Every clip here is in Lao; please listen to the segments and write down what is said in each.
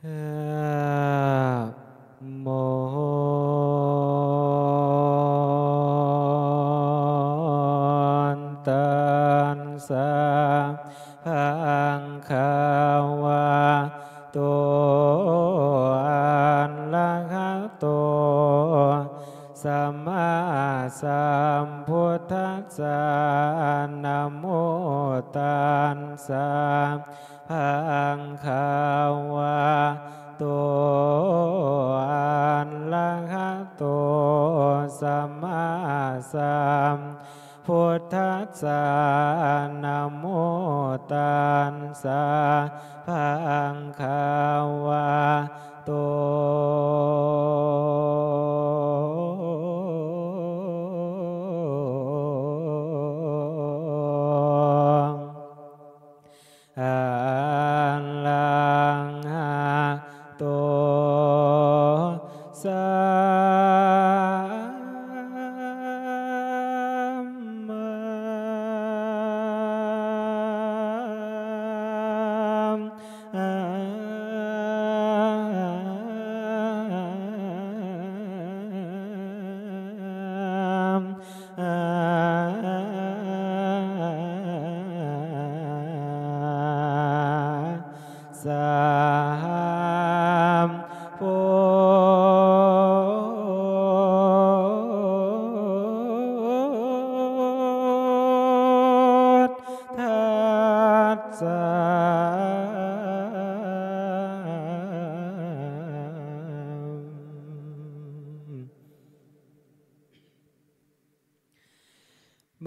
ນະໂມຕັດສະ ພະຄະວະໂຕ ອະລະຫະໂຕ ສຳມາສຳພຸດທັດສະ ນະໂມຕັດສະ ພະຄະວະໂຕ ອະລະຫະໂຕ ສຳມາສຳ ພຸດທັດສະ ນະໂມຕັດສະ ພະຄະວະໂຕ ອະລະຫະໂຕ ສຳມາ ສຳພຸດທັດສະ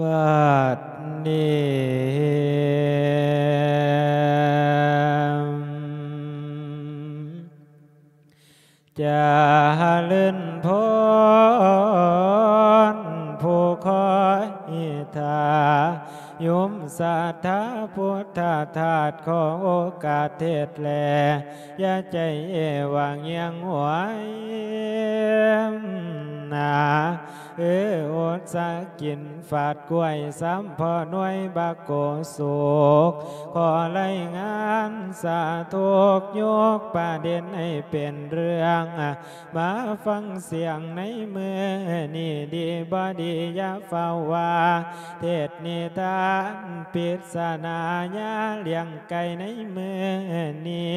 ບັດນີ້ ຈະເລີນພອນ ຜູ້ຄອຍຖ້າ ໂຍມສັດທາພຸດທະທາດ ຂໍໂອກາດເທດແລ ຢ່າໃຈຫວ່າງຍຽງຫວຍນາ ເອີ ອົດສາກິນຟາດກ້ວຍ ສາມພໍ່ໜ່ວຍບັກໂກສຸກ ຂໍລາຍງານສາທຸກ ຍົກປະເດັນໃຫ້ເປັນເລື່ອງ ມາຟັງສຽງໃນມື້ນີ້ ດີບໍ່ດີຢ່າຟ້າວວ່າ ເທດນິທານປິດສະນາ ຍາລ້ຽງໄກ່ໃນມື້ນີ້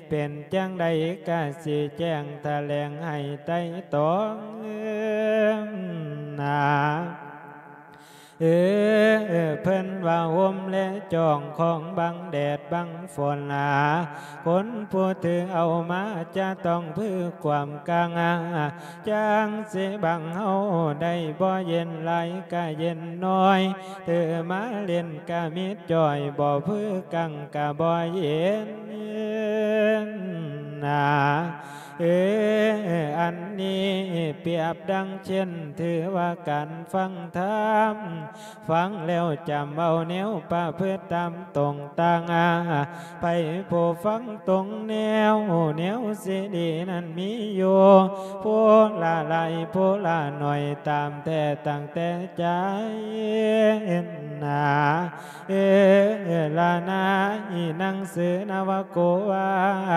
ເປັນຈັ່ງໃດກະຊິແຈ້ງຖະແຫຼງໃຫ້ໄຕ່ຕອງ ນາ ເອີ ເພິ່ນວ່າຮົ່ມແລຈອງຂອງບັງແດດບັງຝົນນາ ຄົນຜູ້ຖືເອົາມາຈະຕ້ອງຜືກຄວາມກັງ ຈັ່ງຊິບັງເຮົາໄດ້ ບໍ່ເຢັນຫຼາຍກະເຢັນໜ້ອຍ ຖືມາເຫຼັ້ນກະມິດຈ່ອຍ ບໍ່ຜືກັງກະບໍ່ເຢັນນາ ເອີ ອັນນີ້ປຽບດັ່ງເຊັ່ນ ຖືວ່າການຟັງທຳ ຟັງແລ້ວຈຳເອົາແນວປະພຶດຕາມຕົງຕາງ ໃຜຜູ້ຟັງຕົງແນວ ແນວຊິດີນັ້ນມີຢູ່ ຜູ້ລະຫຼາຍຜູ້ລະໜ້ອຍ ຕາມແທ້ຕັ້ງແຕ່ໃຈນາ ເອີ ລະນາ ໜັງສືນະວະໂກວາ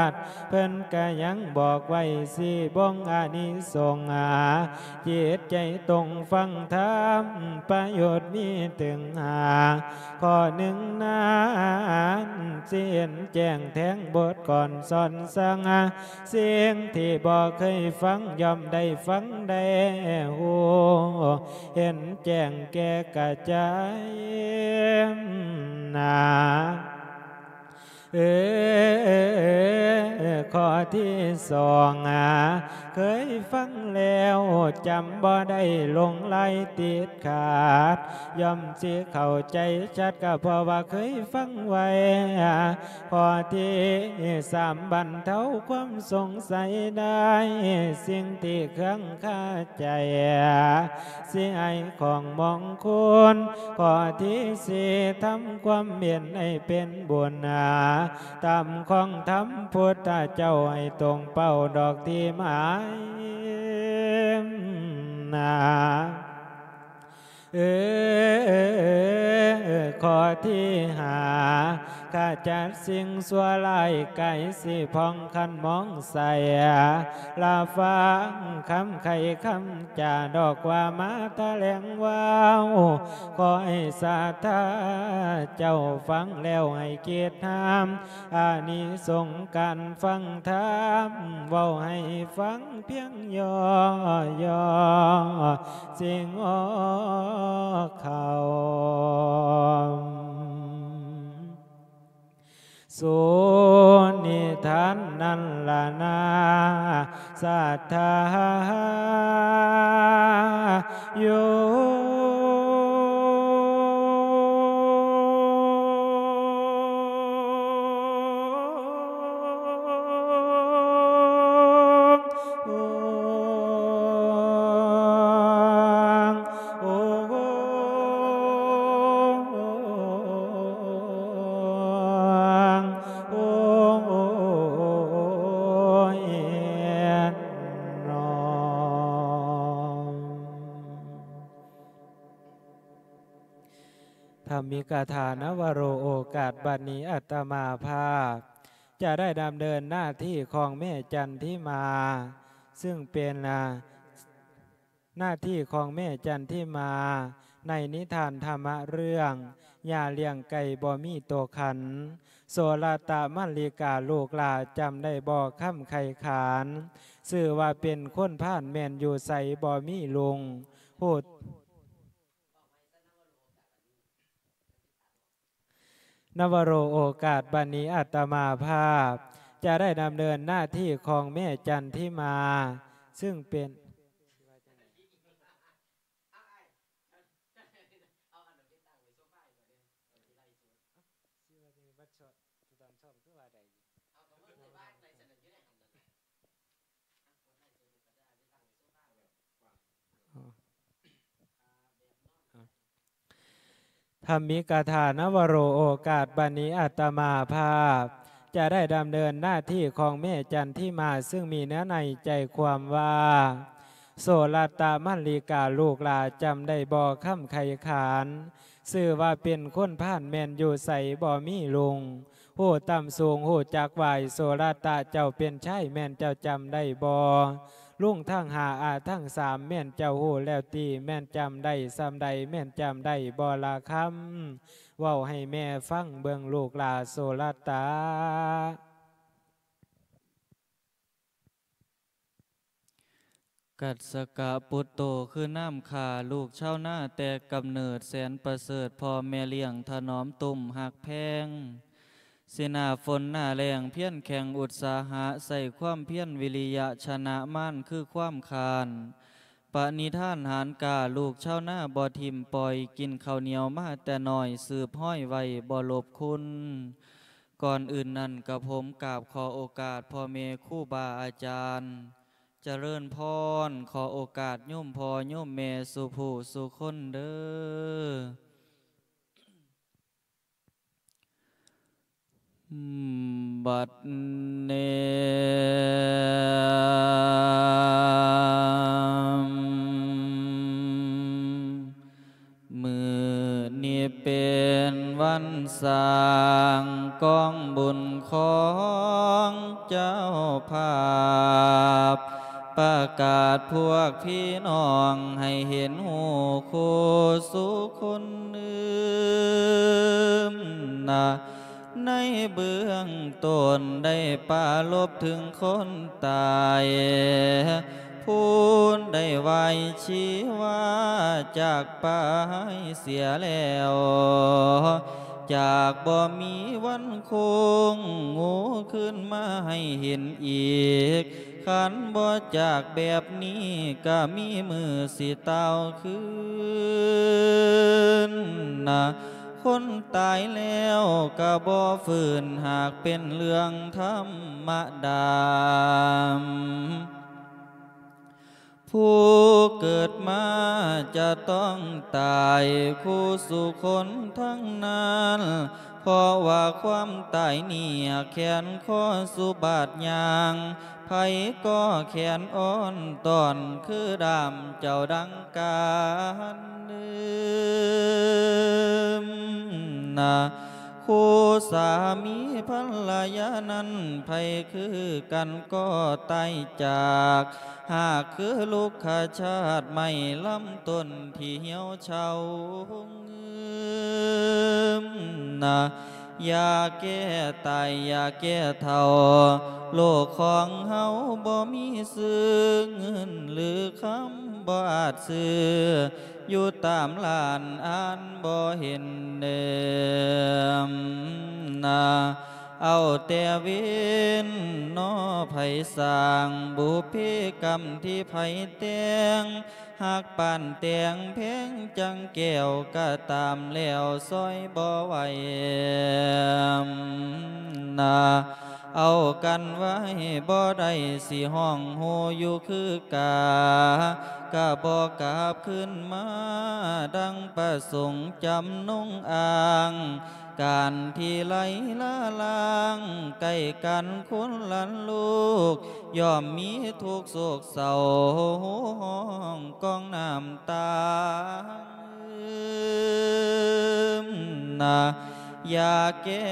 ດ ເພິ່ນກະຍັງບອກໄວ້ ສີ່ບົ່ງອານິສົງ ຈິດໃຈຕົງຟັງທຳ ປະໂຫຍດມີເຖິງຫ້າ ຂໍ້ໜຶ່ງນັ້ນ ຊິເຫັນແຈ້ງແທງບົດກ່ອນສອນສັ່ງ ສິ່ງທີ່ບໍ່ເຄີຍຟັງ ຍ່ອມໄດ້ຟັງໄດ້ຮູ້ ເຫັນແຈ້ງແກ່ກະຈາຍນາ ເອີ ຂໍ້ທີສອງ ເຄີຍຟັງແລ້ວຈຳບໍ່ໄດ້ ຫຼົງໄຫຼຕິດຂາດ ຍ່ອມຊິເຂົ້າໃຈຊັດ ກະເພາະວ່າເຄີຍຟັງໄວ້ ຂໍ້ທີສາມ ບັນເທົາຄວາມສົງໄສໄດ້ ສິ່ງທີ່ເຄືອງຄາໃຈ ຊິໃຫ້ຂອງມອງຄຸນ ຂໍ້ທີສີ່ ທຳຄວາມເຫັນໃຫ້ເປັນບຸນນາ ຕາມຂອງທຳພຸດທະເຈົ້າ ໃຫ້ຕົງເປົ້າດອກທີ່ໝາຍນາ ເອີ ຂໍ້ທີຫ້າ ຂະຈັດສິ່ງຊົ່ວຮ້າຍກາຍສີຜ່ອງຄັນມອງໃສ ລະຟັງຄຳໄຂຄຳຈາດອກວ່າມາຖະແຫຼງເວົ້າ ຂໍໃຫ້ສັດທາເຈົ້າຟັງແລ້ວໃຫ້ຄິດນຳ ອານິສົງການຟັງທຳ ເວົ້າໃຫ້ຟັງພຽງຫຍໍ້ໆ ຊິງອອກເຂົ້າ ສູ່ນິທານນັ້ນລະນາ ສັດທາໂຍ. ທຳມິກະຖາ ນະວະໂຣ ໂອກາດບັດນີ້ ອາດຕະມາພາບຈະໄດ້ດຳເນີນໜ້າທີ່ຂອງແມ່ຈັນທິມາ ຊຶ່ງເປັນ ໜ້າທີ່ຂອງແມ່ຈັນທິມາ ໃນນິທານທຳມະເລື່ອງ ຢ່າລ້ຽງໄກ່ບໍ່ມີໂຕຂັນ ໂສລະຕະມັນລິກາ ລູກຫຼ້າຈຳໄດ້ບໍ່ຄຳໄຂຂານ ຊື່ວ່າເປັນຄົນພານແມ່ນຢູ່ໃສບໍ່ມີລຸງ ຮູ້ ນະວະໂຣ ໂອກາດບັດນີ້ ອາດຕະມາພາບຈະໄດ້ດຳເນີນໜ້າທີ່ຂອງແມ່ຈັນທິມາ ຊຶ່ງເປັນ ທຳມິກະຖາ ນະວະໂຣ ໂອກາດບັດນີ້ ອາດຕະມາພາບຈະໄດ້ດຳເນີນໜ້າທີ່ຂອງແມ່ຈັນທິມາ ຊຶ່ງມີເນື້ອໃນໃຈຄວາມວ່າ ໂສລະຕະມັນລິກາ ລູກຫຼ້າຈຳໄດ້ບໍ່ຄຳໄຂຂານ ຊື່ວ່າເປັນຄົນພານແມ່ນຢູ່ໃສບໍ່ມີລຸງ ຮູ້ຕ່ຳສູງຮູ້ຈັກຫວາຍ ໂສລະຕະເຈົ້າເປັນຊາຍແມ່ນເຈົ້າຈຳໄດ້ບໍ່ ລຸງທັງຫ້າອາທັງສາມແມ່ນເຈົ້າຮູ້ແລ້ວຕິ ແມ່ນຈຳໄດ້ສ່ຳໃດ ແມ່ນຈຳໄດ້ບໍ່ລະຄຳ ເວົ້າໃຫ້ແມ່ຟັງເບິ່ງລູກຫຼ້າໂສລະຕະ. ກັດສະກະປຸດໂຕ ຄືນ້ຳຂ້າ ລູກຊາວນາແຕ່ກຳເນີດ ແສນປະເສີດ ພໍ່ແມ່ລ້ຽງຖະໜອມຕຸ້ມຮັກແພງ ຊິໜ້າຝົນໜ້າແລ້ງ ພຽນແຂງອຸດສາຫະ ໃຊ້ຄວາມພຽນວິລິຍະ ຊະນະມານຄືຄວາມຄ້ານ ປະນິທານຫານກ້າ ລູກຊາວນາບໍ່ຖິ້ມປ່ອຍ ກິນເຂົ້າໜຽວມາແຕ່ນ້ອຍ ສືບຮ້ອຍໄວ້ບໍ່ລົບຄຸນ. ກ່ອນອື່ນນັ້ນ ກະຜົມກາບຂໍໂອກາດພໍ່ແມ່ຄູບາອາຈານ ຈະເລີນພອນ ຂໍໂອກາດໂຍມພໍ່ໂຍມແມ່ສູ່ຜູ້ສູ່ຄົນເດີ້. ບັດນີ້ ມື້ນີ້ເປັນວັນສ້າງກອງບຸນຂອງເຈົ້າພາບ ປະກາດພວກພີ່ນ້ອງໃຫ້ເຫັນຮູ້ຄູ່ສູ່ຄົນອື່ນນະ ໃນເບື້ອງຕົ້ນໄດ້ປາລົບເຖິງຄົນຕາຍ ຜູ້ໄດ້ວາຍຊີວາຈາກໄປເສຍແລ້ວ ຈາກບໍ່ມີວັນຄົງງູຄືນມາໃຫ້ເຫັນອີກ ຄັນບໍ່ຈາກແບບນີ້ກະມີມື້ຊິຕ່າວຄືນນະ ຄົນຕາຍແລ້ວກະບໍ່ຟື້ນ ຫາກເປັນເລື່ອງທຳມະດາ ຜູ້ເກີດມາຈະຕ້ອງຕາຍຄູ່ສູ່ຄົນທັງນັ້ນ ເພາະວ່າຄວາມຕາຍນີ້ແຂນຄໍສູ່ບາດຍ່າງ ໃຜກໍແຂນອ່ອນຕ້ອນຄືດ້າມເຈົ້າດັ່ງການເດີມ. ນະ ຄູ່ສາມີພັນລະຍານັ້ນ ໃຜຄືກັນກໍຕາຍຈາກ ຫາກຄືລຸກຂະຊາດໄມ້ລຳຕົ້ນທີ່ຫ່ຽວເຊົາ ນະ ຢາແກ້ຕາຍ ຢາແກ້ເຖົ້າ ໂລກຂອງເຮົາບໍ່ມີຊື່ ເງິນຫຼືຄຳບໍ່ອາດຊື້ ຢູ່ຕາມຮ້ານອ່ານບໍ່ເຫັນເດີມນະ ເອົາແຕ່ເວນນໍ ໃຜສ້າງບຸບເພກຳທີ່ໃຜແຕ່ງ ຮັກປານແຕ່ງແພງຈັ່ງແກ້ວ ກະຕາມແລ້ວຊ່ອຍບໍ່ໄຫວນະ ເອົາກັນໄວ້ບໍ່ໄດ້ ຊິຮ້ອງໂຮຢູ່ຄືກາ ກະບໍ່ກັບຄືນມາ ດັ່ງປະສົງຈຳນົງອ້າງ ການທີ່ໄຫຼລາລາງ ໃກ້ກັນຄົນລະລູກ ຍ່ອມມີທຸກໂສກເສົ້າ ໂຮຮ້ອງກອງນ້ຳຕາ ນະ ຢາແກ້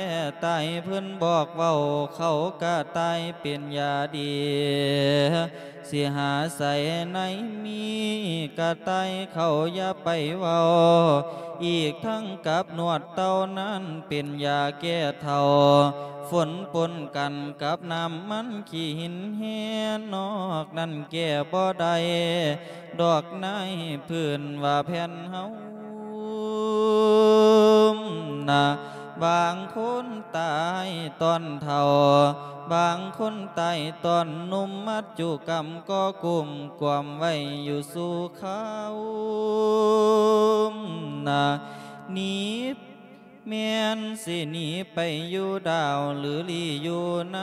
ຕາຍເພິ່ນບອກເວົ້າ ເຂົາກະຕາຍເປັນຢາດີ ຊິຫາໃສໃນມີກະຕ່າຍເຂົາຢ່າໄປເວົ້າ ອີກທັງກັບນວດເຕົ້ານັ້ນເປັນຢາແກ້ເຖົ້າ ຝົນປົນກັນກັບນ້ຳມັນຂີ້ຫີນແຮ່ ນອກນັ້ນແກ້ບໍ່ໄດ້ ດອກນາຍພື້ນວ່າແຜ່ນເຮົານະ ບາງຄົນຕາຍຕອນເຖົ້າ ບາງຄົນຕາຍຕອນໜຸ່ມ ມັດຈຸກຳກໍກຸມກວມໄວ້ຢູ່ສູ່ຄາວນະ ໜີ ແມ່ນຊິໜີໄປຢູ່ດາວ ຫຼືລີ້ຢູ່ໃນ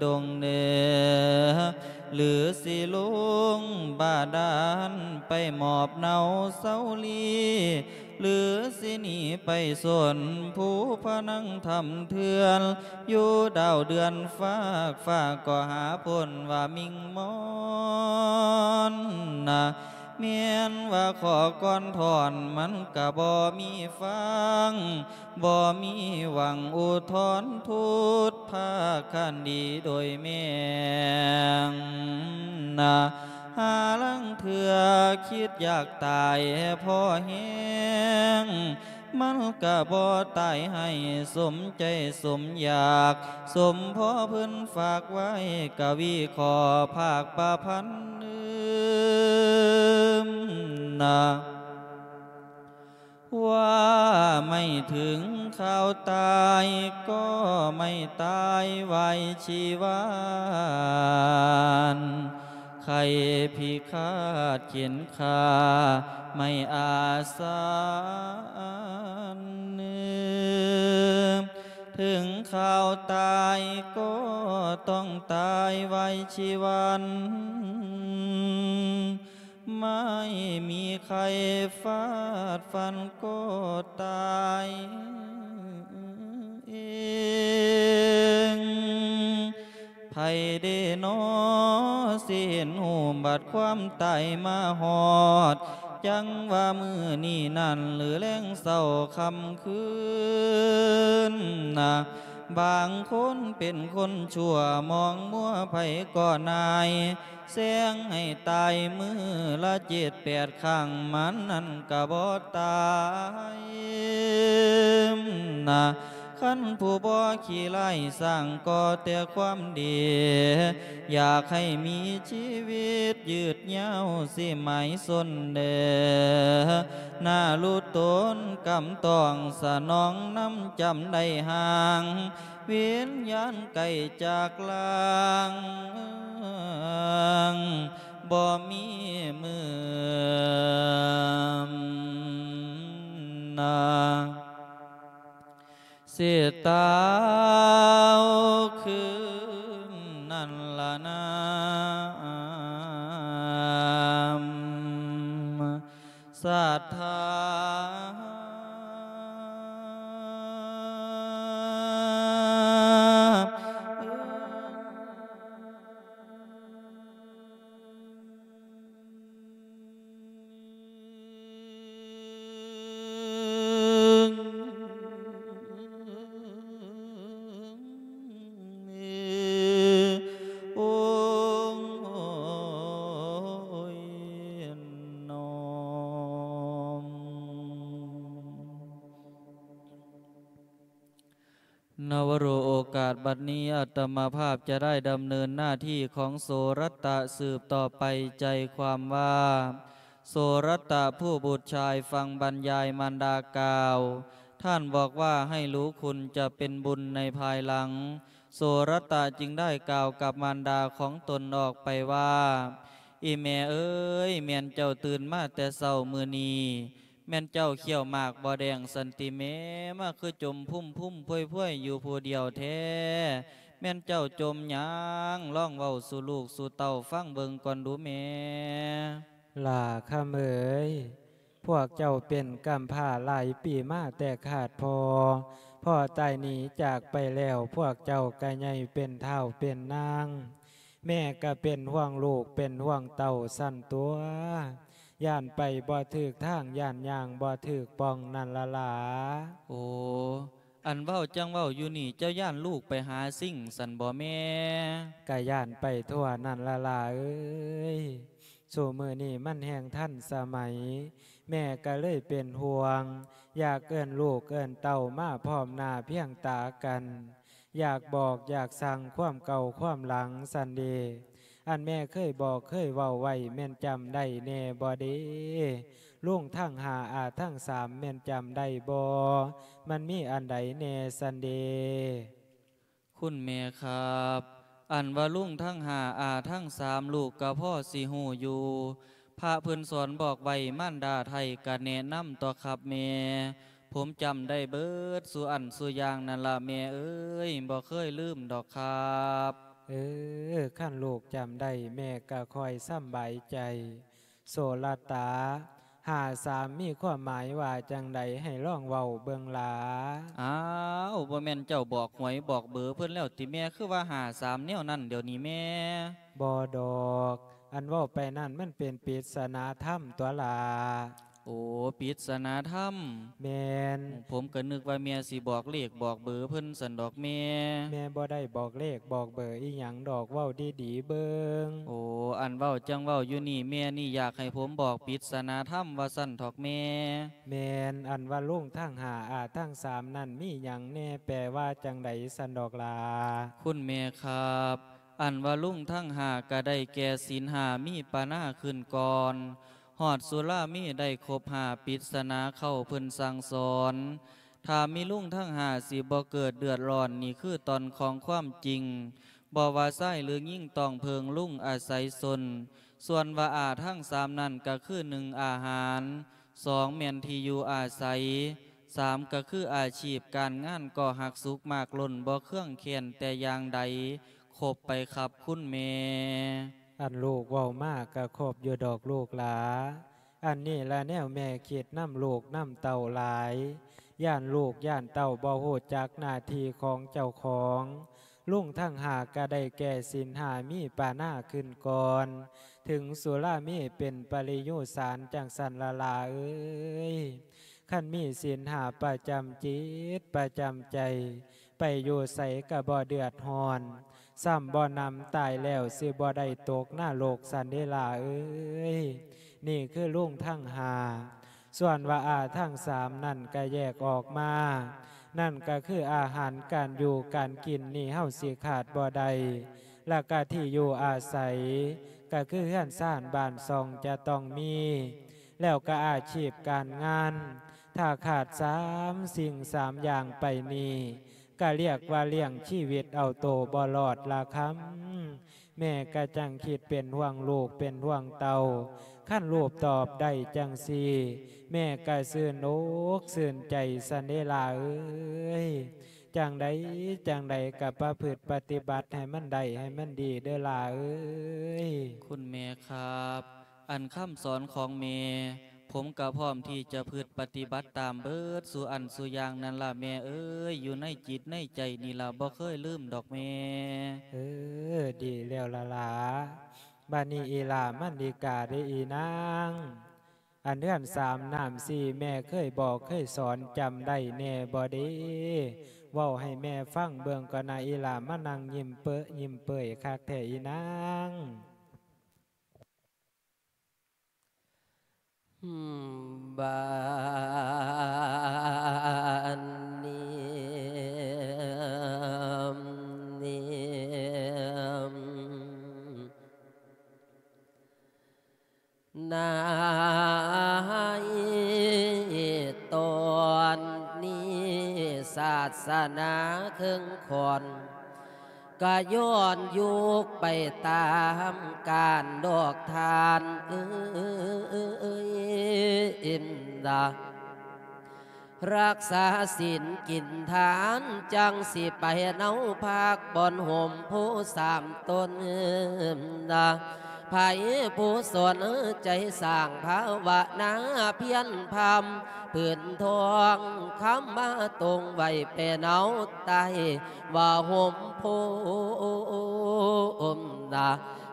ດົງເໜືອ ຫຼືຊິລົງບາດານໄປໝອບເນົາເຊົາລີ້ ຫຼືຊິໜີໄປຊົນພູພະນັງຖ້ຳເຖື່ອນ ຢູ່ດາວເດືອນຟາກຟ້າກໍຫາພົ້ນວ່າມິ່ງມອນນະ ແມ່ນວ່າຂໍກ່ອນຖອນມັນກະບໍ່ມີຟັງ ບໍ່ມີຫວັງອຸທອນທູດພາກຄະນີໂດຍແມ່ງນະ ຫາລາງເທື່ອຄິດຢາກຕາຍພໍແຮງ ມັນກະບໍ່ຕາຍໃຫ້ສົມໃຈສົມຢາກ ສົມພໍເພິ່ນຝາກໄວ້ ກະວີຂໍພາກປະພັນນະ ວ່າໄມ່ເຖິງຄາວຕາຍ ກໍໄມ່ຕາຍໄວຊີວັນ ໄຂ້ພິຄາດເຂັນຂ້າໄມ່ອາສັນ ເຖິງຄາວຕາຍກໍຕ້ອງຕາຍໄວຊີວັນ ໄມ່ມີໃຄຟາດຟັນກໍຕາຍເອງ ໃຜເດນໍ ຊິເຫັນຮູ້ບັດຄວາມຕາຍມາຮອດ ຈັ່ງວ່າມື້ນີ້ນັ້ນ ຫຼືແລງເຊົ້າຄ່ຳຄືນນະ ບາງຄົນເປັນຄົນຊົ່ວ ມອງມົວໃຜກໍນາຍ ແຊ່ງໃຫ້ຕາຍມື້ລະເຈັດແປດຄັ້ງ ມັນນັ້ນກະບໍ່ຕາຍນະ ຄັນຜູ້ບໍ່ຂີ້ຮ້າຍສ້າງກໍ່ແຕ່ຄວາມດີ ຢາກໃຫ້ມີຊີວິດຍືດຍາວຊິໝາຍຊົນເດີ ນາລຸຕົນກຳຕ້ອງສະໜອງນຳຈຳໄດ້ຫ່າງ ວິນຍານໄກຈາກລ່າງ ບໍ່ມີມື້ນາ ຊິຕາວຄືນນັ້ນລະນາ ສັດທາ ນະວະໂຣ ໂອກາດບັດນີ້ ອາດຕະມາພາບຈະໄດ້ດຳເນີນໜ້າທີ່ຂອງໂສລັດຕະສືບຕໍ່ໄປ. ໃຈຄວາມວ່າ ໂສລັດຕະຜູ້ບຸດຊາຍຟັງບັນຍາຍມານດາກ່າວ, ທ່ານບອກວ່າໃຫ້ຮູ້ຄຸນຈະເປັນບຸນໃນພາຍຫຼັງ. ໂສລັດຕະຈຶ່ງໄດ້ກ່າວກັບມານດາຂອງຕົນອອກໄປວ່າ, ອີ່ແມ່ເອີຍ, ແມ່ນເຈົ້າຕື່ນມາແຕ່ເຊົ້າມື້ນີ້ ແມ່ນເຈົ້າຂ້ຽວໝາກບໍ່ແດງຊັ້ນຕິແມ່? ມາຄືຈົມພຸ້ມໆພວຍໆຢູ່ຜູ້ດຽວແທ້? ແມ່ນເຈົ້າຈົມຫຍັງ? ລອງເວົ້າສູ່ລູກສູ່ເຕົ້າຟັງເບິ່ງກ່ອນດູແມ່. ຫຼ້າຄຳເອີຍ, ພວກເຈົ້າເປັນກຳພ້າຫຼາຍປີມາແຕ່ຂາດພໍ່, ພໍ່ຕາຍໜີຈາກໄປແລ້ວ, ພວກເຈົ້າກະໃຫຍ່ເປັນທ້າວເປັນນາງ, ແມ່ກະເປັນຫ່ວງລູກເປັນຫ່ວງເຕົ້າຊັ້ນຕົວະ. ຢ້ານໄປບໍ່ຖືກທາງ, ຢ້ານຍ່າງບໍ່ຖືກປ່ອງນັ້ນລະຫຼາ. ໂອ, ອັນເວົ້າຈັ່ງເວົ້າຢູ່ນີ້ ເຈົ້າຢ້ານລູກໄປຫາສິ່ງຊັ້ນບໍ່ແມ່? ກະຢ້ານໄປທົ່ວນັ້ນລະຫຼາເອີຍ. ຊຸມື້ນີ້ມັນແຮ່ງທັນສະໄໝ, ແມ່ກະເລີຍເປັນຫ່ວງ, ຢາກເອີ້ນລູກເອີ້ນເຕົ້າມາພ້ອມໜ້າພຽງຕາກັນ, ຢາກບອກຢາກສັ່ງຄວາມເກົ່າຄວາມຫຼັງຊັ້ນເດ. ອັນແມ່ເຄີຍບອກເຄີຍເວົ້າໄວ້ ແມ່ນຈຳໄດ້ແນ່ບໍ່ເດ? ລຸງທັງຫ້າ ອາທັງສາມ ແມ່ນຈຳໄດ້ບໍ່? ມັນມີອັນໃດແນ່ຊັ້ນເດ? ຄຸນແມ່ຄັບ, ອັນວ່າລຸງທັງຫ້າ ອາທັງສາມ ລູກກະພໍຊິຮູ້ຢູ່. ພະເພິ່ນສອນບອກໄວ້, ມານດາໄທ້ກະແນະນຳຕົວະຄັບແມ່. ຜົມຈຳໄດ້ເບິດສູ່ອັນສູ່ຢ່າງນັ້ນລະແມ່ເອີຍ, ບໍ່ເຄີຍລືມດອກຄັບ. ເອີ, ຄັນລູກຈຳໄດ້ ແມ່ກະຄ່ອຍສຳບາຍໃຈ. ໂສລັດຕາ, ຫ້າສາມ ມີຄວາມໝາຍວ່າຈັ່ງໃດ? ໃຫ້ລອງເວົ້າເບິ່ງຫຼາ. ອ້າວ, ບໍ່ແມ່ນເຈົ້າບອກຫວຍບອກເບີເພິ່ນແລ້ວຕິແມ່? ຄືວ່າຫ້າສາມແນວນັ້ນດຽວນີ້ແມ່? ບໍ່ດອກ, ອັນເວົ້າໄປນັ້ນມັນເປັນປິດສະນາທຳຕົວະຫຼາ. ໂອ, ປິດສະນາທຳ. ແມ່ນ. ໂອ, ຜົມກະນຶກວ່າແມ່ຊິບອກເລກບອກເບີເພິ່ນຊັ້ນດອກແມ່. ແມ່ບໍ່ໄດ້ບອກເລກບອກເບີອີ່ຫຍັງດອກ, ເວົ້າດີໆເບິ່ງ. ໂອ, ອັນເວົ້າຈັ່ງເວົ້າຢູ່ນີ້ ແມ່ນີ້ຢາກໃຫ້ຜົມບອກປິດສະນາທຳວ່າຊັ້ນເຖາະແມ່. ແມ່ນ, ອັນວ່າລຸງທັງຫ້າ ອາທັງສາມນັ້ນ ມີຫຍັງແນ່? ແປວ່າຈັ່ງໃດຊັ້ນດອກຫຼາ? ຄຸນແມ່ຄັບ, ອັນວ່າລຸງທັງຫ້າກະໄດ້ແກ່ສິນຫ້າ ມີປານາຂຶ້ນກ່ອນ. ຮອດສຸລາເມໄດ້ຄົບຫ້າ ປິດສະນາເຄົ້າເພິ່ນສັ່ງສອນ. ຖ້າມີລຸງທັງຫ້າຊິບໍ່ເກີດເດືອດຮ້ອນ, ນີ້ຄືຕອນຂອງຄວາມຈິງ. ບໍ່ວ່າຊາຍຫຼືຍິງ ຕ້ອງເພິ່ງລຸງອາໄສຊົນ. ສ່ວນວ່າອາທັງສາມນັ້ນ ກະຄື ໜຶ່ງ ອາຫານ, ສອງ ແມ່ນທີ່ຢູ່ອາໄສ, ສາມ ກະຄືອາຊີບການງານ ກໍຮັກສຸກມາກລົ້ນ ບໍ່ເຄືອງແຄ້ນແຕ່ຢ່າງໃດ. ຄົບໄປຄັບຄຸນແມ່. ອັນລູກເວົ້າມາກະຄົບຢູ່ດອກລູກຫຼາ. ອັນນີ້ລະແນວແມ່ຄິດນຳລູກນຳເຕົ້າຫຼາຍ. ຢ້ານລູກຢ້ານເຕົ້າບໍ່ຮູ້ຈັກໜ້າທີ່ຂອງເຈົ້າຂອງ. ລຸງທັງຫ້າກະໄດ້ແກ່ສິນຫ້າ ມີປານາຂຶ້ນກ່ອນ. ເຖິງສຸລາເມເປັນປະລິຍຸສານ ຈັ່ງຊັ້ນລະຫຼາເອີຍ. ຄັນມີສິນຫ້າປະຈຳຈິດປະຈຳໃຈ, ໄປຢູ່ໃສກະບໍ່ເດືອດຮ້ອນ, ຊ້ຳບໍ່ໜຳຕາຍແລ້ວ ຊິບໍ່ໄດ້ຕົກນະລົກຊັ້ນເດຫຼ້າເອີຍ. ນີ້ຄືລຸງທັງຫ້າ. ສ່ວນວ່າອາທັງສາມນັ້ນກະແຍກອອກມາ, ນັ້ນກະຄືອາຫານການຢູ່ການກິນ ນີ້ເຮົາຊິຂາດບໍ່ໄດ້. ລະກະທີ່ຢູ່ອາໄສ ກະຄືເຮືອນຊານບ້ານຊ່ອງຈະຕ້ອງມີ. ແລ້ວກະອາຊີບການງານ, ຖ້າຂາດສາມສິ່ງສາມຢ່າງໄປນີ້ ກະລຽກວ່າລ້ຽງຊີວິດເອົາໂຕບໍ່ລອດລະຄຳ. ແມ່ກະຈັ່ງຄິດເປັນຫ່ວງລູກເປັນຫ່ວງເຕົ້າ. ຄັນລູກຕອບໄດ້ຈັ່ງຊີ້ ແມ່ກະຊື່ນອົກຊື່ນໃຈຊັ້ນເດຫຼ້າເອີຍ. ຈັ່ງໃດຈັ່ງໃດກະປະພຶດປະຕິບັດໃຫ້ມັນໄດ້ໃຫ້ມັນດີເດີຫຼ້າເອີຍ. ຄຸນແມ່ຄັບ, ອັນຄຳສອນຂອງແມ່ ຜົມກະພ້ອມທີ່ຈະພຶດປະຕິບັດຕາມເບີດສູ່ອັນສູ່ຢ່າງນັ້ນລະແມ່ເອີຍ. ຢູ່ໃນຈິດໃນໃຈນີ້ລະ ບໍ່ເຄີຍລືມດອກແມ່. ເອີ, ດີແລ້ວລະຫຼ້າ. ບາດນີ້ອີ່ຫຼ້າມັນດີກາເດອີນາງ. ອັນເຮືອນສາມນ້ຳສີ່ ແມ່ເຄີຍບອກເຄີຍສອນ ຈຳໄດ້ແນ່ບໍ່ເດ? ເວົ້າໃຫ້ແມ່ຟັງເບິ່ງກ່ອນນະອີ່ຫຼ້າ ມານັ່ງຍິ້ມເປິ ຍິ້ມເປີຍຄັກແທ້ອີນາງ. ບາດນີ້ ສະໜາເຄິ່ງຂ້ອນ ກະຍ້ອນຍຸກໄປຕາມການດອກທ່ານເອີຍ ນະ ລັກສາສິນກິນທານ ຈັ່ງຊິໄປເນົາພັກບ່ອນຮົ່ມໂພສາມຕົ້ນນະ ໃຜຜູ້ສົນໃຈສ້າງພາວະນາພຽນພຳ ຜືນທອງຄຳມາຕົງໄວ້ແປເນົາໃຕ້ວ່າຮົ່ມໂພມນະ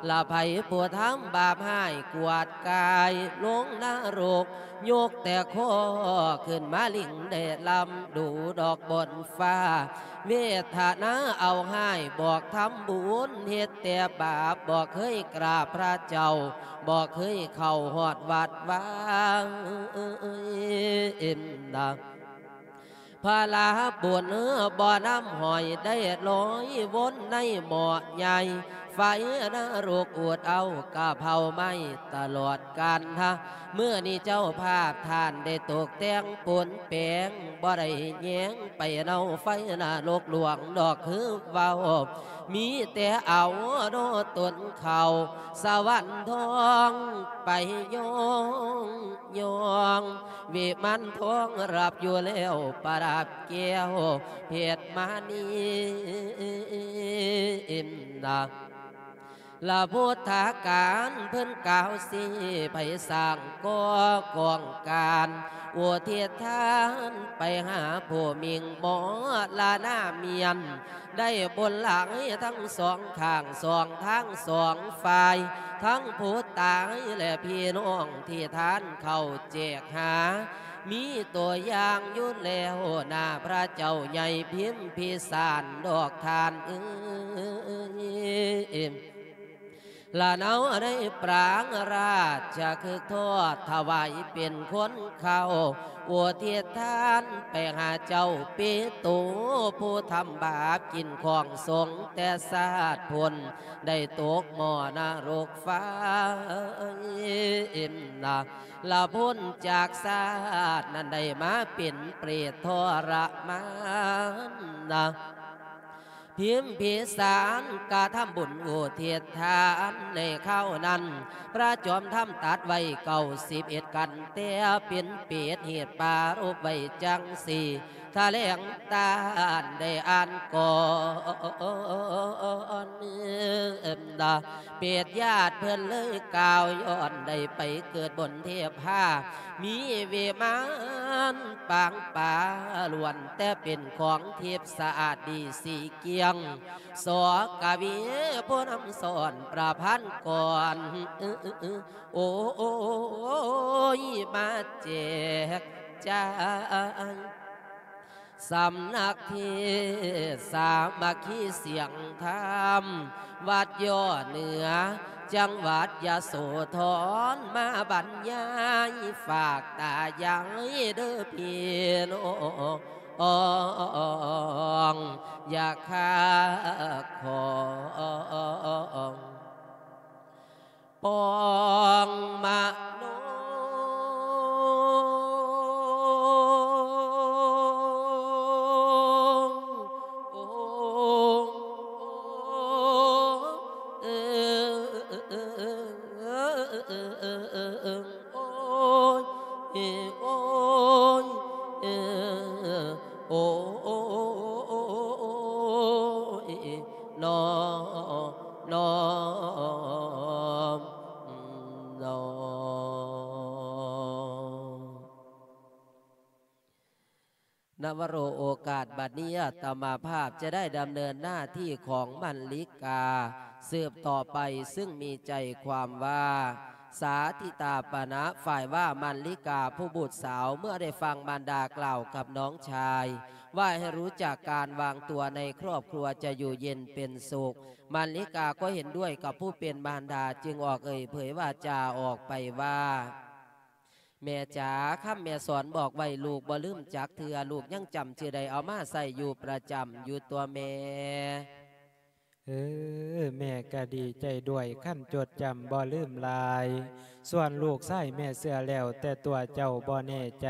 ລະໃຜຜູ້ທຳບາບຮ້າຍກວາດກາຍລົງນະລົກ ຍົກແຕ່ຄໍຂຶ້ນມາລິງແດ່ລຳດູດອກບົນຟ້າ ເວທະນາເອົາຮ້າຍບອກທຳບຸນ ເຮັດແຕ່ບາບບໍ່ເຄີຍກາບພະເຈົ້າ ບໍ່ເຄີຍເຂົ້າຮອດວັດວາ ເອັມນະ ພະລາບຸນບໍ່ນຳຫ້ອຍໄດ້ລອຍວົນໃນໝໍ້ໃຫຍ່ ໄຟນະລົກອູດເອົາກະເຜົາໄໝ້ຕະຫຼອດການນະ ມື້ນີ້ເຈົ້າພາບທ່ານໄດ້ຕົກແຕ່ງປົນແປງ ບໍ່ໄດ້ແຍງໄປເນົາໄຟນະລົກຫຼວງດອກຄືເວົ້າ ມີແຕ່ເອົາໂນຕົນເຂົ້າສະຫວັນທອງໄປຍ້ອງ ຍ້ອງ ວິມານທອງຮັບຢູ່ແລ້ວປະດັບແກ້ວເພັດມະນີນະ ລະພຸດທະການເພິ່ນກ່າວຊີ້ໃຜສ້າງກໍ່ກອງການ ອຸທິດທານໄປຫາຜູ້ມິ່ງມໍລະນາມຽນ ໄດ້ບຸນຫຼາຍທັງສອງຂ້າງສອງທາງສອງຝ່າຍ ທັງຜູ້ຕາຍແລະພີ່ນ້ອງທີ່ທ່ານເຂົ້າແຈກຫາ ມີຕົວຢ່າງຢູ່ແລ້ວໜ້າພະເຈົ້າໃຫຍ່ພິມພິສານດອກທ່ານເອີຍ ລະເນົາໃນປາງລາຊະຄຶກທອດຖະຫວາຍເປັນຄົນເຂົ້າ ອຸທິດທານໄປຫາເຈົ້າເປໂຕ ຜູ້ທຳບາບກິນຂອງສົງແຕ່ຊາດພຸ້ນ ໄດ້ຕົກໝໍ້ນະລົກໄຟນະ ລະພົ້ນຈາກຊາດນັ້ນໄດ້ມາເປັນເປດທໍລະມານນະ ພິມພິສານກະທຳບຸນອຸທິດທານໃນຄາວນັ້ນ ພະຈອມທຳຕັດໄວ້ເກົ້າສິບເອັດກັນ ແຕ່ເປັນເປດເຫດປາລົບໄວ້ຈັ່ງຊີ້ ຖະແຫຼງຕານໄດ້ອ່ານກ່ອນ ເປັດຍາດເພິ່ນເລີຍກ່າວ ຍ້ອນໄດ້ໄປເກີດບົນເທພາ ມີວິມານປາງປາ ລ້ວນແຕ່ເປັນຂອງທິບສະອາດດີສີກ່ຽງ ສອກະວີຜູ້ນຳສອນປະພັນກ່ອນ ໂອ້ຍ ມາແຈກຈ່າຍ ສຳນັກເທດສາມັກຄີສຽງທຳ ວັດຍໍເໜືອ ຈັງຫວັດຍະໂສທອນ ມາບັນຍາຍຝາກຕາຍາຍເດີພີ່ນ້ອງ ຢ່າຄາຂອງ ປອງມະໂນ ໂອ ເອີ ໂອຍ ເອີ ໂອຍ ເອີ ໂອ ໂອ ໂອ ໂອ ໂອ ໂອ ໂອ ໂອ ໂອ ໂອ ໂອ ນະວະໂລ ໂອກາດບັດນີ້ ອາດຕະມາພາບຈະໄດ້ດຳເນີນໜ້າທີ່ຂອງມັນລິກາສືບຕໍ່ໄປ, ຊຶ່ງມີໃຈຄວາມວ່າ ສາທິຕາປະນະ ຝ່າຍວ່າມັນລິກາຜູ້ບຸດສາວ ເມື່ອໄດ້ຟັງມານດາກ່າວກັບນ້ອງຊາຍ ວ່າໃຫ້ຮູ້ຈັກການວາງຕົວໃນຄອບຄົວຈະຢູ່ເຢັນເປັນສຸກ, ມັນລິກາກໍເຫັນດ້ວຍກັບຜູ້ເປັນມານດາ ຈຶ່ງອອກເອີ່ຍເຜີຍວາຈາອອກໄປວ່າ ແມ່ຈ໋າ, ຄຳແມ່ສອນບອກໄວ້ ລູກບໍ່ລືມຈັກເທື່ອ, ລູກຍັງຈຳຊື່ໄດ້ ເອົາມາໃຊ້ຢູ່ປະຈຳຢູ່ຕົວະແມ່. ເອີ ແມ່ກະດີໃຈດ້ວຍ ຄັນຈົດຈຳບໍ່ລືມຫຼາຍ. ສ່ວນລູກຊາຍແມ່ເຊື່ອແລ້ວ, ແຕ່ຕົວເຈົ້າບໍ່ແນ່ໃຈ.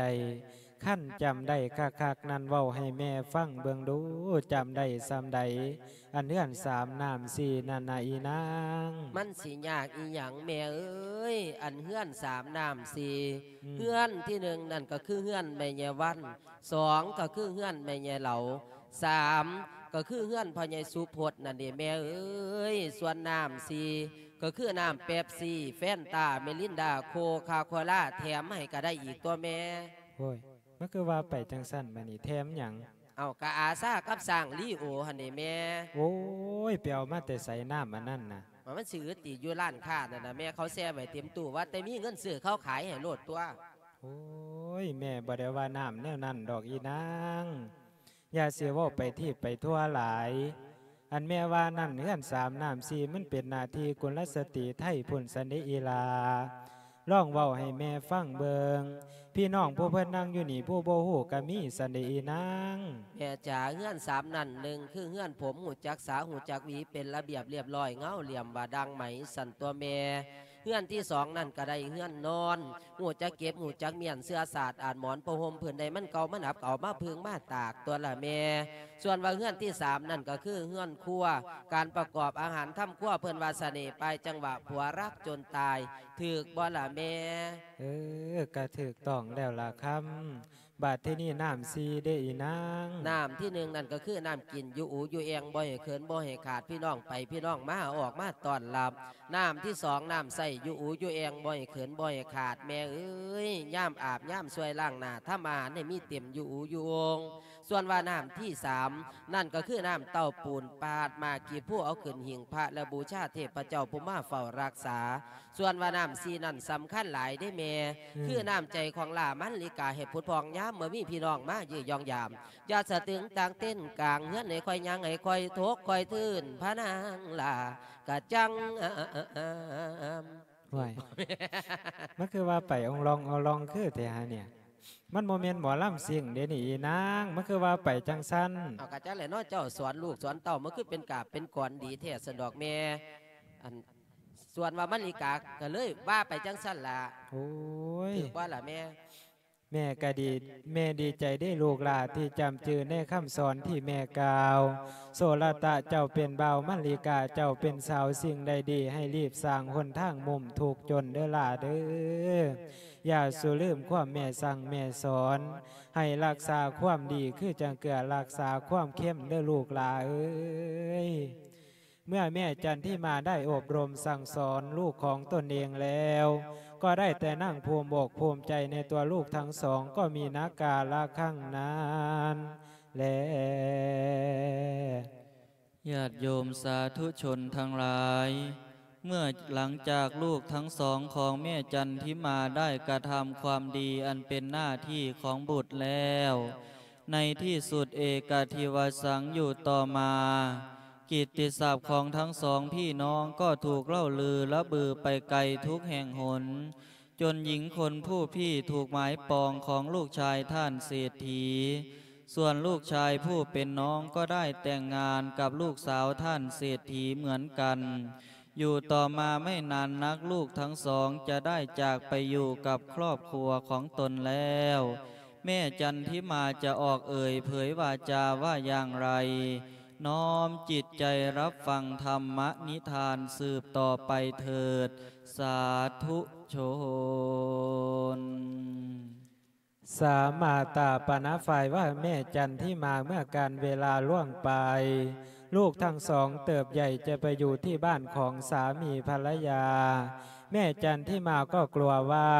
ຄັນຈຳໄດ້ຄັກໆນັ້ນ ເວົ້າໃຫ້ແມ່ຟັງເບິ່ງດູ ຈຳໄດ້ສ່ຳໃດ ອັນເຮືອນສາມນ້ຳສີ່ນັ້ນນະອີນາງ? ມັນຊິຍາກອີຫຍັງແມ່ເອີຍ ອັນເຮືອນສາມນ້ຳສີ່ ອືມ ເຮືອນທີໜຶ່ງນັ້ນກໍຄືເຮືອນແມ່ຍາຍວັນ ສອງກໍຄືເຮືອນແມ່ຍາຍເຫຼົາ ສາມກໍຄືເຮືອນພໍ່ໃຫຍ່ສຸພົດນັ້ນເດແມ່ເອີຍ ສ່ວນນ້ຳສີ່ກໍຄືນ້ຳເປັບຊີ ແຟນຕາ ມິລິນດາ ໂຄຄາໂຄລາ ແຖມໃຫ້ກໍໄດ້ອີກຕົວະແມ່. ໂອ້ຍ ມັນຄືວ່າໄປຈັ່ງຊັ້ນບາດນີ້ ແຖມຫຍັງ? ເອົ້າ ກະອາຊາກັບຊ້າງລີໂອຫັ້ນເດແມ່. ໂອ້ຍ ໄປເອົາມາແຕ່ໃສນ້ຳອັນນັ້ນນະ? ວ່າມັນຊິອຶດຕິ ຢູ່ຮ້ານຄ້ານັ້ນນະແມ່ ເຂົາແຊ່ໄວ້ເຕັມຕູ້ ວ່າແຕ່ມີເງິນຊື້ເຂົາຂາຍໃຫ້ໂລດຕົວະ. ໂອ້ຍ ແມ່ບໍ່ໄດ້ວ່ານ້ຳແນວນັ້ນດອກອີນາງ ຢ່າຊິເວົ້າໄປທີບໄປທົ່ວຫຼາຍ ອັນແມ່ວ່ານັ້ນ ເຮືອນສາມນ້ຳສີ່ ມັນເປັນໜ້າທີ່ກຸນລະສະຕີໄທພຸ້ນຊັ້ນເດອີຫຼ້າ ລອງເວົ້າໃຫ້ແມ່ຟັງເບິ່ງ ພີ່ນ້ອງຜູ້ເພິ່ນນັ່ງຢູ່ນີ້ ຜູ້ບໍ່ຮູ້ກໍມີຊັ້ນເດອີນາງ. ແມ່ຈ໋າ ເຮືອນສາມນັ້ນ ໜຶ່ງຄືເຮືອນຜົມ ຮູ້ຈັກສາ ຮູ້ຈັກຫວີ ເປັນລະບຽບລຽບຮ້ອຍ ເງົາຫຼ່ຽມວ່າດັ່ງໄໝ ຊັ້ນຕົວະແມ່. ເຮືອນທີສອງນັ້ນກໍໄດ້ເຮືອນນອນ ຮູ້ຈັກເກັບ ຮູ້ຈັກມ້ຽນ ເສື່ອສາດອາດໝອນ ຜ້າຫົ່ມພື້ນໃດມັນເກົ່າມັນອັບ ກໍເອົາມາເພິ່ງມາຕາກຕົວະລະແມ່. ສ່ວນວ່າເຮືອນທີສາມນັ້ນກໍຄືເຮືອນຄົວ ການປະກອບອາຫານທຳຄົວ ເພິ່ນວ່າສະເໜ່ປາຍຈັງຫວະ ຜົວຮັກຈົນຕາຍ ຖືກບໍ່ລະແມ່? ເອີ ກະຖືກຕ້ອງແລ້ວລະຄຳ ບາດທີນີ້ນ້ຳສີ່ເດອີນາງ? ນ້ຳທີໜຶ່ງນັ້ນກໍຄືນ້ຳກິນ ຢູ່ອູຢູ່ແອ່ງ ບໍ່ໃຫ້ເຂີນບໍ່ໃຫ້ຂາດ ພີ່ນ້ອງໄປພີ່ນ້ອງມາ ອອກມາຕ້ອນຮັບ. ນ້ຳທີສອງ ນ້ຳໃຊ້ ຢູ່ອູຢູ່ແອ່ງ ບໍ່ໃຫ້ເຂີນບໍ່ໃຫ້ຂາດ ແມ່ເອີຍ ຍາມອາບຍາມຊ່ວຍລ້າງໜ້າ ທຳອາຫານໃຫ້ມີເຕັມ ຢູ່ອູຢູ່ໂອ່ງ. ສ່ວນວ່ານ້ຳທີສາມນັ້ນກໍຄືນ້ຳເຕົ້າປູນ ປາດໝາກກີບພູ ເອົາຂຶ້ນຫິ້ງພະ ແລະ ບູຊາເທບພະເຈົ້າຜູ້ມາເຝົ້າຮັກສາ. ສ່ວນວ່ານ້ຳສີ່ນັ້ນສຳຄັນຫຼາຍເດ້ແມ່ ອືມ ຄືນ້ຳໃຈຂອງຫຼ້າມັນລິກາ ໃຫ້ຜຸດຜ່ອງຍາມເມື່ອມີພີ່ນ້ອງມາເຢ້ຍຢອງຢາມ ຢ່າສະຕຶງຕາງເຕັ້ນກາງເຮືອນ ໃຫ້ຄ່ອຍຍ່າງໃຫ້ຄ່ອຍທົກຄ່ອຍທຶນ ພະນາງຫຼ້າກະຈັ່ງ ໂອ້ຍ ມັນຄືວ່າໄປອົງລອງເອົາລອງຄືແທ້ຫາເນຍ ມັນບໍ່ແມ່ນໝໍລຳຊິງເດນີ້ອີນາງ ມັນຄືວ່າໄປຈັ່ງຊັ້ນ? ເອົາ ກະຈັກແຫຼະເນາະ ເຈົ້າສອນລູກສອນເຕົ້າ ມັນຄືເປັນກາບເປັນກອນດີແທ້ຊັ້ນດອກແມ່ ອັນ ສ່ວນວ່າມະລິກາກໍເລີຍວ່າໄປຈັ່ງຊັ້ນລະ. ໂອ້ຍ ຖືກບໍ່ລະແມ່? ແມ່ກະດີ ແມ່ດີໃຈເດ້ລູກຫຼ້າ ທີ່ຈຳຈື່ໃນຄຳສອນທີ່ແມ່ກ່າວ. ໂສລະຕະເຈົ້າເປັນບ່າວ ມະລິກາເຈົ້າເປັນສາວ ສິ່ງໃດດີໃຫ້ລີບສ້າງຫົນທາງມຸ້ມທຸກຈົນເດີຫຼ້າເດີ. ຢ່າສູ່ລືມຄວາມແມ່ສັ່ງແມ່ສອນ ໃຫ້ຮັກສາຄວາມດີຄືຈັ່ງເກືອ ຮັກສາຄວາມເຄັມເດີລູກຫຼ້າເອີຍ. ເມື່ອແມ່ຈັນທິມາໄດ້ອົບຮົມສັ່ງສອນລູກຂອງຕົນເອງແລ້ວ ກໍໄດ້ແຕ່ນັ່ງພູມອົກພູມໃຈໃນຕົວລູກທັງສອງ ກໍມີນາກາລະຄັ້ງນັ້ນແລ. ຍາດໂຍມສາທຸຊົນທັງຫຼາຍ, ເມື່ອຫຼັງຈາກລູກທັງສອງຂອງແມ່ຈັນທິມາໄດ້ກະທຳຄວາມດີອັນເປັນໜ້າທີ່ຂອງບຸດແລ້ວ, ໃນທີ່ສຸດເອກະທິວະສັງ ຢູ່ຕໍ່ມາ ກິດຕິສັບຂອງທັງສອງພີ່ນ້ອງກໍຖືກເລົ່າລືລະບືໄປໄກທຸກແຫ່ງຫົນ, ຈົນຍິງຄົນຜູ້ພີ້ຖືກໝາຍປອງຂອງລູກຊາຍທ່ານເສດຖີ, ສ່ວນລູກຊາຍຜູ້ເປັນນ້ອງກໍໄດ້ແຕ່ງງານກັບລູກສາວທ່ານເສດຖີເໝືອນກັນ. ຢູ່ຕໍ່ມາໄມ່ນານນັກ ລູກທັງສອງຈະໄດ້ຈາກໄປຢູ່ກັບຄອບຄົວຂອງຕົນແລ້ວ. ແມ່ຈັນທິມາຈະອອກເອີ່ຍເຜີຍວາຈາວ່າຢ່າງໃດ? ນ້ອມຈິດໃຈຮັບຟັງທຳມະນິທານສືບຕໍ່ໄປເຖີດ. ສາທຸຊົນ. ສາມາຕາປະນະຝ່າຍວ່າແມ່ຈັນທິມາ ເມື່ອການເວລາລ່ວງໄປ, ລູກທັງສອງເຕີບໃຫຍ່ຈະໄປຢູ່ທີ່ບ້ານຂອງສາມີພັນລະຍາ. ແມ່ຈັນທິມາກໍກົວວ່າ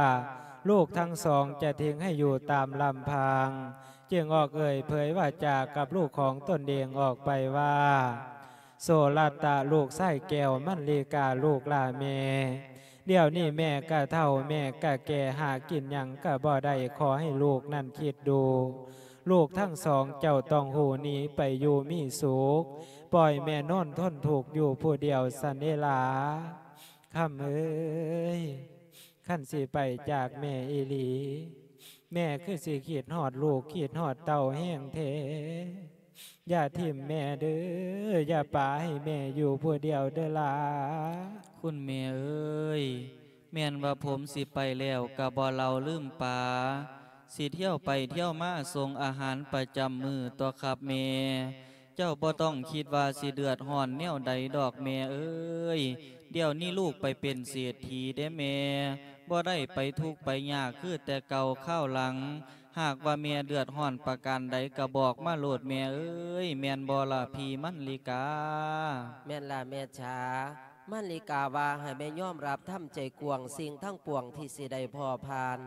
ລູກທັງສອງຈະຖິ້ມໃຫ້ຢູ່ຕາມລຳພັງ, ຈຶ່ງອອກເອີ່ຍເຜີຍວາຈາກັບລູກຂອງຕົນເອງອອກໄປວ່າ, ໂສລະຕະ ລູກຊາຍແກ້ວ, ມັນລີກາ ລູກຫຼ້າແມ່, ດຽວນີ້ແມ່ກະເຖົ້າ, ແມ່ກະແກ່, ຫາກິນຫຍັງກະບໍ່ໄດ້, ຂໍໃຫ້ລູກນັ້ນຄິດດູ, ລູກທັງສອງເຈົ້າຕ້ອງຮູ້ໜີໄປຢູ່ມີສຸກ, ປ່ອຍແມ່ນອນທົນທຸກຢູ່ຜູ້ດຽວຊັ້ນເດລາ. ຄຳເອີຍ, ຄັນຊິໄປຈາກແມ່ອີ່ຫຼີ, ແມ່ຄືຊິຄິດຮອດລູກ, ຄິດຮອດເຕົ້າແຮງແທ້. ຢ່າຖິ້ມແມ່ເດີ, ຢ່າປະໃຫ້ແມ່ຢູ່ຜູ້ດຽວເດີຫຼ້າ. ຄຸນແມ່ເອີຍ, ແມ່ນວ່າຜົມຊິໄປແລ້ວກະບໍ່ເລົາລືມປາ. ຊິທ່ຽວໄປທ່ຽວມາສົ່ງອາຫານປະຈຳມື້ຕົວະຄັບແມ່. ເຈົ້າບໍ່ຕ້ອງຄິດວ່າຊິເດືອດຮ້ອນແນວໃດດອກແມ່ເອີຍ. ດຽວນີ້ລູກໄປເປັນເສດຖີເດ້ແມ່, ບໍ່ໄດ້ໄປທຸກໄປຍາກຄືແຕ່ເກົ່າຄາວຫຼັງ. ຫາກວ່າແມ່ເດືອດຮ້ອນປະການໃດກໍບອກມາໂລດແມ່ເອີຍ, ແມ່ນບໍ່ລະພີ່ມັນລິກາ? ແມ່ນລະແມ່ຈ໋າ. ມັນລິກາວ່າໃຫ້ແມ່ຍອມຮັບທຳໃຈກວ້າງສິ່ງທັງປວງທີ່ຊິໄດ້ພໍ້ຜ່ານ.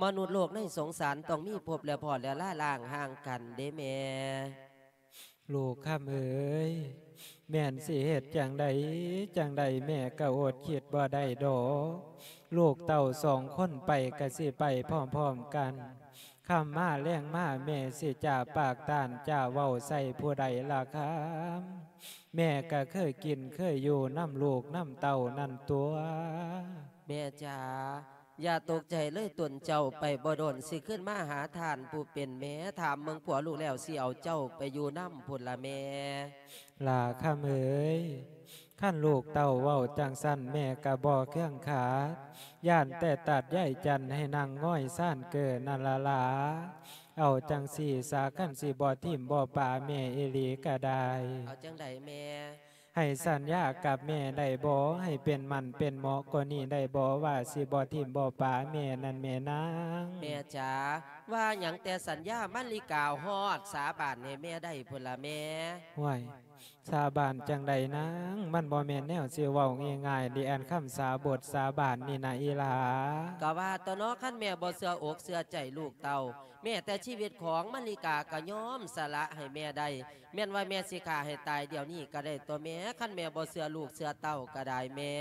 ມະນຸດໂລກໃນສົງສານຕ້ອງມີພົບແລະພໍ້ແລະລາລ້າງຫ່າງກັນເດ້ແມ່. ລູກຄຳເອີຍ, ແມ່ນຊິເຮັດຈັ່ງໃດ ຈັ່ງໃດແມ່ກໍອົດຄິດບໍ່ໄດ້ດອກ. ລູກເຕົ້າສອງຄົນໄປກໍຊິໄປພ້ອມໆກັນ. ຄ່ຳມາແລງມາແມ່ຊິຈາປາກຕ້ານຈາເວົ້າໃສ່ຜູ້ໃດລະຄຳ? ແມ່ກໍເຄີຍກິນເຄີຍຢູ່ນຳລູກນຳເຕົ້ານັ້ນຕົວະ. ແມ່ຈ໋າ, ຢ່າຕົກໃຈເລີຍຕົນເຈົ້າ, ໄປບໍ່ດົນຊິຄືນມາຫາທ່ານຜູ້ເປັນແມ່. ຖາມເບິ່ງຜົວລູກແລ້ວ ຊິເອົາເຈົ້າໄປຢູ່ນຳພຸ້ນລະແມ່. ຫຼ້າຄຳເອີຍ, ຄັນລູກເຕົ້າເວົ້າຈັ່ງຊັ້ນ ແມ່ກໍບໍ່ເຄືອງຂາດ, ຢ້ານແຕ່ຕັດໃຍຈັນໃຫ້ນັ່ງງອຍຊານເກີນັ້ນລະຫຼ້າ. ເອົາຈັ່ງຊີ້ສາ, ຄັນຊິບໍ່ຖິ້ມບໍ່ປະແມ່ອີ່ຫຼີກໍໄດ້. ເອົາຈັ່ງໃດແມ່? ໃຫ້ສັນຍາກັບແມ່ໄດ້ບໍ່? ໃຫ້ເປັນໝັ້ນເປັນເໝາະກວ່ານີ້ໄດ້ບໍ່? ວ່າຊິບໍ່ຖິ້ມບໍ່ປະແມ່ນັ້ນແມ່ນາງ. ແມ່ຈ໋າ, ວ່າຫຍັງແຕ່ສັນຍາມັນລິກາ ຮອດສາບານໃຫ້ແມ່ໄດ້ພຸ້ນລະແມ່. ຫ້ວຍ, ສາບານຈັ່ງໃດນາງ? ມັນບໍ່ແມ່ນແນວຊິເວົ້າງ່າຍໆເດ. ອັນຄຳສາບົດສາບານນີ້ນະອີ່ຫຼ້າ. ກໍວ່າຕົວະເນາະ, ຄັນແມ່ບໍ່ເຊື່ອອົກເຊື່ອໃຈລູກເຕົ້າ, ແມ້ແຕ່ຊີວິດຂອງມັນລິກາກໍຍອມສະຫຼະໃຫ້ແມ່ໄດ້. ແມ່ນວ່າແມ່ຊິຂ້າໃຫ້ຕາຍດຽວນີ້ກໍໄດ້ຕົວະແມ່, ຄັນແມ່ບໍ່ເຊື່ອລູກເຊື່ອເຕົ້າກໍໄດ້ແມ່.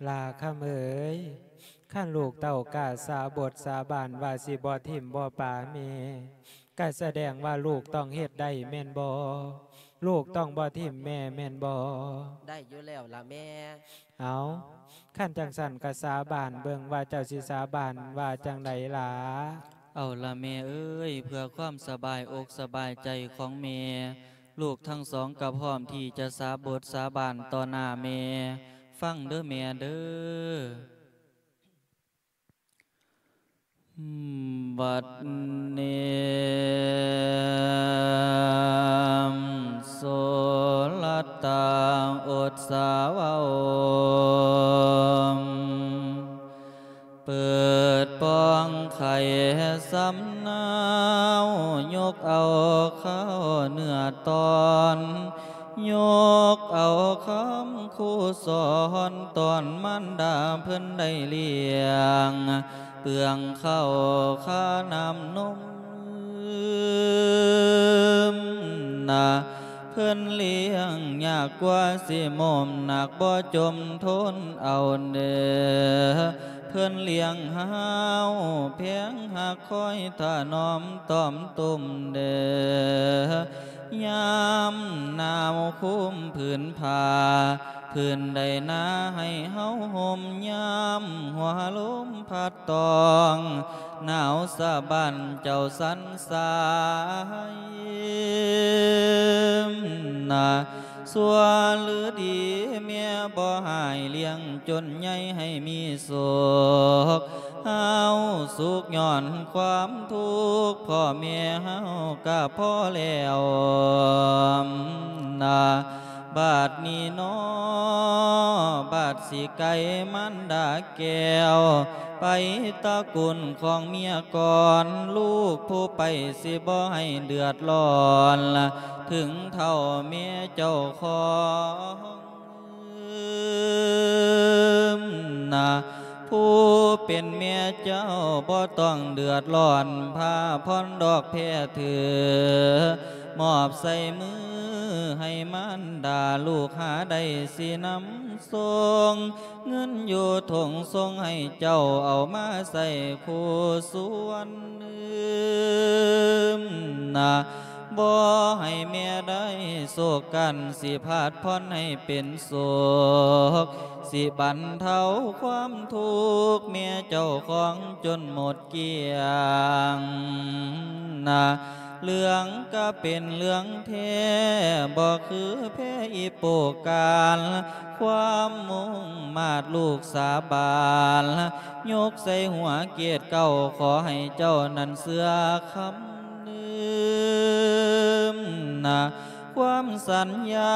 ຫຼ້າຄຳເອີຍ, ຄັນລູກເຕົ້າກ້າສາບົດສາບານວ່າຊິບໍ່ຖິ້ມບໍ່ປະແມ່, ກໍສະແດງວ່າລູກຕ້ອງເຮັດໄດ້ແມ່ນບໍ່? ລູກຕ້ອງບໍ່ຖິ້ມແມ່ແມ່ນບໍ່? ໄດ້ຢູ່ແລ້ວລະແມ່. ເອົາ, ຄັນຈັ່ງຊັ້ນກໍສາບານເບິ່ງວ່າເຈົ້າຊິສາບານວ່າຈັ່ງໃດຫຼ້າ. ເອົາລະແມ່ເອີຍ, ເພື່ອຄວາມສະບາຍອົກສະບາຍໃຈຂອງແມ່, ລູກທັງສອງກໍພ້ອມທີ່ຈະສາບົດສາບານຕໍ່ໜ້າແມ່. ຟັງເດີແມ່ເດີ. ບັດນີ້ ສຸລັດຕາ ອຸດສາວາໂອມ ເປີດປ່ອງໄຂສຳນາວ, ຍົກເອົາເຂົ້າເນື້ອຕອນ, ຍົກເອົາຄຳຄູສອນ ຕອນມານດາເພິ່ນໄດ້ລ້ຽງ, ເປືອງເຂົ້າຄານ້ຳນົມນະ. ເພິ່ນລ້ຽງຍາກກວ່າຊິໂມມໜັກ, ບໍ່ຈົມທົນເອົາເດີ. ເພິ່ນລ້ຽງຫາວແພງຮັກ, ຄອຍຖະໜອມຕ້ອມຕຸ່ມເດີ. ຍາມໜາວຄຸມຜືນຜ້າ, ຜືນໄດ້ໜາໃຫ້ເຮົາຫົ່ມ, ຍາມຫົວລົມພັດ ຕ້ອງໜາວສະບັ້ນເຈົ້າສັນສາຍນະ. ຊົ່ວຫຼືດີແມ່ບໍ່ຮ້າຍ, ລ້ຽງຈົນໃຫຍ່ໃຫ້ມີສຸກ, ເຮົາສຸກຍ້ອນຄວາມທຸກ, ພໍ່ແມ່ເຮົາກະພໍແລ້ວນະ. ບາດນີ້ນໍ ບາດຊິໄກມານດາແກ້ວ ໄປຕະກຸນຂອງເມຍກ່ອນ, ລູກຜູ້ໄປຊິບໍ່ໃຫ້ເດືອດຮ້ອນ ເຖິງເທົ່າແມ່ເຈົ້າຂອງນະ. ຜູ້ເປັນແມ່ເຈົ້າບໍ່ຕ້ອງເດືອດຮ້ອນ, ພາພອນດອກແພຖື ມອບໃສ່ມືໃຫ້ມານດາ, ລູກຫາໄດ້ຊິນຳສົ່ງ, ເງິນຢູ່ຖົງສົ່ງໃຫ້ເຈົ້າ ເອົາມາໃຊ້ຄູ່ສ່ວນນະ. ບໍ່ໃຫ້ແມ່ໄດ້ໂສກກັນ, ຊິພາດຜ່ອນໃຫ້ເປັນສຸກ, ຊິບັນເທົາຄວາມທຸກແມ່ເຈົ້າຂອງຈົນໝົດກ້ຽງນະ. ເລື່ອງກະເປັນເລື່ອງແທ້ ບໍ່ຄືແພອີໂປການ ຄວາມມຸ່ງມາດລູກສາບານ ຍົກໃສ່ຫົວເກດເກົ້າ ຂໍໃຫ້ເຈົ້ານັ້ນເຊື່ອຄຳ ລືມນະຄວາມສັນຍາ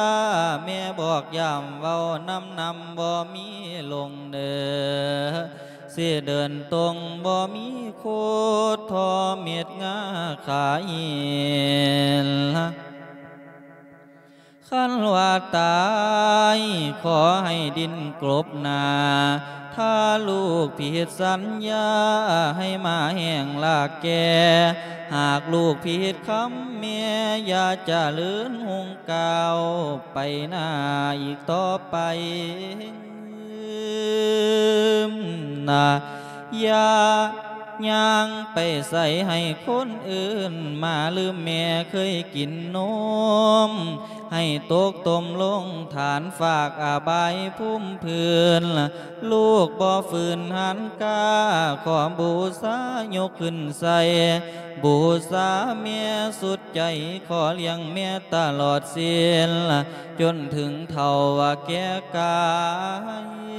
ແມ່ບອກຢ້ຳເວົ້ານຳນຳ ບໍ່ມີຫຼົງເດີ ຊິເດີນຕົງບໍ່ມີໂຄດ ທໍ່ເມັດງາຂາຫີນ ຄັນວ່າຕາຍ ຂໍໃຫ້ດິນກົບໜ້າ ຖ້າລູກຜິດສັນຍາ ໃຫ້ໝາແຫ້ງລາກແກ່ ຫາກລູກຜິດຄຳແມ່ ຢ່າຈະເລີນຮຸ່ງກ້າວ ໄປໜ້າອີກຕໍ່ໄປນະ ຢ່າ ຍ່າງໄປໃສໃຫ້ຄົນອື່ນ ມາລືມແມ່ເຄີຍກິນນົມ ໃຫ້ຕົກຕົມລົງຖານ ຝາກອະບາຍພູມພື້ນ ລູກບໍ່ຝືນຫັນກ້າ ຂໍບູຊາຍົກຂຶ້ນໃສ່ ບູຊາແມ່ສຸດໃຈ ຂໍລ້ຽງແມ່ຕະຫຼອດສິນ ຈົນເຖິງເຖົ້າວ່າແກ່ກາຍ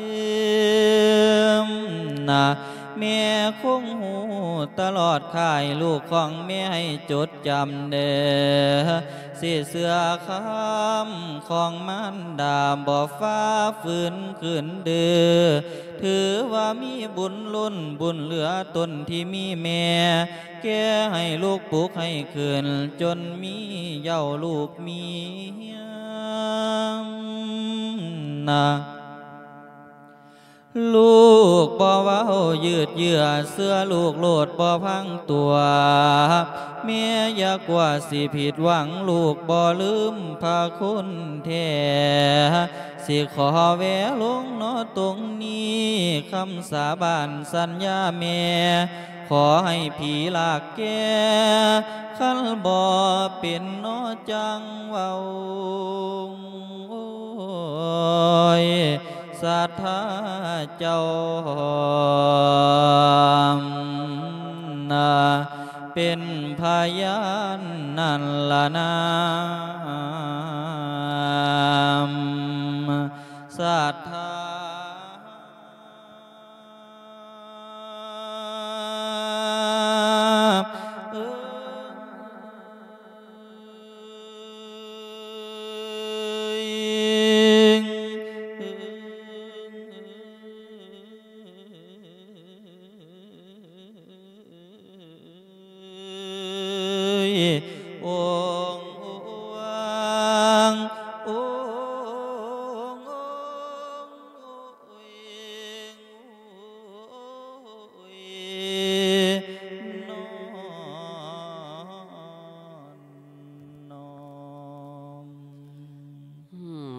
ນະ ແມ່ຄົງຮູ້ຕະຫຼອດຄ້າຍ ລູກຂອງແມ່ໃຫ້ຈົດຈຳເດີ ຊິເຊື່ອຄຳຂອງມານດາ ບໍ່ຝ່າຝືນຂືນດື້ ຖືວ່າມີບຸນລົ້ນບຸນເຫຼືອ ຕົນທີ່ມີແມ່ ແກ່ໃຫ້ລູກປຸກໃຫ້ຂຶ້ນ ຈົນມີເຍົາລູກມີຍນະ ລູກບໍ່ເວົ້າຍືດເຍື້ອ ເຊື່ອລູກໂລດບໍ່ພັງຕົວ ແມ່ຢ່າກົວຊິຜິດຫວັງ ລູກບໍ່ລືມພະຄຸນແທ້ ຊິຂໍແວະລົງເນາະຕົງນີ້ ຄຳສາບານສັນຍາແມ່ ຂໍໃຫ້ຜີລາກແກ່ ຄັນບໍ່ເປັນເນາະຈັ່ງເວົ້າ ໂອ້ຍ ສັດທາເຈົ້ານະ ເປັນພະຍານນັ້ນລະນາ ສັດທາ ເອີຍ ໂອງ ໂອງ ໂອງ ໂອງ ໂອງ ໂອງ ໂອງ ໂອງ ໂອງ ໂອງ ໂອງ ໂອງ ໂອງ ໂອງ ໂອ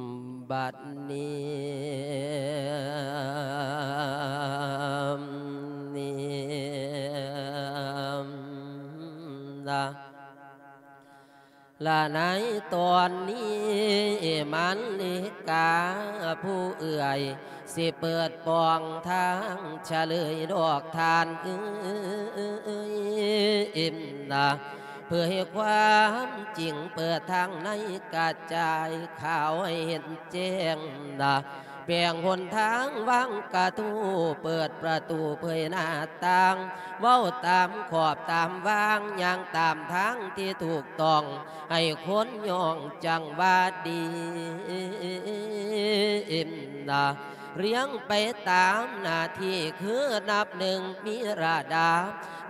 ງ ບັດນີ້ ນີ້ນະ ລະໃນຕອນນີ້ ມານລິກາຜູ້ເອື້ອຍ ຊິເປີດປ່ອງທາງ ຊະເລີຍດອກທ່ານເອີຍ ເອີຍ ເອີຍ ເອີຍນະ ເຜີຍຄວາມຈິງເປີດທາງໃນກະຈາຍຂ່າວໃຫ້ເຫັນແຈ້ງນະ ແບ່ງຫົນທາງວາງກະທູ ເປີດປະຕູເຜີຍໜ້າຕ່າງ ເວົ້າຕາມຂອບຕາມວາງ ຍ່າງຕາມທາງທີ່ຖືກຕ້ອງ ໃຫ້ຄົນຍ້ອງຈັ່ງວ່າດີນະ ລຽງໄປຕາມໜ້າທີ່ ຄືນັບໜຶ່ງມີລະດັບ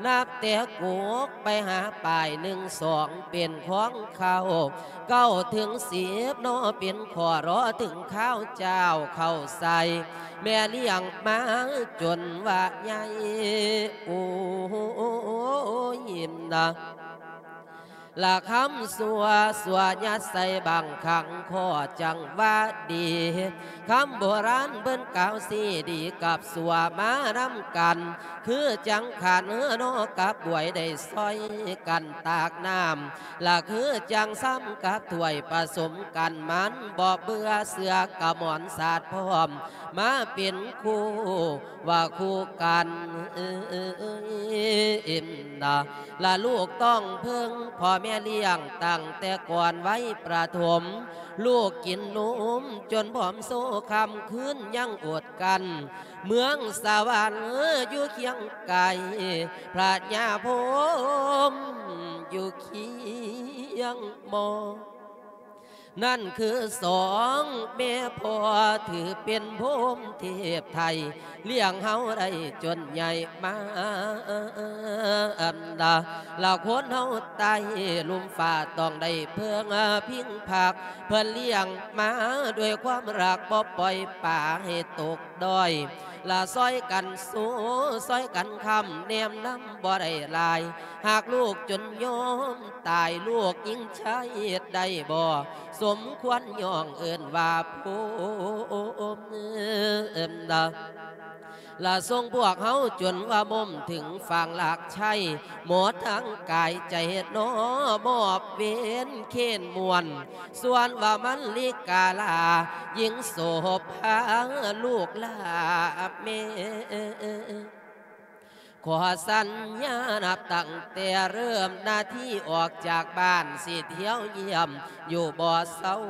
ນັບແຕ່ກົກໄປຫາປາຍ ໜຶ່ງ ສອງ ເປັນຂອງເຂົາ ເກົ້າ ເຖິງ ສິບ ເນາະ ເປັນຂໍ້ ລໍ ເຖິງຄາວເຈົ້າເຂົ້າໃສ່ ແມ່ລ້ຽງມາຈົນວ່າໃຫຍ່ ໂອ້ຍນະ ລະຄຳຊົ່ວ ຊົ່ວຍັດໃສ່ບັງຄັງ ຂໍຈັ່ງວ່າດີ ຄຳໂບລານເພິ່ນກ່າວຊີ້ດີກັບຊົ່ວມານຳກັນ ຄືຈັ່ງຂັນເຮືອນອກັບບວຍໄດ້ຊ່ອຍກັນຕາກນ້ຳ ລະຄືຈັ່ງຊຳກັບຖ້ວຍປະສົມກັນ ມັນບໍ່ເບື່ອເຊື່ອກະໝອນສາດພ້ອມ ມາເປັນຄູ່ວ່າຄູ່ກັນ ເອີຍ ເອີຍ ເອີຍ ເອີຍນະ ລະລູກຕ້ອງເພິ່ງພໍ່ ແມ່ລ້ຽງຕັ້ງແຕ່ກ່ອນໄວປະຖົມ ລູກກິນນົມຈົນຜອມໂຊ ຄ່ຳຄືນຍັງອົດກັ້ນ ເມືອງສະຫວັນຢູ່ຄຽງໄກ ພະຍາພົມຢູ່ຄຽງມໍ ນັ້ນຄືສອງແມ່ພໍ່ ຖືເປັນພົມເທບໄທ ລ້ຽງເຮົາໄດ້ຈົນໃຫຍ່ມາ ລະຄົນເຮົາໃຕ້ລຸ່ມຟ້າ ຕ້ອງໄດ້ເພິ່ງພິງພັກ ເພິ່ນລ້ຽງມາດ້ວຍຄວາມຮັກ ບໍ່ປ່ອຍປາໃຫ້ຕົກດ້ອຍ ລະຊ່ອຍກັນສູ້ ຊ່ອຍກັນຄ້ຳ ແນມນຳບໍ່ໄດ້ຫຼາຍ ຫາກລູກຈົນຍອມຕາຍ ລູກຍິງຊາຍເຮັດໄດ້ບໍ່ ສົມຄວນຍ້ອງເອີ້ນວ່າພົມ ລະສົ່ງພວກເຮົາຈົນວ່າມົມເຖິງຝັ່ງລາກໄຊ ໝົດທັງກາຍໃຈເນາະ ມອບເວນເຄນມ່ວນ ສ່ວນວ່າມັນລິກາລາ ຍິງໂສພາລູກລາແມ່ ຂໍສັນຍານັບຕັ້ງແຕ່ເລີ່ມນາທີອອກຈາກບ້ານ ຊິທ່ຽວຢ້ຽມຢູ່ບໍ່ເຊົາ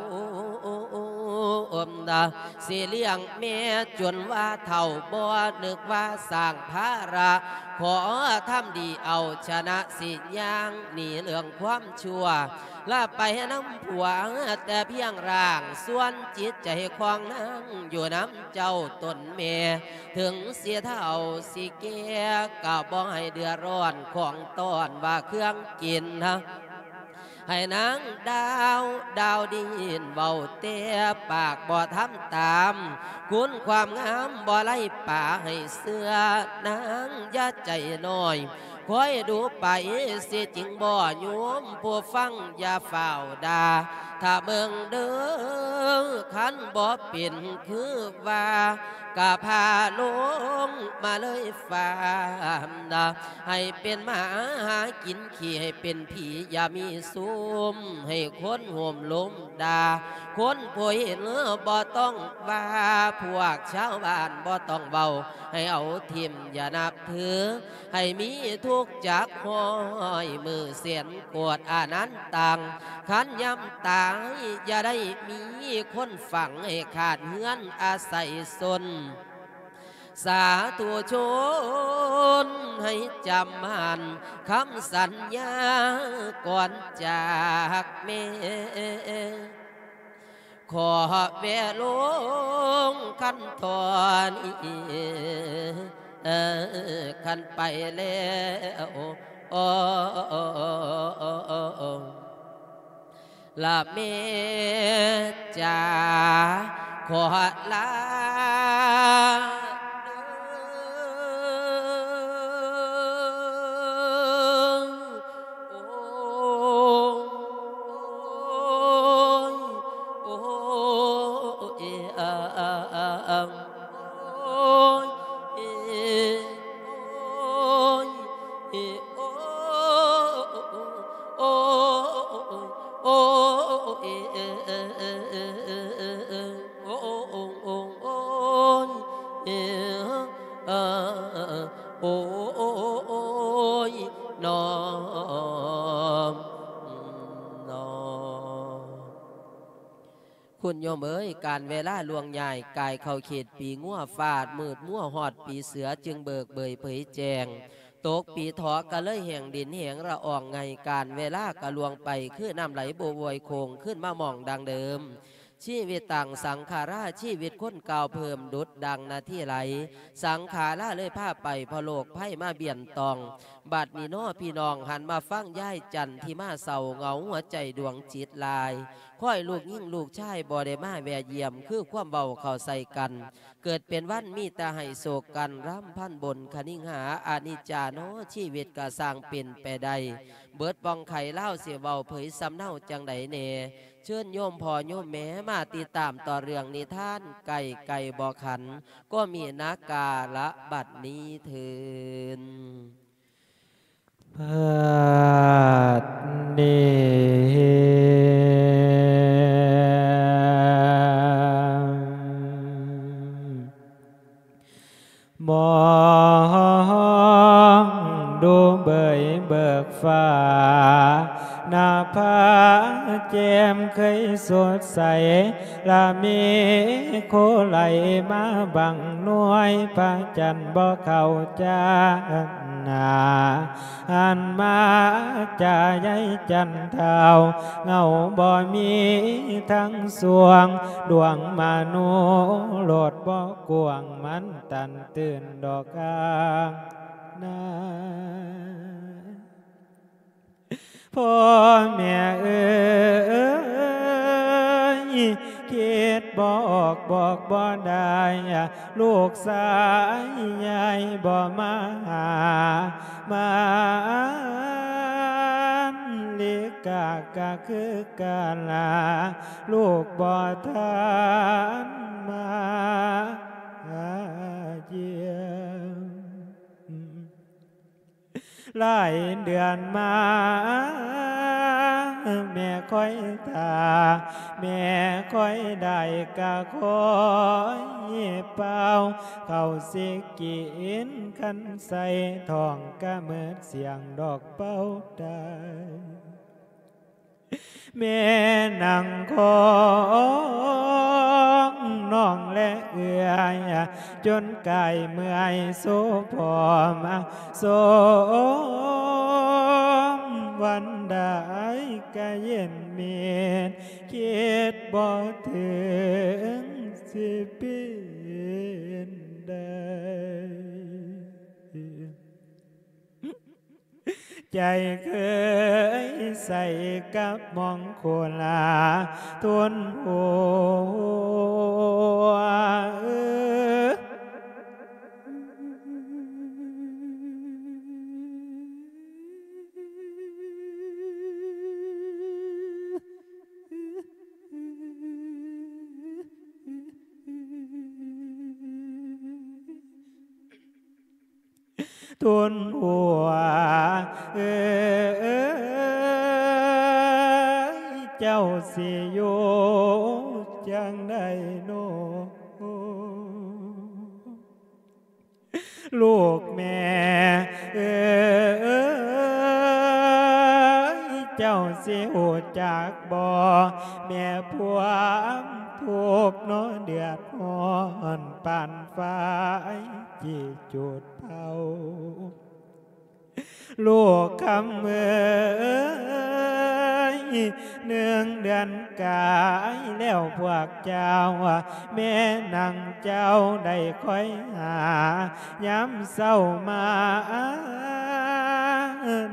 ຊິລ້ຽງແມ່ຈົນວ່າເຖົ້າ ບໍ່ນຶກວ່າສ້າງພາລະ ຂໍທຳດີເອົາຊະນະ ຊິຍ່າງໜີເລື່ອງຄວາມຊົ່ວ ລະໄປນຳຜົວແຕ່ພຽງຮ່າງ ສ່ວນຈິດໃຈຂອງນາງຢູ່ນຳເຈົ້າຕົນແມ່ ເຖິງຊິເຖົ້າຊິແກ່ ກໍບໍ່ໃຫ້ເດືອດຮ້ອນຂອງຕ້ອນວ່າເຄື່ອງກິນ ໃຫ້ນາງດາວດາວດິນເວົ້າແຕ່ປາກ ບໍ່ທຳຕາມ ຄຸນຄວາມງາມບໍ່ໄລ່ປາ ໃຫ້ເຊື່ອນາງຢ່າໃຈນ້ອຍ ຄອຍດູໄປ ຊິຈິງບໍ່ຍວມ ຜູ້ຟັງຢ່າຟ້າວດ່າ ຖ້າເບິ່ງເດີ ຄັນບໍ່ເປັນຄືວ່າ ກະພາລົງມາເລີຍຟາມນະ ໃຫ້ເປັນໝາຫາກິນຂີ້ ໃຫ້ເປັນຜີຢ່າມີຊຸມ ໃຫ້ຄົນໂຫມລົມດ່າ ຄົນຜູ້ເຫັນບໍ່ຕ້ອງວ່າ ພວກຊາວບ້ານບໍ່ຕ້ອງເວົ້າ ໃຫ້ເອົາຖິ້ມຢ່ານັບຖື ໃຫ້ມີທຸກຈັກຮ້ອຍມື້ແສນໂກດອະນັນຕັງ ຄັນຍາມຕາຍຢ່າໄດ້ມີຄົນຝັງ ໃຫ້ຂາດເຮືອນອາໄສຊົນ ສາທຸຊົນໃຫ້ຈຳໝັ້ນຄຳສັນຍາກ່ອນຈາກແມ່ ຂໍແວ່ລົງຄັນທໍ່ນີ້ ຄັນໄປແລ້ວ ລະແມ່ຈ໋າ ຂໍລາເດີ ໂອ້ຍ ໂອ້ຍ ໂອ້ຍ ເອ ອາ ໂອ້ຍ ເອ ໂອ້ຍ ເອ ໂອ້ຍ ໂອ້ຍ ໂອ້ຍ ເອ ເອ ເອ ເອ ເອ ເອ ເອ ໂອ້ ໂອ້ ໂອ້ ໂອ້ ໂອ້ ເອ ເອ ໂອ້ ໂອ້ ໂອ້ຍ ນ້ອງ ນ້ອງ. ຄຸນໂຍມເອີຍ ການເວລາລ່ວງຍ້າຍ ກາຍເຂົ້າເຂດປີງົວ ຟ້າມືດມົວ ຮອດປີເສືອຈຶ່ງເບີກເບີຍເຜີຍແຈ້ງ ຕົກປີຖໍກະເລີຍແຫ້ງ ດິນແຫ້ງລະອອງໄງ່ ການເວລາກະລ່ວງໄປ ຄືນ້ຳໄຫຼບໍ່ໂວຍໂຄ້ງ ຄືນມາໝ່ອງດັ່ງເດີມ ຊີວິດຕັງສັງຂາລາ ຊີວິດຄົນກ່າວເພີ່ມ ດຸດດັ່ງນາທີໄຫຼ ສັງຂາລາເລີຍພາໄປ ເພາະໂລກໄພມາບຽນຕ້ອງ ບັດນີ້ນໍພີ່ນ້ອງ ຫັນມາຟັງຍາຍຈັນທິມາເສົ້າ ເຫງົາຫົວໃຈດວງຈິດຫຼາຍ ຄອຍລູກຍິງລູກຊາຍ ບໍ່ໄດ້ມາແວ່ຢ້ຽມ ຄືຄວາມເວົ້າເຂົ້າໃສ່ກັນ ເກີດເປັນວັນມີແຕ່ໃຫ້ໂສກກັນ ລຳພັນບົນຄະນິງຫາ ອະນິດຈານໍ ຊີວິດກະຊ່າງເປັນໄປໄດ້ ເບິດປ່ອງໄຂລາວ ຊິເວົ້າເຜີຍສຳເນົາຈັ່ງໃດແດ່ ເຊີນໂຍມພໍ່ໂຍມແມ່ ມາຕິດຕາມຕໍ່ເລື່ອງນິທານ ໄກ່ໄກ່ບໍ່ຂັນ ກໍມີນາກາລະບັດນີ້ເທີ້ນ. ບັດນີ້ມອງດູເບີຍ ເບີກຟ້າ ນະພາແຈ່ມເຄີຍສົດໃສ ລະມີໂຄໄຫຼມາບັງໜ່ວຍ ພະຈັນບໍ່ເຂົ້າຈານໜ້າ ຫັນມາຈາໃຍຈັນທ້າວ ເງົາບໍ່ມີທັງສວງ ດວງມະໂນລົດບໍ່ກວ້າງ ມັນຕັນຕື່ນດອກອານາ. ພໍ່ແມ່ເອີຍ ຄິດບໍ່ອອກບອກບໍ່ໄດ້ ລູກຊາຍໃຫຍ່ບໍ່ມາຫາ ມານລິກາກະຄືກາລາ ລູກບໍ່ທັນມາຫາຢ້ຽມ. ຫຼາຍເດືອນມາ ແມ່ຄອຍຖ້າ ແມ່ຄອຍໄດ້ກະຄອຍເຝົ້າ ເຂົ້າຊິກິນຄັນໃສ່ທ້ອງ ກະເໝິດສ່ຽງດອກເປົ່າໄດ້. ແມ່ນັ່ງຄອງນ້ອງແລເອື້ອຍ ຈົນກາຍເມື່ອຍໂຊພ້ອມ ໂຊມວັນໃດກະເຢັນເມດ ຄິດບໍ່ເຖິງຊິເປັນໄດ້. ໃຈເຄີຍໃສ່ກັບມອງໂຄລາ ທົນຫົວ ທົນຫົວເອີຍ ເຈົ້າຊິຢູ່ຈັ່ງໃດໂນ ລູກແມ່ເອີຍ ເຈົ້າຊິຮູ້ຈັກບໍ່ ແມ່ພວາມທຸກເນາະ ເດືອດຮ້ອນປານ ໄຟທີ່ຈູດເຜົາ ລູກຄຳເອີຍ ໜຶ່ງເດືອນກາຍແລ້ວພວກເຈົ້າ ແມ່ນາງເຈົ້າໄດ້ຄອຍຫາ ຍາມເຊົ້າມາ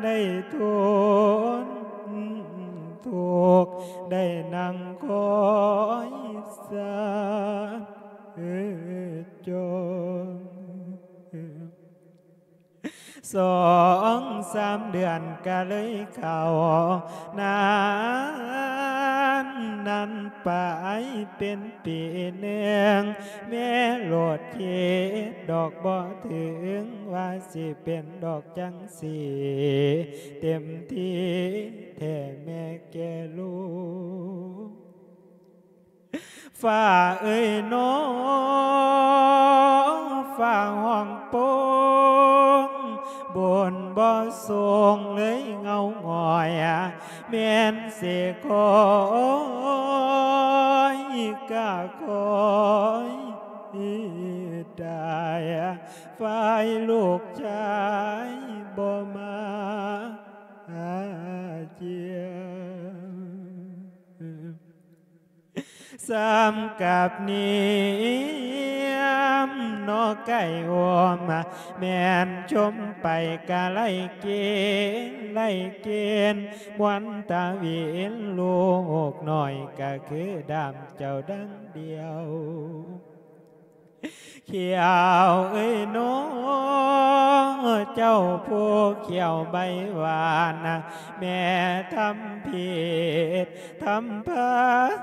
ໄດ້ທົນທຸກ ໄດ້ນັ່ງຄອຍສາ ເອີ ຈົນ ສອງສາມເດືອນກະເລີຍເຂົ້ານານ ນັ້ນໄປເປັນປີໜຶ່ງ ແມ່ໂລດຄິດດອກບໍ່ເຖິງ ວ່າຊິເປັນດອກຈັ່ງຊີ້ ເຕັມທີ່ແທ້ແມ່ແກ່ລູກ. ຟ້າເອີຍໜໍ ຟ້າຮ້ອງໂປ່ງ ບຸນບໍ່ສົ່ງເລີຍເງົາຫງອຍ ແມ່ນຊິຄອຍກະຄອຍຕາຍ ຝ່າຍລູກຊາຍບໍ່ມາຫາຢ້ຽມ. ສ່ຳກັບນິຍາມເນາະໄກ່ໂອມ ແມ່ນຊົມໄປກະໄລ່ເກນ ໄລ່ເກນ ມ່ວນຕາວິນ ລູກນ້ອຍກະຄືດາມເຈົ້າດັ່ງດຽວ. ຂຽວເອີຍເນາະ ເຈົ້າຜູ້ຂຽວໃບຫວານ ແມ່ທຳຜິດທຳພາດ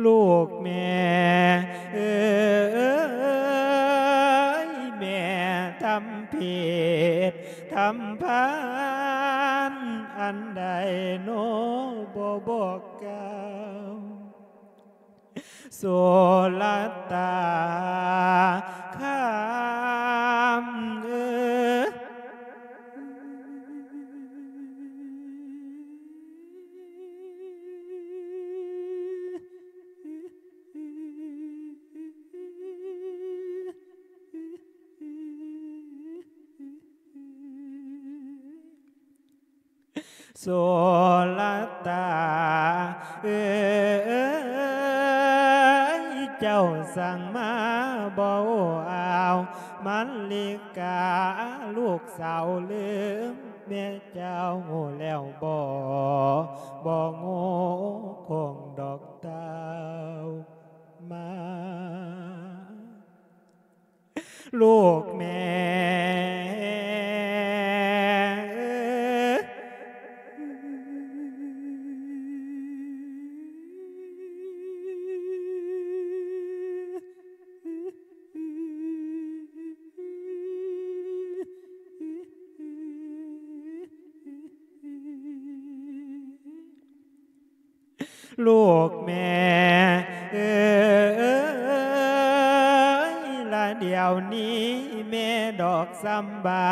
ລູກແມ່ເອີຍ ຳຜິດທຳພານອັນໃດໂນ ບໍ່ບອກກ່າວ ໂສລະຕາຄາມເອີຍ. ໂສລະຕາເອີຍ ເຈົ້າສັ່ງມາບໍ່ເອົາ ມະລິກາລູກສາວລືມແມ່ເຈົ້າແລ້ວບໍ່? ບໍ່ໂງ່ຄົງດອກທ້າວມາ ລູກແມ່ເອີຍ ລູກແມ່ເອີຍ ລະດຽວນີ້ແມ່ດອກຊຳບາ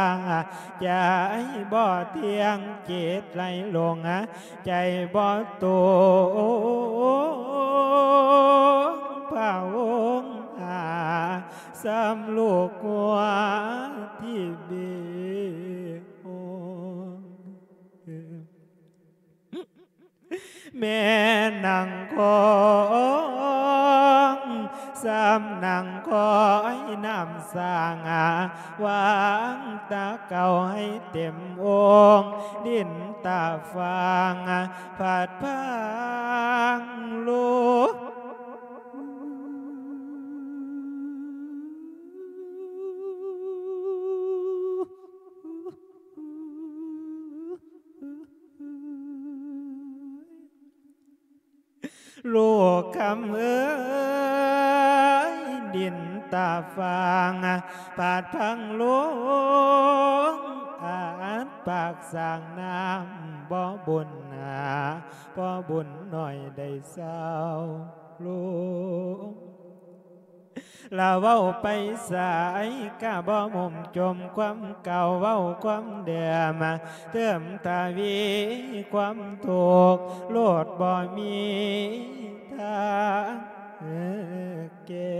ໃຈບໍ່ທ່ຽງ ຈິດໄຫຼຫຼົງ ໃຈບໍ່ຕົງ ພະອົງຫາ ຊຳລູກຫົວທີ່ເບໂອ ແມ່ນັ່ງຄອງ ຊຳນັ່ງຄອຍນ້ຳສ້າງ ວາງຕາເກົ່າໃຫ້ເຕັມອົງ ດິນຕາຟາງ ພັດພາງລູກ ລູກຄຳເອີຍ ດິນຕາຟາງ ພາດພັງລົງ ອາດປາກສ້າງນ້ຳ ບໍ່ບຸນໜາ ບໍ່ບຸນໜ້ອຍໄດ້ເຊົາລົງ. ລະເວົ້າໄປໃສກະບໍ່ໝຸ່ມຈົມຄວາມເກົ່າ ເວົ້າຄວາມເດີມ ເຕີມທະວີຄວາມທຸກ ໂລດບໍ່ມີທາງແກ້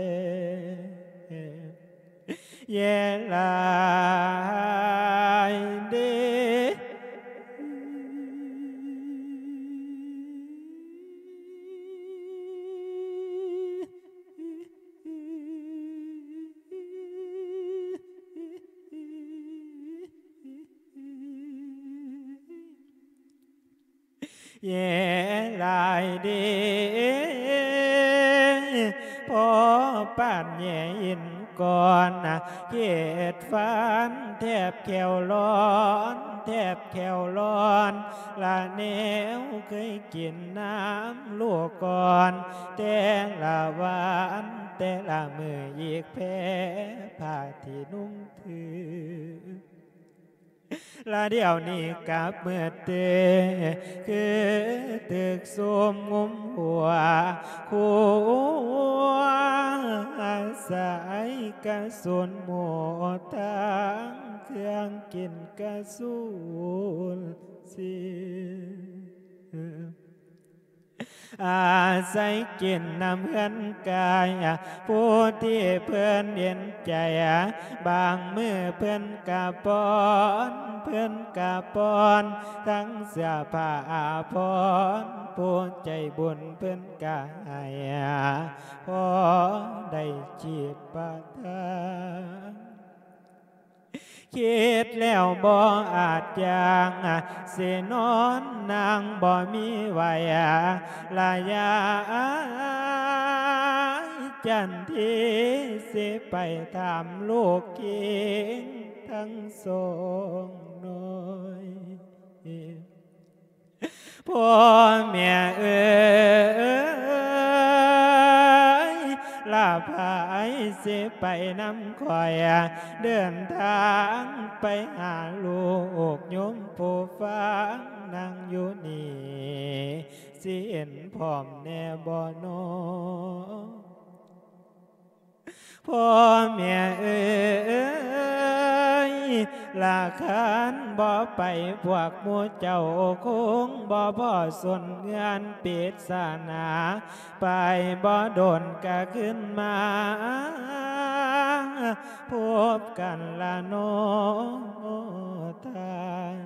ແຍ່ຫຼາຍເດ. ແຍ່ຫຼາຍເດ ພໍປານແຍ່ຫີນກ້ອນ ເຂດຟັນແທບແຂ້ວຮ້ອນ ແທບແຂ້ວຮ້ອນ ລະແນວເຄີຍກິນນ້ຳລູກກ່ອນ ແຕ່ລະວັນແຕ່ລະມື້ ອີກແພ້ຜ້າທີ່ນຸ່ງຖື ລະດຽວນີ້ກັບມືເຕ ຄືຖືກຊຸມງຸມຫົວ ຫົວໃສ່ກະສຸນໝົດ ທັງເຄື່ອງກິນກະສູນສິ້ນ ອາໄສກິນນຳເຮືອນກາຍ ຜູ້ທີ່ເພິ່ນເຫັນໃຈ ບາງມື້ເພິ່ນກະປ້ອນ ເພິ່ນກະປ້ອນ ທັງເສື້ອຜ້າອາພອນ ຜູ້ໃຈບຸນເພິ່ນກະໃຫ້ ພໍໄດ້ຈີບປະທານ. ຄິດແລ້ວບໍ່ອາດຢັ້ງ ຊິນອນນັ່ງບໍ່ມີໄຫວ ລະຢາຍຈັນທີ ຊິໄປຖາມລູກຄິງທັງສອງໜ້ອຍ. ພໍ່ແມ່ເອີຍ ລະໃຜ ຊິໄປນຳຂ້ອຍ ເດີນທາງໄປຫາລູກໂຍມຜູ້ຟັງ ນັ່ງຢູ່ນີ້ ຊິເຫັນພ້ອມແດ່ບໍ່ນໍ? ພໍ່ແມ່ເອີຍ ລະຄັນບໍ່ໄປ ພວກໝູ່ເຈົ້າຄົງບໍ່ພໍສົນເຮືອນປິດສາໜາ ໄປບໍ່ດົນກະຄືນມາພົບກັນລະນໍທ່ານ.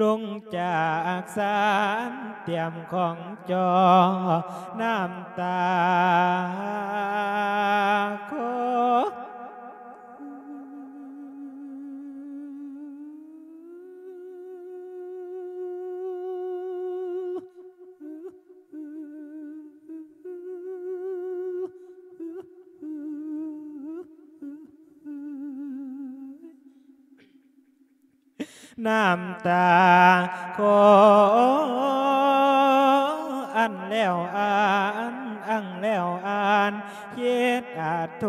ລົງຈາກສານ ຕຽມຂອງຈ່ອ ນ້ຳຕາຄໍ. ນ້ຳຕາຄໍ ອັ່ນແລ້ວອັ່ນ ອັ່ງແລ້ວອັ່ນ ຄິດອາໂທ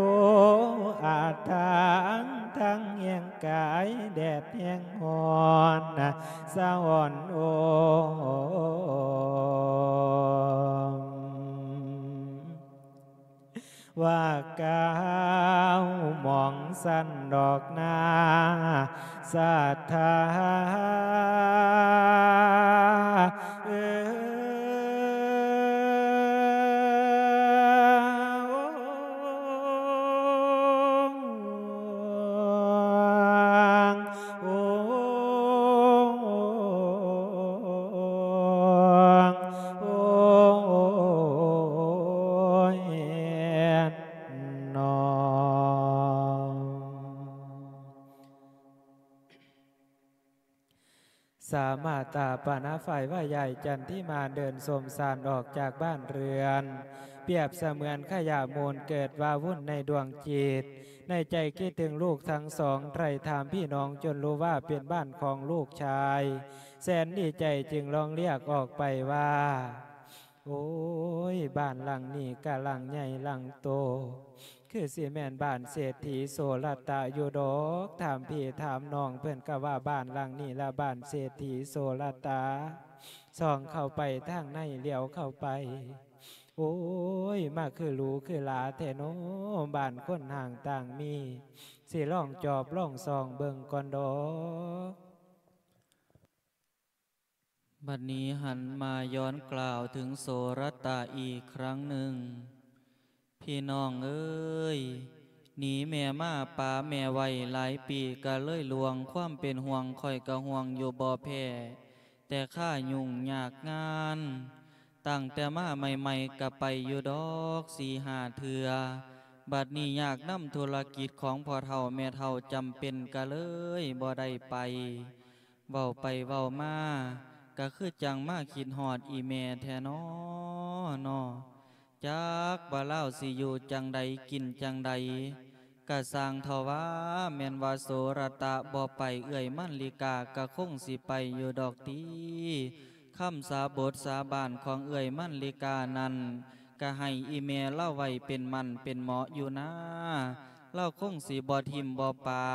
ອາຖາງ ທັງແຮງກາຍແດດແຮງຮ້ອນ ສະຫອນໂອມ. ວ່າກ້າວມອງສັນດອກໜ້າສັດທາເອີຍ. ໂອ້ ໂອ້ ໂອ້ຍນໍ. ສາມາຕາປານາ ຝ່າຍວ່າຍາຍຈັນທິມາ ເດີນສົມສານອອກຈາກບ້ານເຮືອນ ປຽບສະເໝືອນຂະຫຍະມູນເກີດວາວຸ່ນໃນດວງຈິດ ໃນໃຈຄິດເຖິງລູກທັງສອງ ໄຖ່ຖາມພີ່ນ້ອງຈົນຮູ້ວ່າເປັນບ້ານຂອງລູກຊາຍ ແສນດີໃຈຈຶ່ງຮ້ອງລຽກອອກໄປວ່າ ໂອ້ຍ ບ້ານຫຼັງນີ້ກະຫຼັງໃຫຍ່ຫຼັງໂຕ ຄືຊິແມ່ນບ້ານເສດຖີໂສລະຕະຢູ່ດອກ. ຖາມພີ່ຖາມນ້ອງເພິ່ນກະວ່າບ້ານຫຼັງນີ້ລະບ້ານເສດຖີໂສລະຕະ. ສ່ອງເຂົ້າໄປທາງໃນ ຫຼຽວເຂົ້າໄປ ໂອ້ຍ ມາຄືຫຼູຄືຫຼາແທ້ນໍ ບ້ານຄົນຮ່າງຕ່າງມີ ຊິລອງຈອບລອງສ່ອງເບິ່ງກ່ອນດອກ. ບັດນີ້ຫັນມາຍ້ອນກ່າວເຖິງໂສລະຕະອີກຄັ້ງໜຶ່ງ. ພີ່ນ້ອງເອີຍ, ໜີແມ່ມາປະແມ່ໄວ້ຫຼາຍປີກະເລີຍລ່ວງ, ຄວາມເປັນຫ່ວງຂ້ອຍກະຫ່ວງຢູ່ບໍ່ແພ້, ແຕ່ຄາຫຍຸ້ງຍາກງານ, ຕັ້ງແຕ່ມາໃໝ່ໆກະໄປຢູ່ດອກສີ່ຫ້າເທື່ອ, ບັດນີ້ຍາກນຳທຸລະກິດຂອງພໍ່ເຖົ້າແມ່ເຖົ້າຈຳເປັນ ກະເລີຍບໍ່ໄດ້ໄປ. ເວົ້າໄປເວົ້າມາ ກະຄືຈັ່ງມາຄິດຮອດອີ່ແມ່ແທ້ນໍ ນໍ. ຈັກວ່າລາວຊິຢູ່ຈັ່ງໃດກິນຈັ່ງໃດ ກະຊ່າງເຖົ້າວ່າ ແມ່ນວ່າໂສລະຕະບໍ່ໄປ ເອື້ອຍມັນລິກາກະຄົງຊິໄປຢູ່ດອກຕິ. ຄຳສາບົດສາບານຂອງເອື້ອຍມັນລິການັ້ນ ກະໃຫ້ອີ່ແມ່ລາວໄວ້ເປັນໝັ້ນເປັນເໝາະຢູ່ນາ. ລາວຄົງຊິບໍ່ຖິ້ມບໍ່ປາ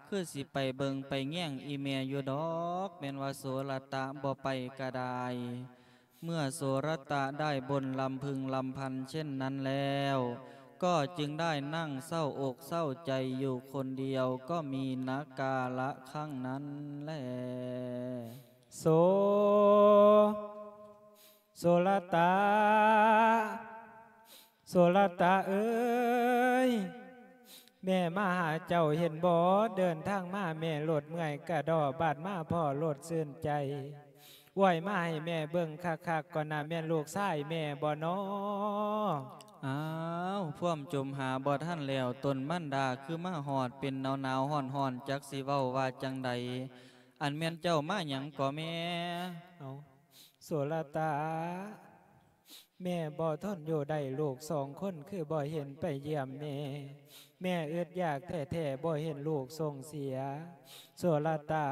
ຄືຊິໄປເບິ່ງໄປແຍງອີ່ແມ່ຢູ່ດອກ ແມ່ນວ່າໂສລະຕະບໍ່ໄປກະໄດ້. ເມື່ອໂສລະຕະໄດ້ບົນລຳພຶງລຳພັນເຊັ່ນນັ້ນແລ້ວ ກໍຈຶ່ງໄດ້ນັ່ງເສົ້າອົກເສົ້າໃຈຢູ່ຄົນດຽວ ກໍມີນະກາລະຄັ້ງນັ້ນແລ. ໂສ ໂສລະຕະ ໂສລະຕະເອີຍ, ແມ່ມາຫາເຈົ້າເຫັນບໍ່? ເດີນທາງມາແມ່ລົດເມື່ອຍກະດໍ້, ບາດມາພໍ້ລົດຊື່ນໃຈ. ອວຍມາໃຫ້ແມ່ເບິ່ງຄັກໆກ່ອນນະ, ແມ່ນລູກຊາຍແມ່ບໍ່ນໍ? ອ້າວ, ພວມຈົມຫາບໍ່ທັນແລ້ວ, ຕົນມັນດາຄືມາຮອດ, ເປັນໜາວໆຮ້ອນໆ, ຈັກຊິເວົ້າວ່າຈັ່ງໃດ. ອັນແມ່ນເຈົ້າມາຫຍັງກໍແມ່? ເອົາ ໂສລະຕາ, ແມ່ບໍ່ທົນຢູ່ໄດ້, ລູກສອງຄົນຄືບໍ່ເຫັນໄປຢ້ຽມແມ່. ແມ່ອຶດຢາກແທ້ໆ, ບໍ່ເຫັນລູກສົ່ງເສຍ. ໂສລະຕາ,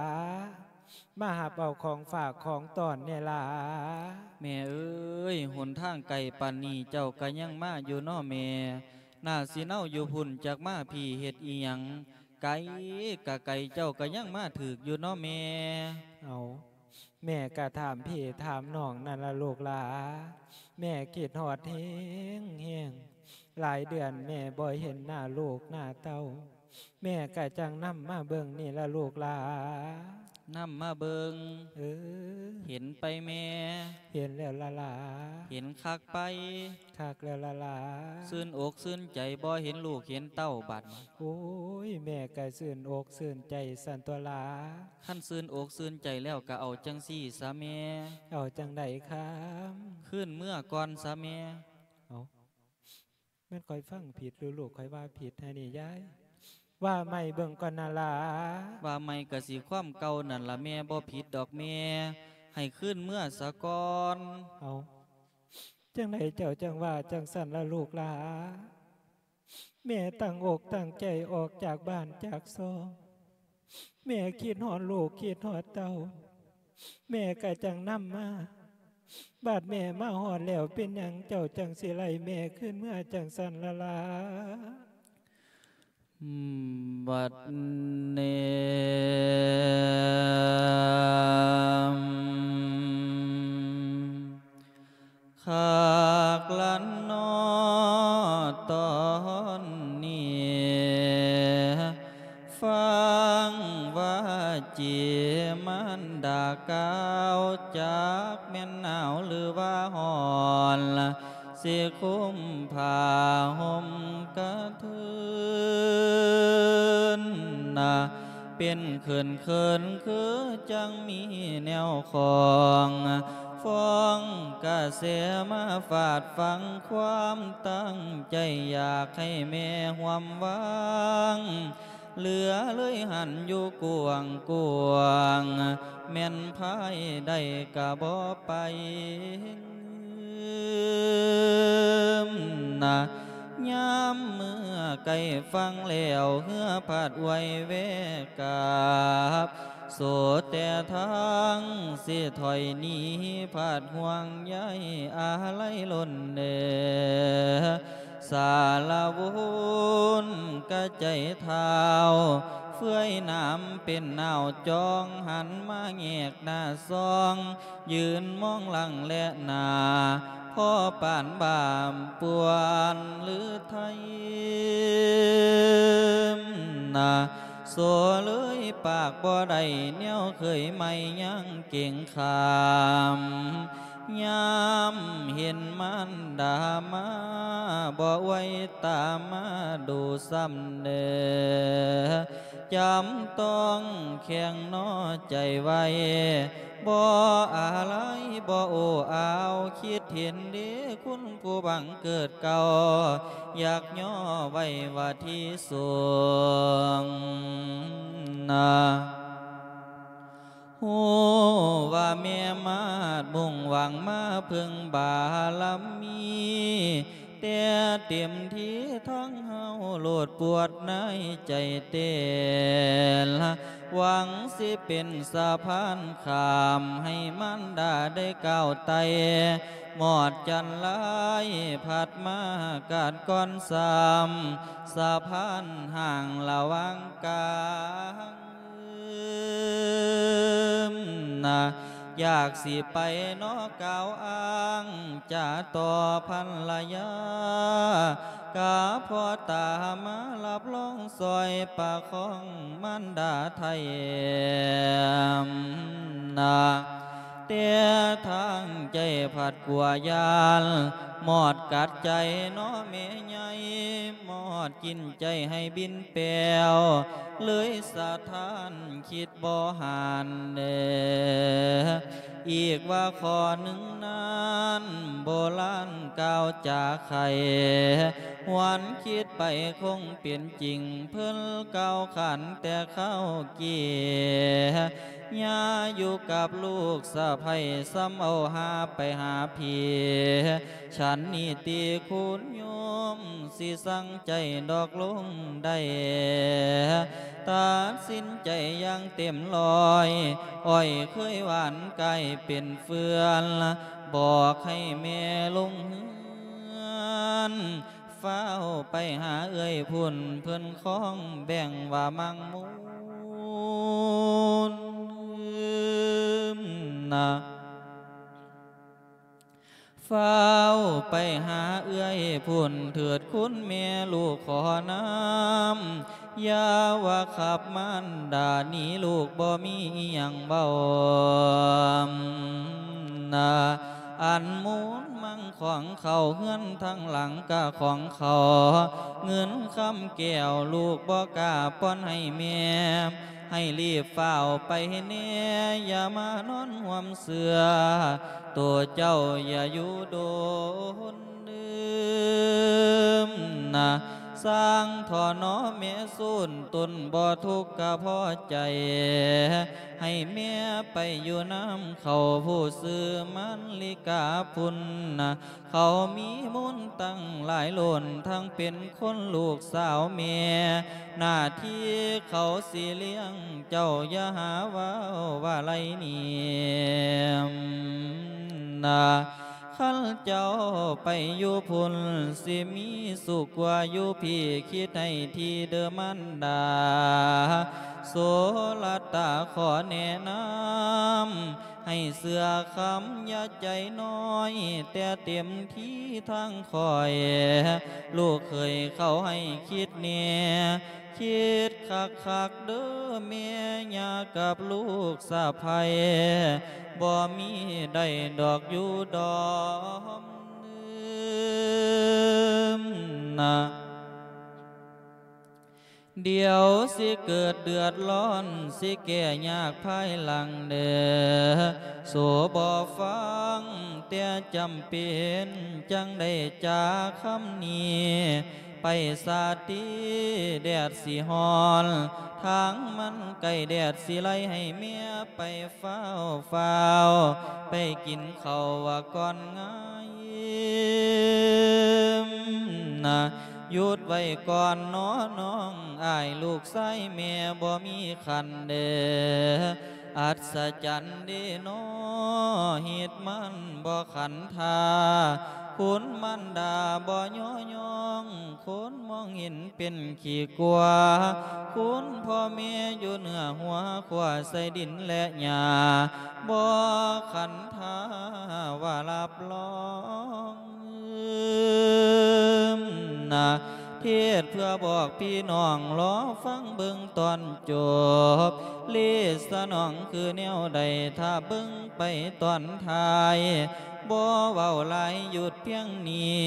ມາຮັບເອົາຂອງຝາກຂອງຕ້ອນແດ່ຫຼາ. ແມ່ເອີຍ, ຫົນທາງໄກປານນີ້, ເຈົ້າກະຍັງມາຢູ່ນໍແມ່. ໜ້າຊິເນົາຢູ່ພຸ້ນ ຈັກມາພີ້ເຮັດອີ່ຫຍັງ? ໄກກະໄກ ເຈົ້າກະຍັງມາຖືກຢູ່ເນາະແມ່. ເອົາ ແມ່ກະຖາມພີ່ຖາມນ້ອງນັ້ນລະລູກຫຼ້າ ແມ່ຄິດຮອດແຮງໆ ຫຼາຍເດືອນແມ່ບໍ່ເຫັນໜ້າລູກໜ້າເຕົ້າ ແມ່ກະຈັ່ງນຳມາເບິ່ງນີ້ລະລູກຫຼ້າ. ນຳມາເບິ່ງ? ເອີ. ເຫັນໄປແມ່? ເຫັນແລ້ວລະຫຼ້າ. ເຫັນຄັກໄປ? ຄັກແລ້ວລະຫຼ້າ. ຊື່ນອົກຊື່ນໃຈບໍ່ເຫັນລູກເຫັນເຕົ້າບັດນີ້? ໂອ້ຍ ແມ່ກະຊື່ນອົກຊື່ນໃຈຊັ້ນຕົວະຫຼ້າ. ຄັນຊື່ນອົກຊື່ນໃຈແລ້ວກະເອົາຈັ່ງຊີ້ຊະແມ່. ເອົາຈັ່ງໃດຄຳ? ຄືນເມືອກ່ອນຊະແມ່. ເອົາ ແມ່ນຂ້ອຍຟັງຜິດ ຫຼືລູກຂ້ອຍວ່າຜິດໃຫ້ນີ້ຍາຍ? ວ່າໃໝ່ເບິ່ງກ່ອນນະຫຼ້າ. ວ່າໃໝ່ກະຊິຄວາມເກົ່ານັ້ນລະແມ່ ບໍ່ຜິດດອກແມ່ ໃຫ້ຄືນເມືອສາກ່ອນ. ເອົາ ຈັ່ງໃດເຈົ້າຈັ່ງວ່າຈັ່ງຊັ້ນລະລູກຫຼ້າ? ແມ່ຕັ້ງອົກຕັ້ງໃຈອອກຈາກບ້ານຈາກຊ່ອງ ແມ່ຄິດຮອດລູກຄິດຮອດເຕົ້າ ແມ່ກະຈັ່ງນຳມາ ບາດແມ່ມາຮອດແລ້ວ ເປັນຫຍັງເຈົ້າຈັ່ງຊິໄລ່ແມ່ຄືນເມືອຈັ່ງຊັ້ນລະຫຼ້າ? ບັດນີ້ ຄັກລະເນາະຕອນນີ້ ຟັງວາຈີມານດາກ່າວ ຈັກແມ່ນໜາວຫຼືວ່າຮ້ອນ ຊິຄຸມຜ້າຫົ່ມກະເທີນນະ ເປັນເຂີນໆ ຄືຈັ່ງມີແນວຂອງ ຟອງກະແສມາຟາດຟັງ ຄວາມຕັ້ງໃຈຢາກໃຫ້ແມ່ຮ່ວມວາງ ເຫຼືອເລີຍຫັ້ນຢູ່ກວ້າງໆ ແມ່ນພາຍໃດກະບໍ່ໄປນະ. ຍາມເມື່ອໃກ້ຝັ່ງແລ້ວ ເຮືອພັດໄຫວແຫວກາບ ໂສແຕ່ທາງຊິຖອຍໜີ ພັດຫ່ວງໃຍອາໄລລົ້ນເດີ ສາລະວຸນກະໃຈທ້າວ ເຟືອຍໜາມເປັນໜາວຈອງ ຫັນມາແຍກໜ້າຊອງ ຢືນມອງຫຼັງແລະໜ້າ ພໍປານບາບປວນຫຼືໄທນະ ໂສເລີຍປາກບໍ່ໄດ້ ແນວເຄີຍໃໝ່ຍັງເກັງຂາມ ຍາມເຫັນມານດາມາ ບໍ່ໄຫວຕາມາດູຊ້ຳເດີ ຈຳຕ້ອງແຂງໜໍໃຈໄວ້ ບໍ່ອາໄລບໍ່ໂອ້ອາວ ຄິດເຫັນເດຄຸນຜູ້ບັງເກີດເກົ່າ ຢາກຍໍໄວ້ວ່າທີ່ສູງນະ. ຮູ້ວ່າແມ່ມາດມຸ່ງຫວັງມາເພິ່ງບາລະມີ ແຕ່ເຕັມທີ່ທັງເຮົາໂລດປວດໃນໃຈເຕັ້ນ ຫວັງຊິເປັນສະພານຂ້າມ ໃຫ້ມານດາໄດ້ກ້າວໄຕ່ ມອດຈັນລາຍພັດມາກາດກ່ອນຊ້ຳ ສະພານຫ່າງລະຫວ່າງກາງ ນະ ຢາກຊິໄປເນາະກ່າວອ້າງຈາຕໍ່ພັນລະຍາ ກະພໍຕາມາຮັບຮອງຊ່ອຍປະຄອງມານດາໄທນະ ແຕ່ທາງໃຈພັດກົວຢ້ານ ມອດກັດໃຈເນາະແມ່ໃຫຍ່ ມອດກິນໃຈໃຫ້ບິນແປວ ເລີຍສະທ້ານຄິດບໍ່ຫັນເດີ ອີກວ່າຂໍ້ໜຶ່ງນັ້ນ ໂບລານກ່າວຈາໄຂ ຫວນຄິດໄປຄົງເປັນຈິງ ເພິ່ນກ່າວຂານແຕ່ຄາວກີ້ ຍ່າຢູ່ກັບລູກສະໃພ້ ສ່ຳເອົາຫາໄປຫາຜີ ສັນນິຕິຄຸນໂຍມ ຊິສັ່ງໃຈດອກລົງໄດ້ ຕັດສິນໃຈຢ່າງເຕັມຮ້ອຍ ອ້ອຍເຄີຍຫວານກາຍເປັນເຟືອນ ບອກໃຫ້ແມ່ລົງເຮືອນ ຟ້າວໄປຫາເອື້ອຍພຸ້ນ ເພິ່ນຄອງແບ່ງວ່າມັງມູນນະ. ຟ້າວໄປຫາເອື້ອຍພຸ້ນເຖີດຄຸນແມ່ລູກຂໍນຳ ຢ່າວ່າຂັບມານດາໜີລູກບໍ່ມີອີ່ຫຍັງເວົ້ານະ. ອັນມູນມັງຂອງເຂົ້າເຮືອນທາງຫຼັງກະຂອງເຂົາ ເງິນຄຳແກ້ວລູກບໍ່ກ້າປ່ອນໃຫ້ແມ່ ໃຫ້ລີບຟ້າວໄປແດ່ ຢ່າມານອນຮ່ວມເສື່ອ ໂຕເຈົ້າຢ່າຢູ່ດົນເດີມນະ. ຊ່າງທໍ່ໜໍແມ່ສູນ ຕົນບໍ່ທຸກກະພໍໃຈ ໃຫ້ແມ່ໄປຢູ່ນຳເຂົາ ຜູ້ຊື່ມັນລິກາພຸ້ນນະ. ເຂົາມີມູນຕັ້ງຫຼາຍໂລ້ນ ທັງເປັນຄົນລູກສາວແມ່ ໜ້າທີ່ເຂົາຊິລ້ຽງເຈົ້າ ຢ່າຫາເວົ້າວ່າໄລນີ້ນະ. ຄັນເຈົ້າໄປຢູ່ພຸ້ນ ຊິມີສຸກກວ່າຢູ່ພີ້ ຄິດໃຫ້ຖີ່ເດີມານດາ ໂສລະຕາຂໍແນະນຳ ໃຫ້ເຊື່ອຄຳຢ່າໃຈນ້ອຍ ແຕ່ເຕັມທີ່ທາງຂ້ອຍ ລູກເຂີຍເຂົາໃຫ້ຄິດແດ່ ຄິດຄັກໆເດີແມ່ ຍ່າກັບລູກສະໃພ້ ບໍ່ມີໄດ້ດອກຢູ່ດອມເດີມນະ. ດຽວຊິເກີດເດືອດຮ້ອນ ຊິແກ້ຍາກພາຍຫຼັງເດີ ໂສບໍ່ຟັງແຕ່ຈຳເປັນ ຈັ່ງໄດ້ຈາຄຳນີ້ ໄປສາຕີແດດຊິຮ້ອນ ທາງມັນໃກ້ແດດຊິໄຫຼ ໃຫ້ແມ່ໄປ ຟ້າວໆ ໄປກິນເຂົ້າວ່າກ່ອນງາຍນະ. ຢຸດໄວ້ກ່ອນໜໍນ້ອງ ອ້າຍລູກຊາຍແມ່ບໍ່ມີຂັນເດີ ອັດສະຈັນເດນໍ ເຮັດມັນບໍ່ຂັນທ່າ ຄຸນມານດາບໍ່ຍໍຍ້ອງ ຄົນມອງເຫັນເປັນຂີ້ກົວ ຄຸນພໍ່ແມ່ຢູ່ເໜືອຫົວ ຂົວໃສ່ດິນແລະຫຍ້າ ບໍ່ຂັນທ່າວ່າຮັບຮອງນະ. ເທດເພື່ອບອກພີ່ນ້ອງ ລໍຟັງເບິ່ງຕອນຈົບ ເລສະໜອງຄືແນວໃດ ຖ້າເບິ່ງໄປຕອນທ້າຍ ບໍ່ເວົ້າຫຼາຍ ຢຸດພຽງນີ້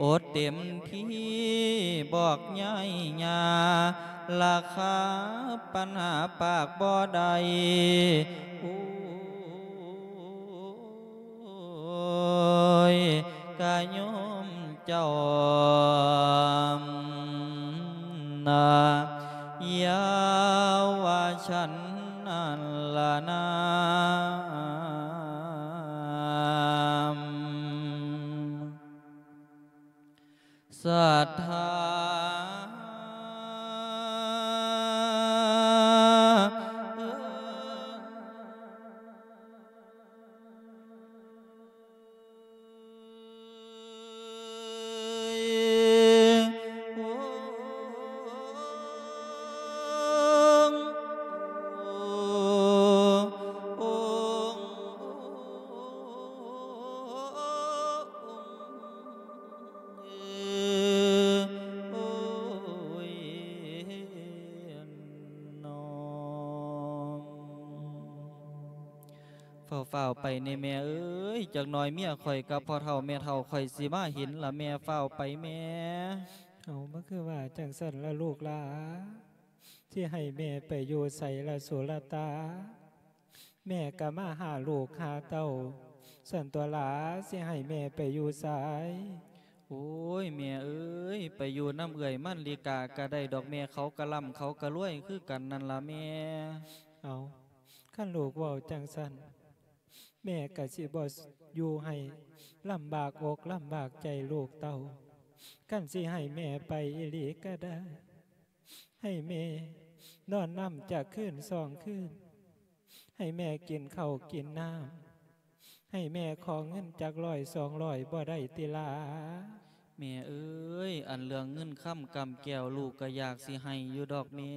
ອົດເຕັມທີ່ບອກຍາຍຍ່າ ລາຄາປັນຫາປາກບໍ່ໄດ້ ໂອ້ຍ ກະໂຍມເຈົ້ານະ ຢາວາສັນນະລະນາ ສັດທາ ໂອ້ຍ ນ້ອງ ຟ້າວໆໄປແດ່ແມ່ເອີຍ ຈັກໜ່ອຍເມຍຂ້ອຍກັບພໍ່ເຖົ້າແມ່ເຖົ້າຂ້ອຍຊິມາເຫັນລະແມ່ ຟ້າວໄປແມ່. ເອົາ ມັນຄືວ່າຈັ່ງຊັ້ນລະລູກຫຼາ ຊິໃຫ້ແມ່ໄປຢູ່ໃສລະໂສລະຕາ? ແມ່ກະມາຫາລູກຫາເຕົ້າ ຊັ້ນຕົວະຫຼາ ຊິໃຫ້ແມ່ໄປຢູ່ໃສ? ໂອ້ຍ ແມ່ເອີຍ ໄປຢູ່ນຳເອື້ອຍມັນລິກາກະໄດ້ດອກແມ່ ເຂົາກະລ່ຳເຂົາກະລວຍຄືກັນນັ້ນລະແມ່. ເອົາ ຄັນລູກເວົ້າຈັ່ງຊັ້ນ ແມ່ກະຊິບໍ່ຢູ່ໃຫ້ລຳບາກອົກລຳບາກໃຈລູກເຕົ້າ. ຄັນຊິໃຫ້ແມ່ໄປອີ່ຫຼີກະໄດ້ ໃຫ້ແມ່ນອນນຳຈັກຄືນສອງຄືນ ໃຫ້ແມ່ກິນເຂົ້າກິນນ້ຳ ໃຫ້ແມ່ຂໍເງິນຈັກຮ້ອຍສອງຮ້ອຍບໍ່ໄດ້ຕິຫຼາ? ແມ່ເອີຍ ອັນເລື່ອງເງິນຄຳກຳແກ້ວ ລູກກໍຢາກຊິໃຫ້ຢູ່ດອກແມ່,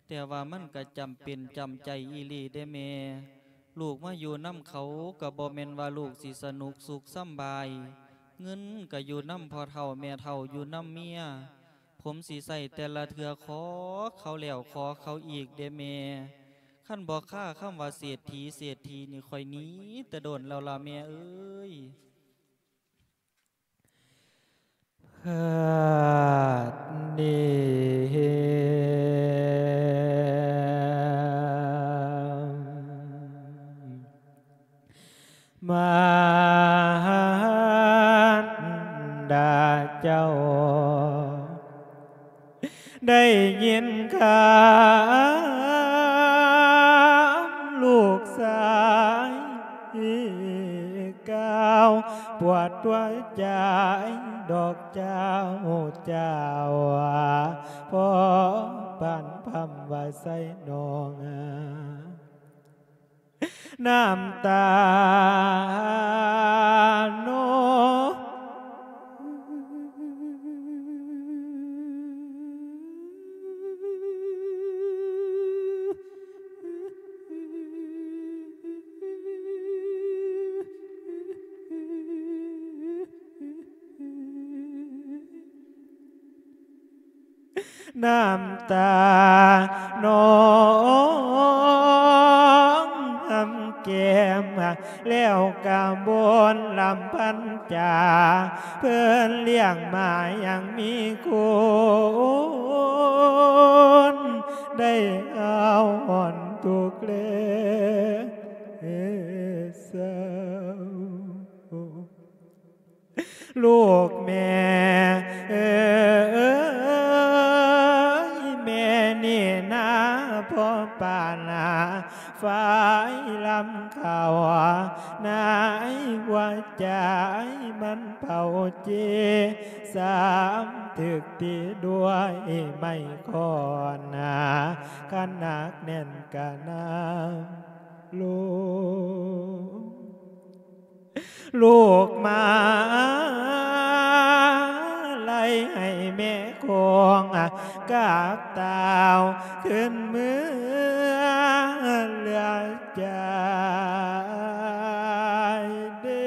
ແຕ່ວ່າມັນກໍຈຳເປັນຈຳໃຈອີ່ຫຼີເດ້ແມ່. ລູກມາຢູ່ນຳເຂົາກໍບໍ່ແມ່ນວ່າລູກຊິສະໜຸກສຸກສຳບາຍ, ເງິນກໍຢູ່ນຳພໍ່ເຖົ້າແມ່ເຖົ້າ ຢູ່ນຳເມຍ, ຜົມຊິໃຊ້ແຕ່ລະເທື່ອຂໍເຂົາແລ້ວຂໍເຂົາອີກເດ້ແມ່. ຄັນບໍ່ຄາຄຳວ່າເສດຖີ ເສດຖີນີ້ ຂ້ອຍໜີແຕ່ດົນແລ້ວລະແມ່ເອີຍ. ມານດາເຈົ້າ ໄດ້ຍິນຄຳລູກຊາຍກ່າວ ປວດຫົວໃຈດອກເຈົ້າ ເຈົ້າ ພໍປານພຳວ່າໃສ່ນ້ອງ ນ້ຳຕານ້ອງ ນ້ຳຕານ້ອງຫຳແກ້ມ ແລ້ວກະບົນລຳພັນຈາ ເພິ່ນລ້ຽງມາຢ່າງມີຄຸນ ໄດ້ເອົາຫອນທຸກແລເຊົາ. ລູກແມ່ເອີຍ ແມ່ນີ້ນາ ພໍ່ປ້ານາ ຝາຍລຳເຂົ້າ ໃນຫົວໃຈມັນເຜົາຈີ ສາມຖືກຕີດ້ວຍໄມ້ຄ້ອນນາ ຄັນໜັກແໜ້ນກະນຳ ລູກ ລູກມາໄລ່ໃຫ້ແມ່ຄອງກັບຕ່າວ ຂຶ້ນເມືອເຫຼືອໃຈເດ້.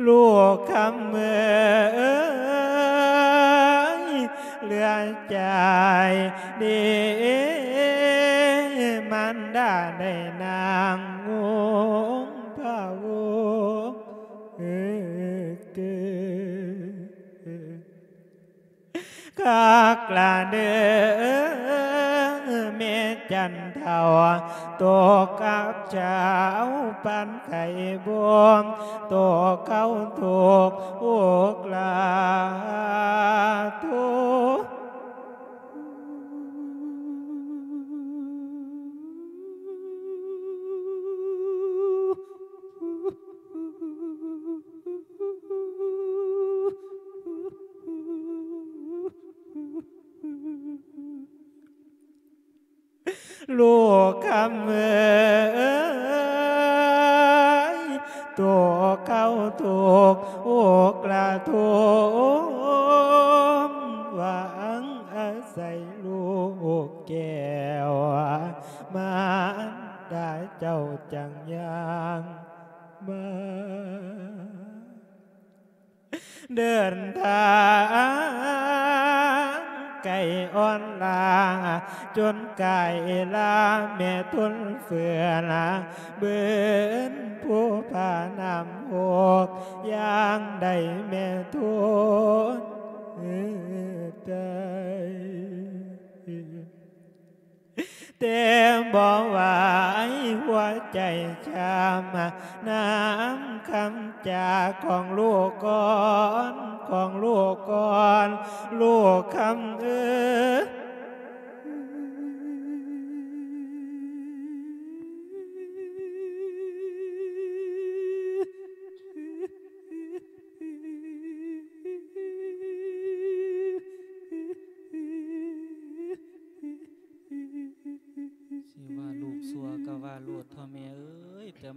ລູກຄຳເອີຍ ເຫຼືອໃຈເດ້ ມານດາໄດ້ນາງງຸ່ງພະວົງ ເອີ ເກີ ຄັກລະເດີ ແມ່ຈັນເທົ້າ ຕົກກັບເຈົ້າປານໄຂ່ບົມ ຕົກເຂົ້າທຸກອົກລາທຸກ ລູກຄຳເອີຍ ຕົກເຂົ້າທຸກອົກລະທຸມ ຫວັງອາໄສລູກແກ້ວ ມານດາເຈົ້າຈັ່ງຍ່າງມາ. ເດີນທາງໄກອ່ອນລາ ຈົນກາຍລາແມ່ທົນເຟືອນ ເບິ່ນພູຜານ້ຳຫົກ ຢ່າງໃດແມ່ທົນໄດ້ ແຕ່ບໍ່ໄຫວ ຫົວໃຈຊ້ຳ ນ້ຳຄຳຈາຂອງລູກກ່ອນ ຂອງລູກກ່ອນ ລູກຄຳເອີຍ.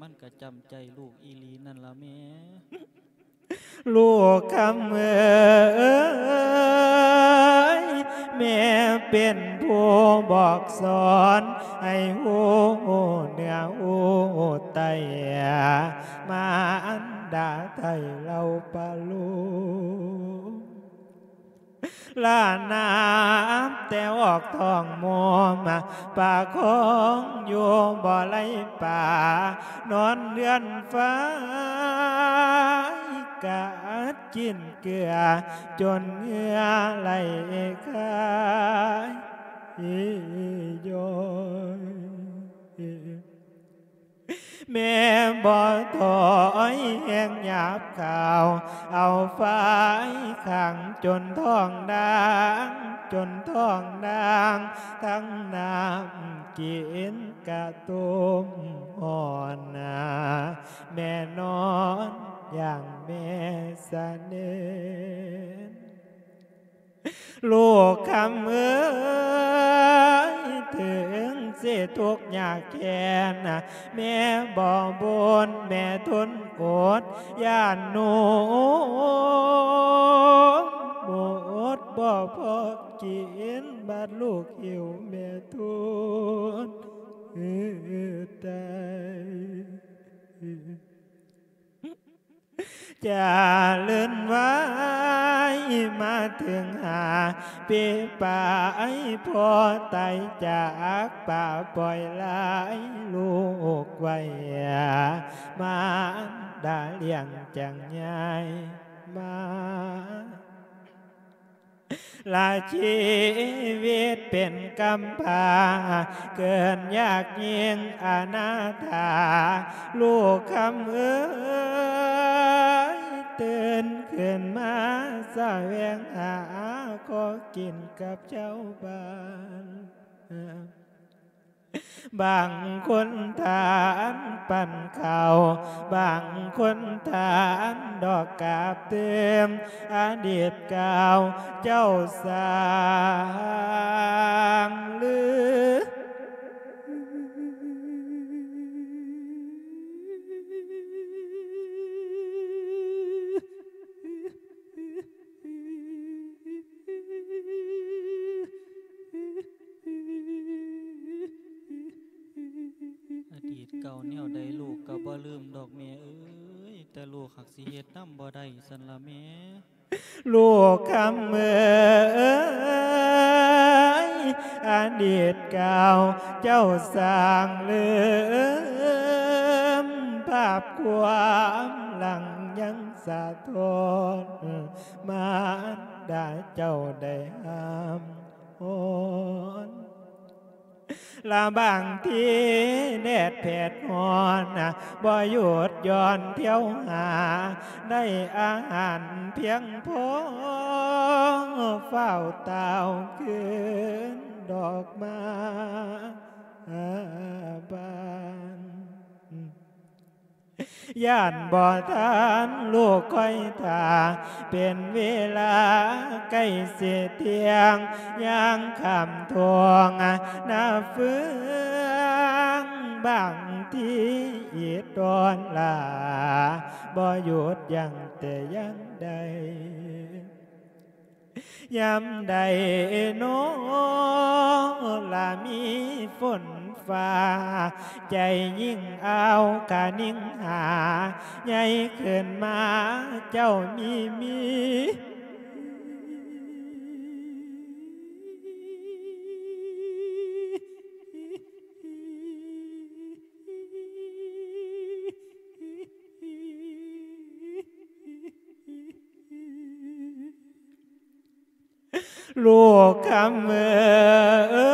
ມັນກະຈຳໃຈລູກອີ່ຫຼີນັ້ນລະແມ່. ລູກຄຳເອີຍ ແມ່ເປັນຜູ້ບອກສອນໃຫ້ຮູ້ເໜືອຮູ້ໃຕ້ ມາອັນດາໄທເຫຼົ່າປະໂລມ ລານາບແຕ່ອອກທ້ອງໂມມ ປະຄອງຢູ່ບໍ່ໄຫຼປາ ນອນເຮືອນຝາຍກະອັດກິນເກືອ ຈົນເຫື່ອໄຫຼຄາຍຍ້ອຍ. ແມ່ບໍ່ຖອຍແຮງຫຍາບຄາວ ເອົາຝາຍຂັງຈົນທ້ອງດ່າງ ຈົນທ້ອງດ່າງ ທັງນ້ຳກິນກະຕົ້ມຮ້ອນນາ ແມ່ນອນຢ່າງແມ່ສະເໜັນ. ລູກຄຳເອີຍ ເຖິງຊິທຸກຍາກແຄ້ນ ແມ່ບໍ່ບົ່ນ ແມ່ທົນອົດ ຢ້ານໜູໝົດບໍ່ພໍກິນ ບາດລູກຫິວແມ່ທົນຕາຍ. ຈະເລີນໄວມາເຖິງຫ້າປີປາຍ ພໍ່ຕາຍຈາກປ້າປ່ອຍຫຼາຍລູກໄວ້ ມາດາລ້ຽງຈັ່ງໃຫຍ່ມາ ລະຊີວິດເປັນກຳພ້າ ເກີດຍາກຍິ່ງອະນາຖາ ລູກຄຳເອີຍ ຕື່ນຂຶ້ນມາສະແຫວງຫາ ຂໍກິນກັບຊາວບ້ານ. ບາງຄົນທານປັ້ນເຂົ້າ ບາງຄົນທານດອກກາບຕື່ມ ອະດີດກ່າວເຈົ້າສ້າງລື. ອະດີດເກົ່າແນວໃດລູກກໍບໍ່ລືມດອກແມ່ເອີຍ ແຕ່ລູກຫາກຊິເຮັດນຳບໍ່ໄດ້ຊັ້ນລະແມ່. ລູກຄຳເອີຍ ອະດີດເກົ່າເຈົ້າສ້າງລືມ ພາບຄວາມຫຼັງຍັງສະທ້ອນ ມານດາເຈົ້າໄດ້ຫ້າມ ຮ້ອນ ລະບາງທີແດດແຜດຮ້ອນ ບໍ່ຢຸດຢ່ອນທ່ຽວຫາ ໄດ້ອາຫານພຽງພໍ ຟ້າວຕ່າວຄືນດອກມາບານ. ຢ້ານບໍ່ທັນລູກຄອຍຖ້າ ເປັນເວລາໃກ້ຊິທ່ຽງ ຍ່າງຂ້າມທົ່ງໜ້າເຟືອງ ບາງທີອີດຕອນຫຼ້າ ບໍ່ຢຸດຢັ້ງແຕ່ຢ່າງໃດ. ຍາມໃດນໍລະມີຝົນຟ້າ ໃຈຍິ່ງອ້າວກະນິ່ງຫາ ໃຫຍ່ຂຶ້ນມາເຈົ້າມີມີ. ລູກຄຳເອີ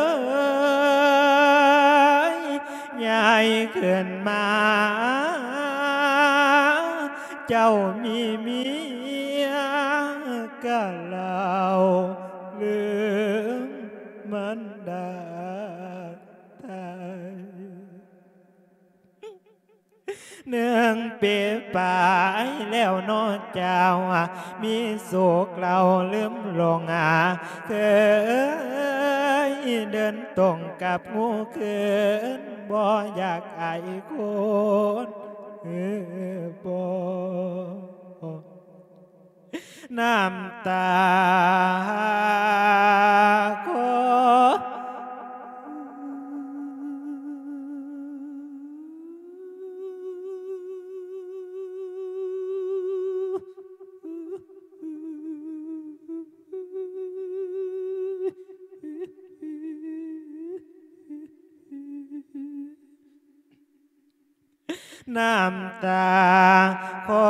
ຍ ໃຫຍ່ຂຶ້ນມາ ເຈົ້າມີເມຍກະເລົ່າລືມມັນດາໄທ. ໜຶ່ງປີປາຍແລ້ວເນາະເຈົ້າ ມີສຸກເລົ່າລືມຫຼົງ ເຄີຍ ເດີນຕົງກັບງູເຂີນ ບໍ່ຢາກອາຍຄົນ ເອີ ບໍ່ ນ້ຳຕາຂໍ ນ້ຳຕາຂໍ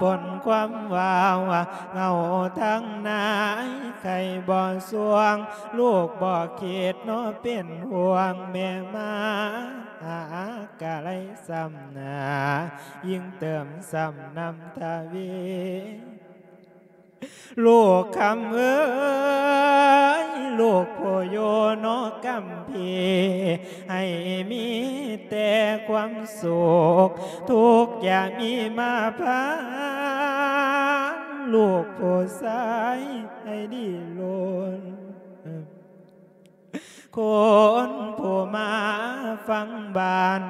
ປົນຄວາມວ່າວ ເຫງົາທັງນາຍໄຂ້ບໍ່ສວງ ລູກບໍ່ຄິດເນາະເປັນຫ່ວງ ແມ່ມາຫາກະໄລຊ້ຳໜ້າ ຍິ່ງເຕີມຊ້ຳນ້ຳທະວີ. ລູກຄຳເອີຍ ລູກຜູ້ຢູ່ນອກກຳພີ ໃຫ້ມີແຕ່ຄວາມສຸກ ທຸກຢ່າມີມາພາ ລູກຜູ້ຊາຍໃຫ້ດີລົ້ນ. ຄົນຜູ້ມາຟັງບ້ານ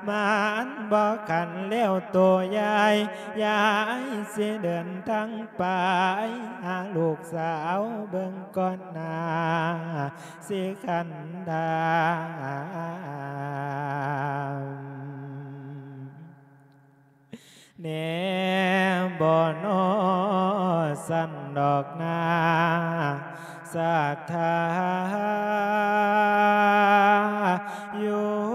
ມັນບໍ່ຄັນແລ້ວໂຕຍາຍ ຍາຍຊິເດີນທາງໄປຫາລູກສາວເບິ່ງກ່ອນໜ້າ ຊິຄັນດາມ. ແນ່ບໍ່ນໍສັນດອກນາ ສັດທາຢູ່. ໂ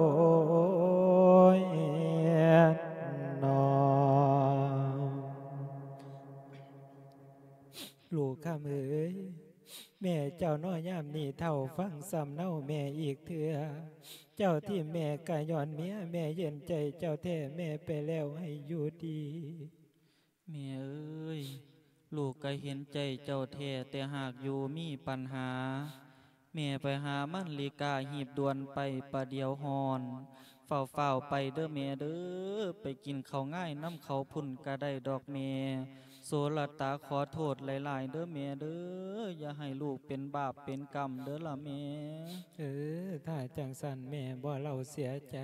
ອ້ຍ ເນາະ ລູກຄຳເອີຍ ແມ່ເຈົ້າເນາະ ຍາມນີ້ເຖົ້າ ຟັງສຳເນົາແມ່ອີກເທື່ອ ເຈົ້າຖິ້ມແມ່ກະຍ້ອນເມຍ ແມ່ເຢັນໃຈເຈົ້າແທ້ ແມ່ໄປແລ້ວໃຫ້ຢູ່ດີ. ແມ່ເອີຍ ລູກກະເຫັນໃຈເຈົ້າແທ້ ແຕ່ຫາກຢູ່ມີປັນຫາ ແມ່ໄປຫາມັນລິກາຮີບດ່ວນໄປປະດຽວຮ້ອນ ຟ້າວໆໄປເດີແມ່ເດີ ໄປກິນເຂົ້າງາຍນຳເຂົາພຸ້ນກະໄດ້ດອກແມ່. ໂສລະຕາຂໍໂທດຫຼາຍໆເດີແມ່ເດີ ຢ່າໃຫ້ລູກເປັນບາບເປັນກຳເດີລະແມ່. ເອີ ຖ້າຈັ່ງຊັ້ນແມ່ບໍ່ເລົ່າເສຍໃຈ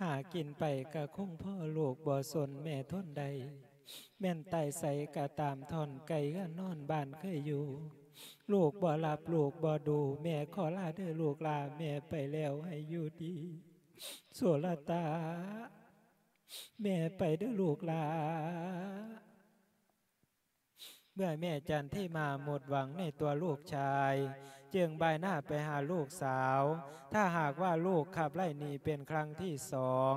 ຫາກິນໄປກະຄົງພໍ ລູກບໍ່ສົນແມ່ທົນໄດ້ ແມ່ນຕາຍໃສກະຕາມ ທ່ອນໄກເຮືອນນອນບ້ານເຄີຍຢູ່ ລູກບໍ່ຫຼັບລູກບໍ່ດູ ແມ່ຂໍລາເດີລູກຫຼ້າ ແມ່ໄປແລ້ວໃຫ້ຢູ່ດີ. ໂສລະຕາ ແມ່ໄປເດີລູກຫຼ້າ. ເມື່ອແມ່ຈັນທິມາໝົດຫວັງໃນຕົວລູກຊາຍ ຈຶ່ງບາຍໜ້າໄປຫາລູກສາວ. ຖ້າຫາກວ່າລູກຂັບໄລ່ໜີເປັນຄັ້ງທີສອງ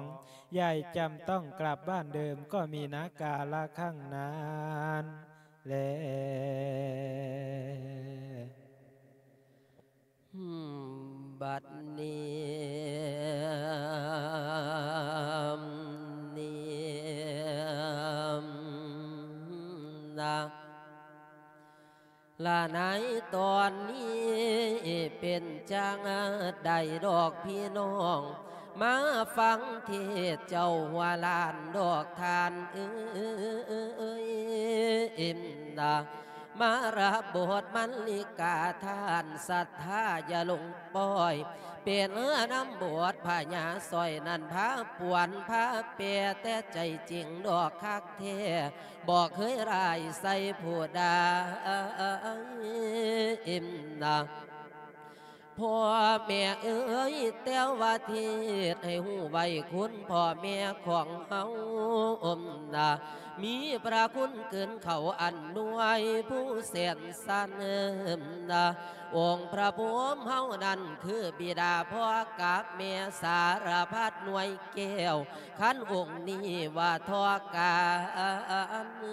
ຍາຍຈຳຕ້ອງກັບບ້ານເດີມ ກໍມີນາກາລະຄັ້ງນັ້ນແລ. ບັດນີ້ ນີ້ນະ ລະໃນຕອນນີ້ເປັນຈັ່ງໃດດອກພີ່ນ້ອງ ມາຟັງເທດເຈົ້າຫົວລ້ານດອກທ່ານເອີຍ ມາຮັບບົດມັນລິກາທ່ານສັດທາຢ່າຫຼົງປ່ອຍ ເປັນນຳບົດພະຍາສ້ອຍນັ້ນພາປ່ວນພາແປ ແຕ່ໃຈຈິງດອກຄັກແທ້ ບໍ່ເຄີຍຮ້າຍໃສ່ຜູ້ໃດ ພໍ່ແມ່ເອີຍ ແຕ່ວ່າເທດໃຫ້ຮູ້ໄວ້ຄຸນພໍ່ແມ່ຂອງເຮົາ ມີພະຄຸນເກີນເຂົາອັນນວຍຜູ້ແສນສັນ ອົງພະພູມເຮົານັ້ນຄືບິດາພໍ່ກັບແມ່ ສາລະພັດໜ່ວຍແກ້ວ ຄັນອົງນີ້ວ່າທໍ່ກັນ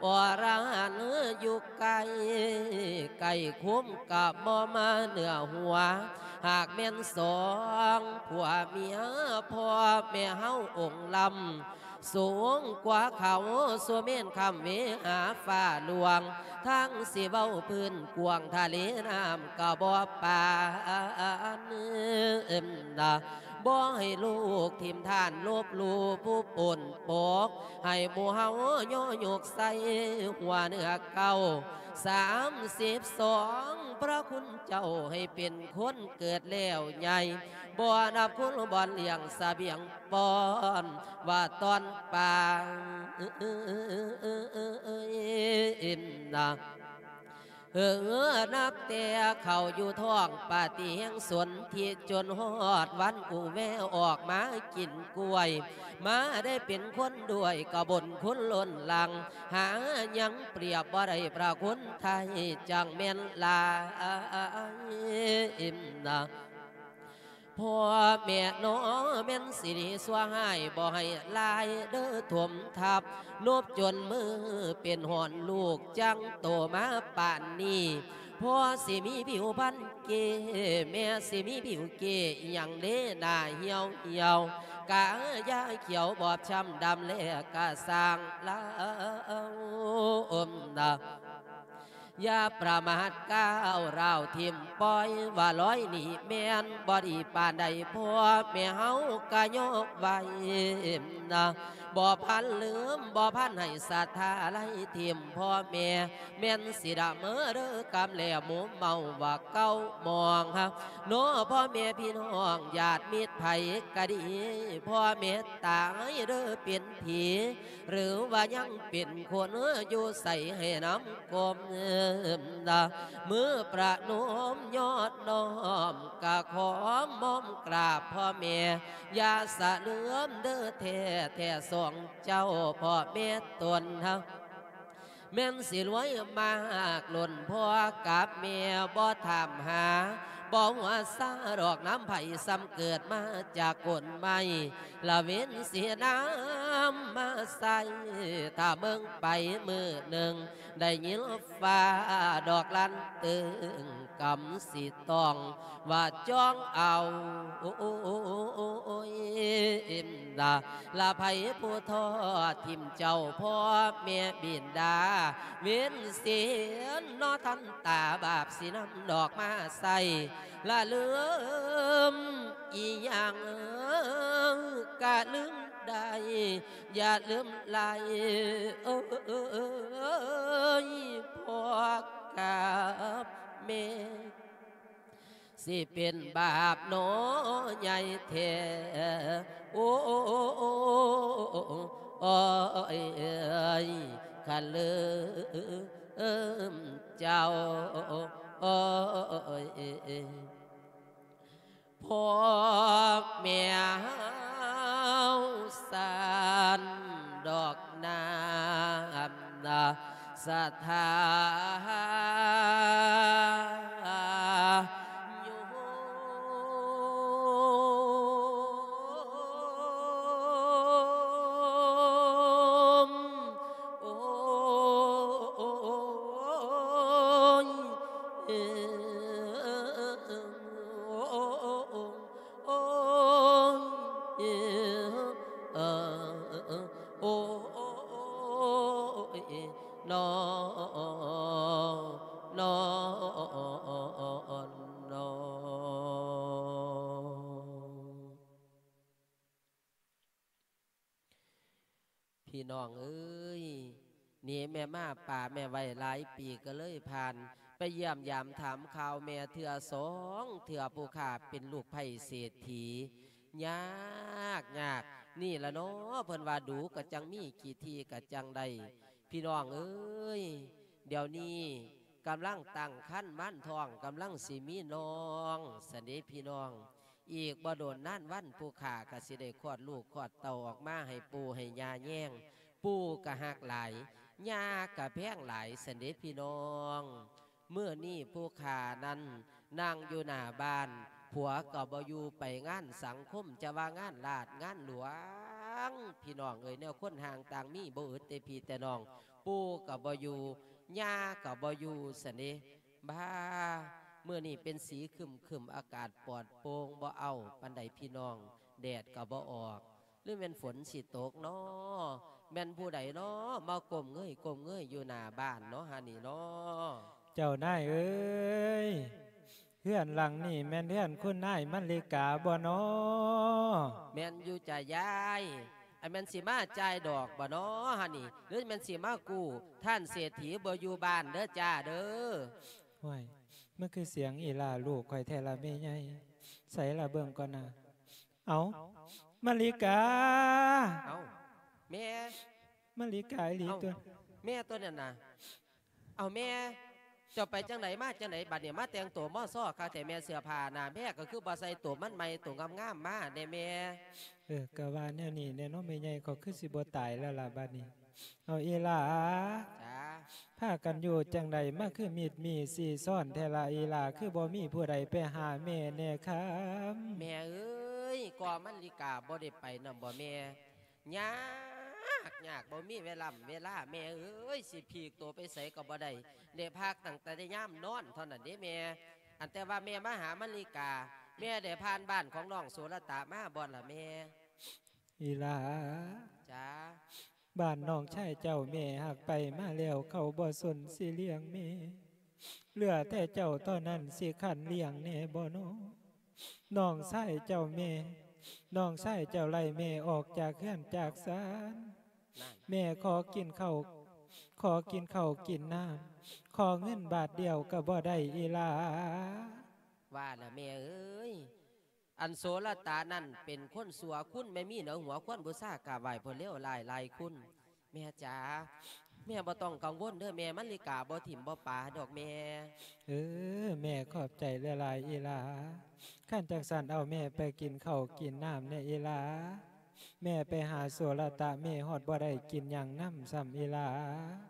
ອະລະຫັນຢູ່ ໄກ ໄກຄຸ້ມກະບໍ່ມາເໜືອຫົວ ຫາກແມ່ນສອງຜົວເມຍ ພໍ່ແມ່ເຮົາອົງລຳ ສູງກວ່າເຂົາສຸເມນຂ້າມເວຫາຟ້າຫຼວງ ທັງຊິເວົ້າພື້ນກວ້າງທະເລນ້ຳກໍບໍ່ປານນະ. ບໍ່ໃຫ້ລູກຖິ້ມທ່ານລົບຫຼູ່ຜູ້ປົນປົກ ໃຫ້ໝູ່ເຮົາຍໍຍົກໃສ່ຫົວເໜືອເກົ້າ ສາມສິບສອງ ພະຄຸນເຈົ້າໃຫ້ເປັນຄົນເກີດແລ້ວໃຫຍ່ ບໍ່ນັບຄຸນບ່ອນລ້ຽງສະບຽງປ້ອນ ວ່າຕອນປານນະ. ເອີ ນັບແຕ່ເຂົ້າຢູ່ທ້ອງປະຕິແຫ່ງສົນທິ ຈົນຮອດວັນອຸແວອອກມາກິນກ້ວຍ ມາໄດ້ເປັນຄົນດ້ວຍ ກະບຸນຄຸນລົ້ນຫຼັງ ຫາຍັງປຽບບໍ່ໄດ້ພະຄຸນໄທ ຈັ່ງແມ່ນຫຼາຍນະ. ພໍ່ແມ່ໜໍ ແມ່ນຊິດີຊົ່ວຮ້າຍ ບໍ່ໃຫ້ຫຼາຍເດີຖົມທັບ ນົບຈົນມືເປັນຫອນລູກ ຈັ່ງໂຕມາປານນີ້. ພໍ່ຊິມີຜິວພັນເກ້ ແມ່ຊິມີຜິວເກ້ ອີ່ຫຍັງເດໜ້າຫ່ຽວໆ ກະຢ່າຂຽວບອບຊ້ຳດຳແລກະສ້າງລາວນະ. ຢ່າປະໝາດກ້າວຮ້າວຖິ້ມປ່ອຍ ວ່າລອຍນີ້ແມ່ນບໍ່ດີປານໃດ ພໍ່ແມ່ເຮົາກະຍອມໄວ້ນະ. ບໍ່ພັນລືມ ບໍ່ພັນໃຫ້ສັດທາໄຫຼຖິ້ມ ພໍ່ແມ່ແມ່ນຊິດຳເດີກຳແລໝູ່ເມົາວ່າເກົ້າໝອງນະ ພໍ່ແມ່ພີ່ນ້ອງຍາດມິດໃຜກະດີ ພໍ່ແມ່ຕາຍເດີເປັນຜີ ຫຼືວ່າຍັງເປັນຄົນ ຢູ່ໃສໃຫ້ນຳກົມນະ. ມືປະນົມຍອດນ້ອມ ກະຂໍມ້ອມກາບພໍ່ແມ່ ຢ່າສະເຫຼືອມເດີແທ້ ແທ້ສອງເຈົ້າພໍ່ແມ່ຕົນເຮົາ ແມ່ນຊິລວຍມາກລົ້ນ ພໍ່ກັບແມ່ບໍ່ຖາມຫາ ບໍ່ຫົວຊາດອກນຳໃຜ ສ່ຳເກີດມາຈາກກົ້ນໄມ້ ລະເວັນເສນາມາໃສ່ ຖ້າເບິ່ງໄປມື້ໜຶ່ງ ໄດ້ຍິນຟ້າດອກລັນຕຶງ ກຳຊິຕ້ອງວ່າຈ້ອງເອົານະ. ລະໃຜຜູ້ທໍ້ຖິ້ມເຈົ້າພໍ່ແມ່ບິນດາ ເວັນເສນເນາະ ທັນຕາບາບຊິນຳດອກມາໃສ່ ລະລືມອີ່ຫຍັງກະລືມໄດ້ ຢ່າລືມໄຫຼເອີຍ ພໍ່ກັບແມ່ ຊິເປັນບາບໜໍໃຫຍ່ແທ້ ໂອ້ຍ ຄັນລືມເຈົ້າ ໂອ້ຍ ພໍ່ແມ່ເຮົາສັນດອກນ້ຳນະ ສະຖານ ໂຍມ ໂອ້ຍ ເອີ ໂອ້ຍ ເອີ ໂອ້ຍ ນອ ນອ ນອ. ພີ່ນ້ອງເອີຍ ໜີແມ່ມາປາແມ່ໄວ້ຫຼາຍປີກໍເລີຍຜ່ານ ໄປຢ້ຽມຢາມຖາມຂ່າວແມ່ເທື່ອສອງເທື່ອ ຜູ້ຂ້າເປັນລູກໃພ້ເສດຖີ ຍາກ ຍາກ ນີ້ລະເນາະ ເພິ່ນວ່າດູກະຈັ່ງມີ ຂີ້ຖີ່ກະຈັ່ງໄດ້ ພີ່ນ້ອງເອີຍ ດຽວນີ້ກຳລັງຕັ້ງຄັນໝານທ້ອງ ກຳລັງຊິມີນ້ອງຊັ້ນເດພີ່ນ້ອງ ອີກບໍ່ດົນນານວັນ ຜູ້ຂ້າກະຊິໄດ້ຄອດລູກຄອດເຕົ້າອອກມາໃຫ້ປູ່ໃຫ້ຍ່າແຍງ ປູ່ກະຮັກຫຼາຍ ຍ່າກະແພງຫຼາຍຊັ້ນເດພີ່ນ້ອງ. ມື້ນີ້ຜູ້ຂ້ານັ້ນນັ່ງຢູ່ໜ້າບ້ານ ຜົວກໍບໍ່ຢູ່ໄປງານສັງຄົມ ຈະວ່າງານລາດງານຫຼວງ ພີ່ນ້ອງເອີຍ ແນວຄົນຫ່າງຕ່າງມີບໍ່ອຶດແຕ່ພີ່ແຕ່ນ້ອງ ປູ່ກໍບໍ່ຢູ່ ຍ່າກໍບໍ່ຢູ່ຊັ້ນເດ. ບ້າ ມື້ນີ້ເປັນສີຄຶ້ມໆ ອາກາດປອດໂປ່ງ ບໍ່ເອົ້າປານໃດພີ່ນ້ອງ ແດດກໍບໍ່ອອກ ຫຼືແມ່ນຝົນຊິຕົກນໍ? ແມ່ນຜູ້ໃດນໍ ມາກົ້ມເງີຍກົ້ມເງີຍຢູ່ໜ້າບ້ານນໍຫັ້ນນີ້ນໍ? ເຈົ້ານາຍເອີຍ, ເຮືອນຫຼັງນີ້ແມ່ນເຮືອນຄຸນນາຍມັນລິກາບໍ່ນໍ? ແມ່ນຢູ່ຈ້າຍາຍ. ອັນແມ່ນຊິມາຈ່າຍດອກບໍ່ນໍຫັ້ນນີ້ ຫຼືແມ່ນຊິມາກູ້ທ່ານເສດຖີບໍ່ຢູ່ບ້ານເດີຈ້າເດີ? ຫ້ວຍ ມັນຄືສຽງອີ່ຫຼ້າລູກຂ້ອຍແທ້ລະແມ່ໃຫຍ່? ໃສລະເບິ່ງກ່ອນນາ. ເອົ້າ ມັນລິກາ! ເອົ້າ ແມ່! ມັນລິກາອີ່ຫຼີຕົວະ. ແມ່ຕົວນັ້ນນະ. ເອົ້າແມ່ ເຈົ້າໄປຈັ່ງໃດມາຈັ່ງໃດ ບັດນີ້ມາແຕ່ງໂຕມໍຊໍຄັກແທ້ແມ່ ເສື້ອຜ້າໜ້າແມ່ກໍຄືບໍ່ໃສ່ໂຕມັນໃໝ່ໂຕງາມໆມາແດ່ແມ່? ເອີ ກະວ່າແນວນີ້ແຫຼະເນາະແມ່ໃຫຍ່ ຂ້ອຍຄືຊິບໍ່ຕາຍແລ້ວລະບັດນີ້. ເອົາອີ່ຫຼ້າ ຈ້າ ພາກັນຢູ່ຈັ່ງໃດ ມາຄືມິດມີຊີຊ້ອນແທ້ລະອີ່ຫຼ້າ ຄືບໍ່ມີຜູ້ໃດໄປຫາແມ່ແດ່ຄຳ? ແມ່ເອີຍ ກໍມັນລິກາບໍ່ໄດ້ໄປນຳບໍ່ແມ່? ຍາກ ຍາກ ບໍ່ມີເວລາ ເວລາ ແມ່ເອີຍ ຊິພີກໂຕໄປໃສກໍບໍ່ໄດ້ ໄດ້ພັກຕັ້ງແຕ່ຍາມນອນເທົ່ານັ້ນເດ້ແມ່. ອັນແຕ່ວ່າແມ່ມາຫາມັນລິກາ ແມ່ໄດ້ຜ່ານບ້ານຂອງນ້ອງໂສລະຕະມາບໍ່ລະແມ່? ອີ່ຫຼ້າ ຈ້າ ບ້ານນ້ອງຊາຍເຈົ້າແມ່ຫາກໄປມາແລ້ວ ເຂົາບໍ່ສົນຊິລ້ຽງແມ່ ເຫຼືອແຕ່ເຈົ້າເທົ່ານັ້ນຊິຄັນລ້ຽງແດ່ບໍ່ນໍ? ນ້ອງຊາຍເຈົ້າແມ່ ນ້ອງຊາຍເຈົ້າໄລ່ແມ່ອອກຈາກເຮືອນຈາກຊານ ນັ້ນ ແມ່ຂໍກິນເຂົ້າ ຂໍກິນເຂົ້າກິນນ້ຳ ຂໍເງິນບາດດຽວກໍບໍ່ໄດ້ອີ່ຫຼ້າ? ວ່າລະແມ່ເອີຍ ອັນໂສລະຕະນັ້ນເປັນຄົນຊົ່ວ ຄຸນແມ່ມີເໜືອຫົວ ຄວນບູຊາກາບໄຫວ້ເພິ່ນເລວຮ້າຍຫຼາຍຄຸນ. ແມ່ຈ໋າ ແມ່ບໍ່ຕ້ອງກັງວົນເດີແມ່ ມັນລິກາບໍ່ຖິ້ມບໍ່ປາດອກແມ່. ເອີ ແມ່ຂອບໃຈຫຼາຍໆອີ່ຫຼ້າ. ຄັນຈັ່ງຊັ້ນເອົາແມ່ໄປກິນເຂົ້າກິນນ້ຳແດ່ອີ່ຫຼ້າ. ແມ່ໄປຫາໂສລະຕະ ແມ່ຮອດບໍ່ໄດ້ກິນຫຍັງນຳຊ້ຳອີ່ຫຼ້າ.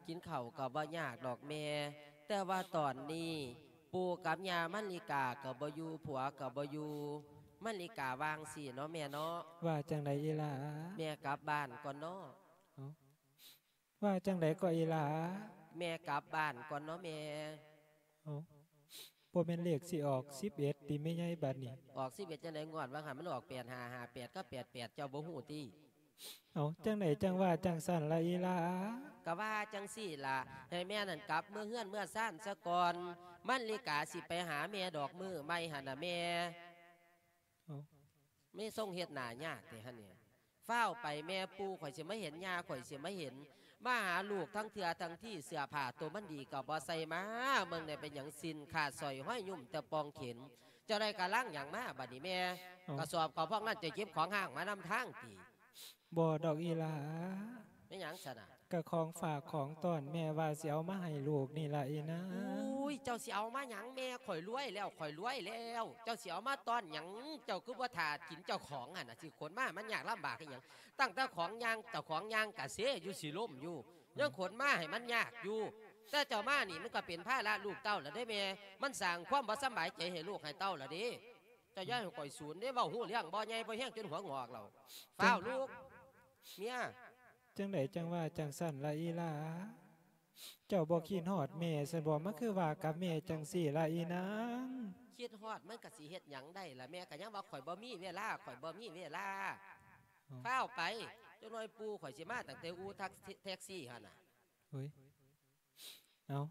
ກິນເຂົ້າກໍບໍ່ຍາກດອກແມ່ ແຕ່ວ່າຕອນນີ້ ປູ່ກັບຍ່າມັນລິກາກໍບໍ່ຢູ່ ຜົວກໍບໍ່ຢູ່ ມັນລິກາວ່າຈັ່ງຊີ້ເນາະແມ່ເນາະ. ວ່າຈັ່ງໃດອີ່ຫຼ້າ? ແມ່ກັບບ້ານກ່ອນເນາະ. ເອົ້າ ວ່າຈັ່ງໃດກໍອີ່ຫຼ້າ? ແມ່ກັບບ້ານກ່ອນເນາະແມ່. ເອົ້າ ບໍ່ແມ່ນເລກຊິອອກສິບເອັດຕິແມ່ໃຫຍ່ບັດນີ້? ອອກສິບເອັດຈັ່ງໃດ ງວດວ່າງຫັ້ນມັນອອກແປດຫ້າ ຫ້າແປດ ກັບແປດແປດ ເຈົ້າບໍ່ຮູ້ຕິ? ເອົ້າ ຈັ່ງໃດຈັ່ງວ່າຈັ່ງຊັ້ນລະອີ່ຫຼ້າ? ກະວ່າຈັ່ງຊີ້ລະ ໃຫ້ແມ່ນັ້ນກັບເມືອເຮືອນເມືອຊານສາກ່ອນ ມັນລິກາຊິໄປຫາແມ່ດອກມື້ໃໝ່ຫັ້ນນະແມ່. ເອົ້າ ແມ່ຊົງເຮັດໜ້າຍາກແທ້ຫັ້ນນີ້. ຟ້າວໄປແມ່ ປູ່ຂ້ອຍຊິມາເຫັນ ຍ່າຂ້ອຍຊິມາເຫັນ ມາຫາລູກທັງເທື່ອທັງທີ ເສື້ອຜ້າໂຕມັນດີກໍບໍ່ໃສ່ມາ ເບິ່ງແດ່ເປັນຫຍັງ ສິ້ນຂາດ ສ້ອຍຫ້ອຍ ຫຍຸ້ມແຕ່ປ່ອງເຂັນ. ເຈົ້າໄດ້ກະລັງຫຍັງມາບັດນີ້ແມ່? ເອົ້າ ກະສອບເຂົ້າພອກນັ້ນ ເຈົ້າເກັບຂອງຮ້າງມານຳທາງຕິ? ບໍ່ດອກອີ່ຫຼ້າ. ແມ່ນຫຍັງຊັ້ນນະ? ກະຂອງຝາກຂອງຕ້ອນແມ່ວ່າຊິເອົາມາໃຫ້ລູກນີ້ລະອີ່ນາງ. ອຸ້ຍ ເຈົ້າຊິເອົາມາຫຍັງແມ່? ຂ້ອຍລວຍແລ້ວ ຂ້ອຍລວຍແລ້ວ ເຈົ້າຊິເອົາມາຕ້ອນຫຍັງ? ເຈົ້າຄືບໍ່ຖ້າກິນເຈົ້າຂອງຫັ້ນນະ ຊິຂົນມາໃຫ້ມັນຍາກລຳບາກອີ່ຫຍັງ? ຕັ້ງແຕ່ຂອງຍ່າງ ເຈົ້າຂອງຍ່າງກະເຊຢູ່ ຊິລົ້ມຢູ່ ຍັງຂົນມາໃຫ້ມັນຍາກຢູ່. ແຕ່ເຈົ້າມານີ້ມັນກໍເປັນພາລະລູກເຕົ້າລະເດ້ແມ່ ມັນສ້າງຄວາມບໍ່ສະບາຍໃຈໃຫ້ລູກໃຫ້ເຕົ້າລະເດ້. ເຈົ້າຢ່າໃຫ້ຂ້ອຍສູນເດ້ ເວົ້າຮູ້ເລື່ອງບໍ່ໃຫຍ່ພໍແຮງຈົນຫົວງອກແລ້ວ. ຟ້າວລຸກ ເມຍ. ຈັ່ງໃດຈັ່ງວ່າຈັ່ງຊັ້ນລະອີ່ຫຼ້າ? ເຈົ້າບໍ່ຄິດຮອດແມ່ຊັ້ນບໍ? ມັນຄືວ່າກັບແມ່ຈັ່ງຊີ້ລະອີ່ນາງ? ຄິດຮອດມັນກະຊິເຮັດຫຍັງໄດ້ລະ ແມ່ກະຍັງວ່າຂ້ອຍບໍ່ມີເວລາ ຂ້ອຍບໍ່ມີເວລາ. ເອົ້າ ຟ້າວໄປ ຈັກໜ້ອຍປູ່ຂ້ອຍຊິມາຕັ້ງແຕ່ອູ່ທັກ ແທັກຊີຫັ້ນນະ. ໂອ້ຍ ເອົ້າ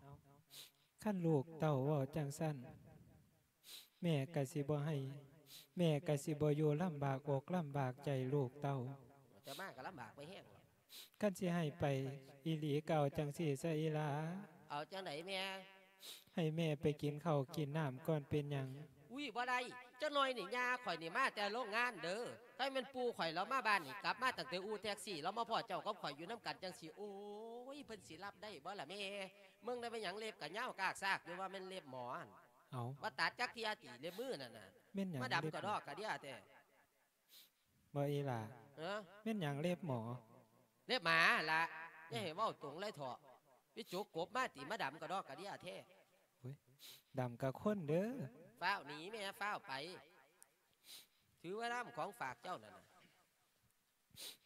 ຄັນລູກເຕົ້າເວົ້າຈັ່ງຊັ້ນ ແມ່ກະຊິບໍ່ໃຫ້ ແມ່ກະຊິບໍ່ຢູ່ລຳບາກອົກລຳບາກໃຈລູກເຕົ້າ. ເຈົ້າມາກະລຳບາກໄປແຮງແລ້ວ. ຄັນຊິໃຫ້ໄປອີ່ຫຼີກະເອົາຈັ່ງຊີ້ຊະອີ່ຫຼ້າ. ເອົາຈັ່ງໃດແມ່? ໃຫ້ແມ່ໄປກິນເຂົ້າກິນນ້ຳກ່ອນເປັນຫຍັງ? ອຸ້ຍ ບໍ່ໄດ້ ຈັກໜ້ອຍນີ້ຍ່າຂ້ອຍນີ້ມາແຕ່ໂລງງານເດີ. ຄັນແມ່ນປູ່ຂ້ອຍລາວມາບ້ານນີ້ ກັບມາຕັ້ງແຕ່ອູ່ແທັກຊີ ລາວມາພໍ້ເຈົ້າກັບຂ້ອຍຢູ່ນຳກັນຈັ່ງຊີ້ ໂອ້ຍ ເພິ່ນຊິຮັບໄດ້ບໍ່ລະແມ່? ເບິ່ງໄດ້ເປັນຫຍັງ ເລັບກະຍາວກາກຊາກຢູ່ ວ່າແມ່ນເລັບໝໍຫັ້ນ. ເອົ້າ ບໍ່ຕັດຈັກເທື່ອຕິ ເລັບມືນັ້ນນະ? ແມ່ນຫຍັງ ມາດຳກະດອກກະເດຍແທ້. ບໍ່ອີ່ຫຼ້າ? ເອີ ແມ່ນຫຍັງເລັບໝໍ? ເລັບໝາຫັ້ນລະ. ອືມ ຢ່າໃຫ້ເວົ້າຕົງເລີຍເຖາະ ໄປຈົກກົບມາຕິ ມາດຳກະດອກກະເດຍແທ້. ໂອ້ຍ ດຳກະຄົນເດີ. ຟ້າວໜີແມ່ ຟ້າວໄປ ຖືໄວ້ນຳຂອງຝາກເຈົ້ານັ້ນນະ.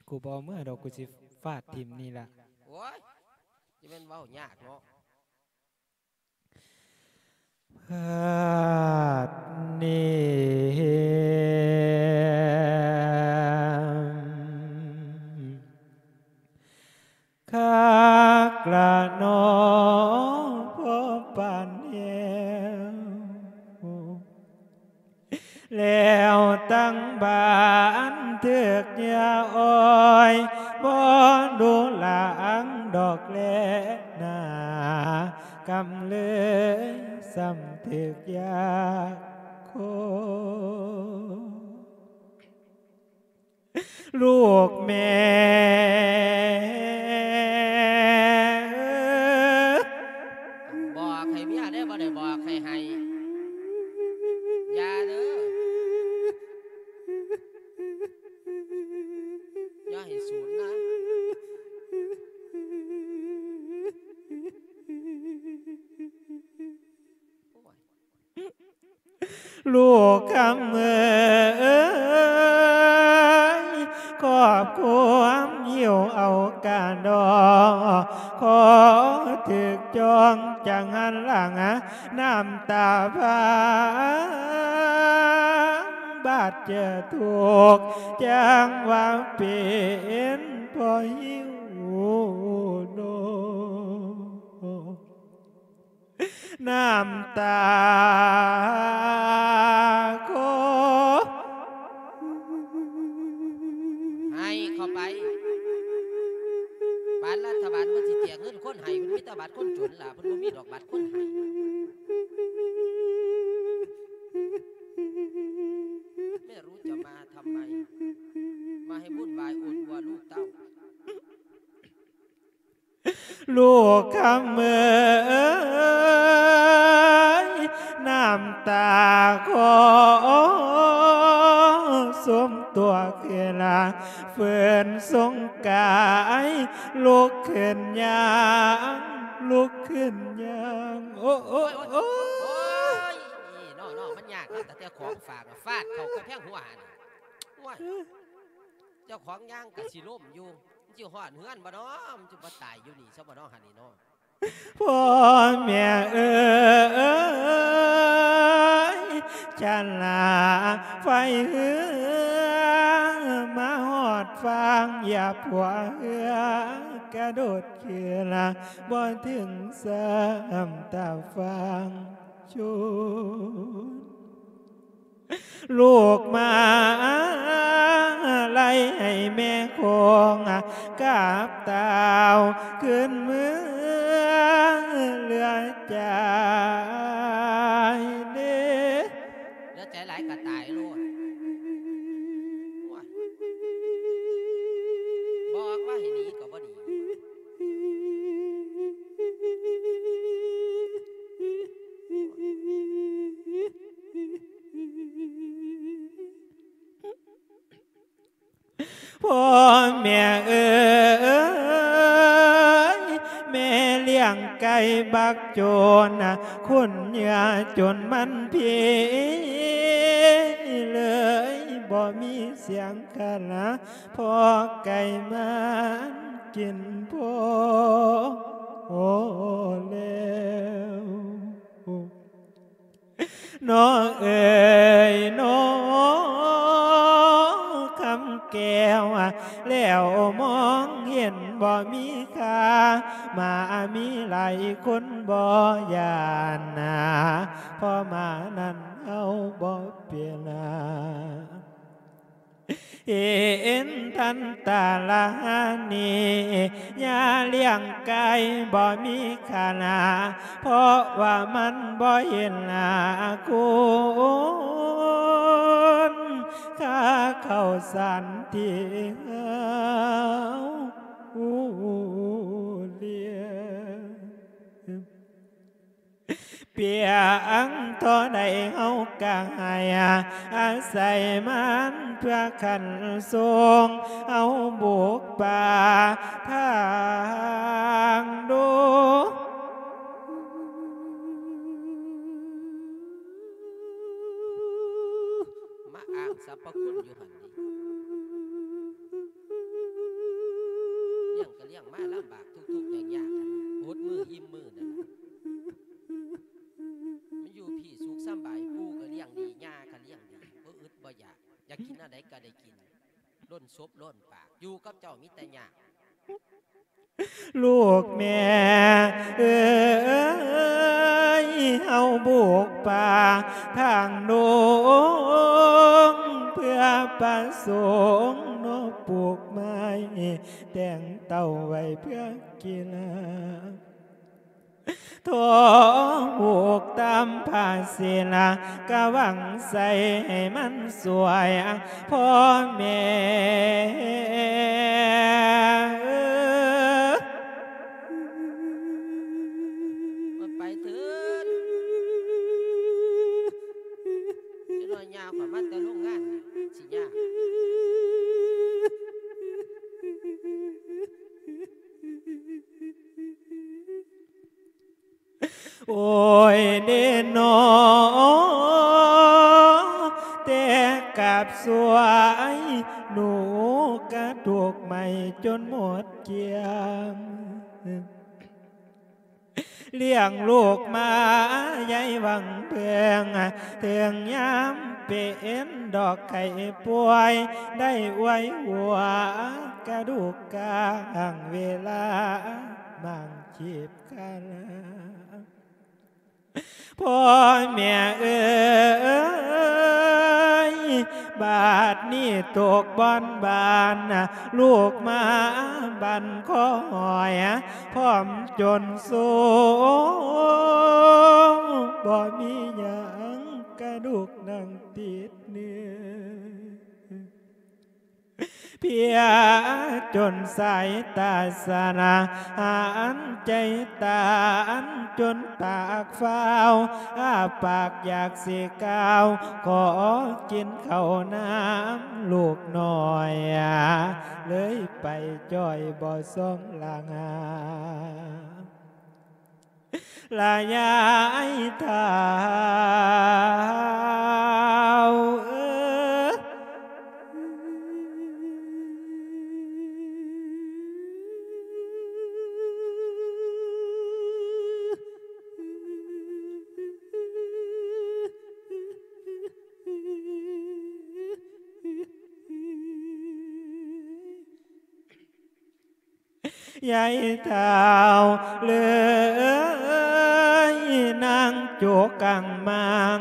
ກູບໍ່ເອົາເມືອດອກ ກູຊິຟາດຖິ້ມນີ້ລະ. ໂອ້ຍ ຈະແມ່ນເວົ້າຍາກເນາະ. ພາດນີ້ ຕັ້ງບ້ານຖືກເຫຍື່ອອ້ອຍ ບໍ່ດູຫຼັງດອກແລນາ ກຳເລີຍສ່ຳຖືກຢາກໂຄ. ລູກແມ່ ບອກໃຫ້ເມຍເດີ້ ບໍ່ໄດ້ບອກໃຫ້ໄຫ້ ຢ່າເດີ້ ຢ່າໃຫ້ສູນນະ. ລູກຄຳເອີຍ ຄອບຄວາມຫິວເອົາກາດອກ ຂໍຖືກຈ້ອງຈັ່ງຫັນຫຼັງ ນ້ຳຕາພາງ ບາດເຈີທຸກ ຈັ່ງວ່າເປັນພໍ່ຫິວໂນ. ນ້ຳຕາຂໍ ໃຫ້ເຂົ້າໄປ ປານລັດຖະບານເພິ່ນຊິແຈກເງິນຄົນໃຫ້ ມັນມີແຕ່ບັດຄົນຈົນລະ ເພິ່ນບໍ່ມີດອກບັດຄົນໃຫ້. ແມ່ຮູ້ຈະມາທຳໄມ ມາໃຫ້ວຸ່ນວາຍໂອດອວດລູກເຕົ້າ. ລູກຄຳເອີຍ ນ້ຳຕາຂໍສົມຕົວຄືນ ເຟື້ນສົງກາຍ ລຸກຂຶ້ນຍ່າງ ລຸກຂຶ້ນຍ່າງ ໂອ້ ໂອ້ ໂອ້ຍ ໂອ້ຍ ໂອ້ຍ ນີ້ເນາະ ເນາະ ມັນຍາກເນາະ ຕັ້ງແຕ່ຂອງຝາກ ຟາດເຂົ້າກະແພງຫົວຫັ້ນ ໂອ້ຍ ເຈົ້າຂອງຍ່າງກະຊິລົ້ມຢູ່. ມັນຊິຮອດເຮືອນບໍ່ເນາະ ມັນຊິບໍ່ຕາຍຢູ່ນີ້ຊະບໍ່ເນາະຫັ້ນນີ້ເນາະ. ພໍ່ແມ່ເອີຍ ຊັ້ນລະໄຟເຮືອມາຮອດຝັ່ງ ຢ່າພົວເຮືອກະໂດດຂຶ້ນ ບໍ່ເຖິງຊ້ຳຕາຝັ່ງຊົນ. ລູກມາໄລ່ໃຫ້ແມ່ຄົງກັບເຕົ້າ ຄືນເມືອເຫຼືອຈາຍເດ້. ເຫຼືອໃຈຫຼາຍກະຕາຍໂລດ. ໂອ້ຍ ບອກວ່າໃຫ້ໜີກະບໍ່ໜີ. ພໍ່ແມ່ເອີຍ ແມ່ລ້ຽງໄກ່ບັກໂຈນ ຄົນເຫຍື່ອຈົນມັນພີ ເລີຍບໍ່ມີສຽງຄັນ ພໍໄກ່ມັນກິນພໍແລ້ວ. ນ້ອງເອີຍນ້ອງຄຳແກ້ວ ແລ້ວມອງເຫັນບໍ່ມີຄ່າ ໝາມີຫຼາຍຄົນບໍ່ຢ້ານນາ ເພາະໝານັ້ນເຮົາບໍ່ເປັນນາ. ເຫັນທັນຕາລານີ້ ຍ່າລ້ຽງໄກ່ບໍ່ມີຄ່ານາ ເພາະວ່າມັນບໍ່ເຫັນໜ້າຄຸນ ຄ່າເຂົ້າສານທີ່ເຮົາລ້ຽງ. ປຽງທໍ່ໃດເຮົາກະໃຫ້ອາໄສມັນ ເພື່ອຂັນສົ່ງເຮົາບຸກປ່າທາງດົງ. ມາອ້າງສັບພະຄຸນຢູ່ຫັ້ນນີ້ ລ້ຽງກະລ້ຽງມາລຳບາກທຸກໆຍາກໆ ອົດມື້ອີ່ມມື້ນັ້ນ ມັນຢູ່ພີ້ສຸກສຳບາຍ ປູ່ກະລ້ຽງດີ ຍ່າກະລ້ຽງດີ ບໍ່ອຶດບໍ່ຢາກ ຢາກກິນອັນໃດກະໄດ້ກິນ ລົ້ນສົບລົ້ນປາກ ຢູ່ກັບເຈົ້າມີແຕ່ຍາກ. ລູກແມ່ເອີຍ ເຮົາບຸກປ່າທາງດົງ ປະສົງເນາະ ປູກໄມ້ແຕ່ງເຕົ້າໄວ້ເພື່ອກິນ ທໍ່ຫູກຕາມພາສີນ ກະຫວັງໃສ່ໃຫ້ມັນສວຍ ພໍ່ແມ່ເອີ. ໄປເທີດ ຈະໜ້ອຍຍ່າງຂ້ອຍມາແຕ່ໂຮງງານ ຊິຍ່າງ. ໂອ້ຍເດເນາະ ແຕ່ກາບສວຍ ໜູກະຖືກໄໝ້ຈົນໝົດກ້ຽງ ລ້ຽງລູກມາໃຍຫວັງເພິ່ງ ເຖິງຍາມເປັນດອກໄຂ້ປ່ວຍ ໄດ້ອວຍຫົວກະດູກກາງ ເວລາໝາງຈີບກັນ ພໍ່ແມ່ເອີຍ ບາດນີ້ຕົກບ່ອນບານ ລູກມາບັນຄໍຫອຍ ພ້ອມຈົນໂຊ ບໍ່ມີຫຍັງກະດູກໜັງຕິດເນື້ອ ເພຍຈົນສາຍຕາສານາ ຫັນໃຈຕານຈົນປາກຟ້າວ ອ້າປາກຢາກຊິກ່າວ ຂໍກິນເຂົ້ານ້ຳລູກນ້ອຍ ເລີຍໄປຈ່ອຍບໍ່ສ່ອງລາງາ ລະຍາຍທ້າວເອີ. ຍາຍທ້າວເລີຍ ນາງໂຈກກັງມັງ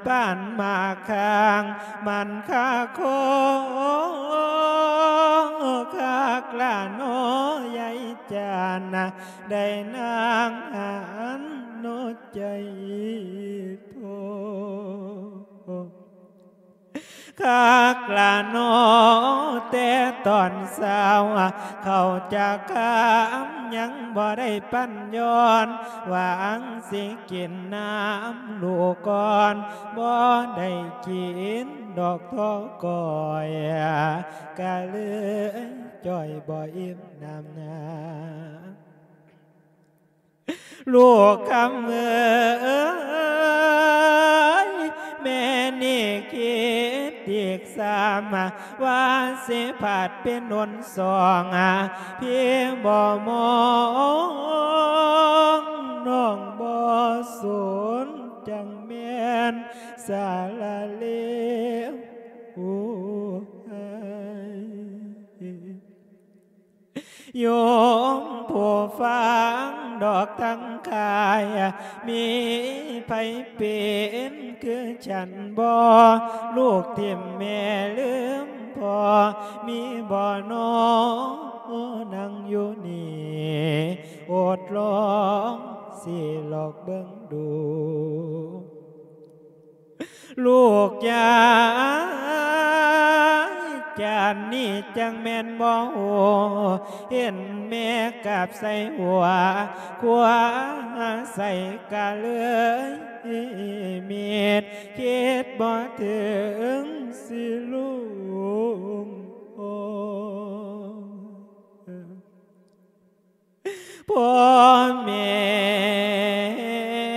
ປານໝາກຄາງ ມັນຄາຄໍຄັກລະເນາະ ຍາຍຈານ ໄດ້ນາງຫັນເນາະໃຈພໍ່. ຄັກລະເນາະ ແຕ່ຕອນເຊົ້າ ເຂົ້າຈາກຄຳຍັງບໍ່ໄດ້ປັ້ນຍ້ອນ ຫວັງຊິກິນນ້ຳລູກກ່ອນ ບໍ່ໄດ້ກິນດອກທໍກ້ອຍ ກະເລີຍຈ່ອຍບໍ່ອີ່ມນ້ຳນາ. ລູກຄຳເອີຍ ແມ່ນີ້ຄິດອີກຊ້ຳ ວ່າຊິພັດເປັນຫົນສອງ ພີ່ບໍ່ມອງ ນ້ອງບໍ່ສົນ ຈັ່ງແມ່ນສາລະເລວ. ໂຍມຜູ້ຟັງດອກທັງຫຼາຍ ມີໃຜເປັນຄືກັນບໍ່? ລູກຖິ້ມແມ່ລືມພໍ່ ມີບໍ່ນໍ? ນັ່ງຢູ່ນີ້ ອົດລອງຊິລອກເບິ່ງດູ. ລູກຢາຍຈານນີ້ຈັ່ງແມ່ນບໍ່ຮູ້ ເຫັນແມ່ກາບໃສ່ຫົວ ຄວ້າໃສ່ກະເລີຍມິດ ຄິດບໍ່ເຖິງຊິລຸງໂອ. ພໍ່ແມ່ເອີຍ.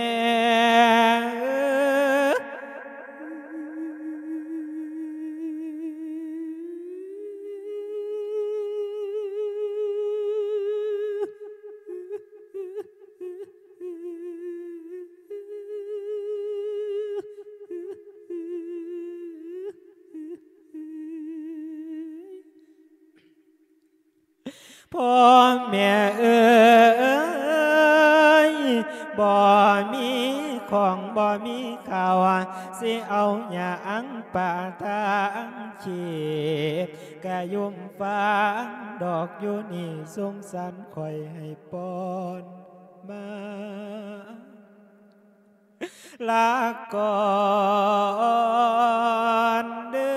ພໍ່ແມ່ເອີຍ ບໍ່ມີຄ ຂອງບໍ່ມີເຂົ້າ ຊິເອົາຫຍັງປະທັງຊີບ ກະຍຸມຟັງດອກຢູ່ນີ້ ສົງສານຂ້ອຍໃຫ້ປ້ອນມາ ລາກ່ອນເດີ.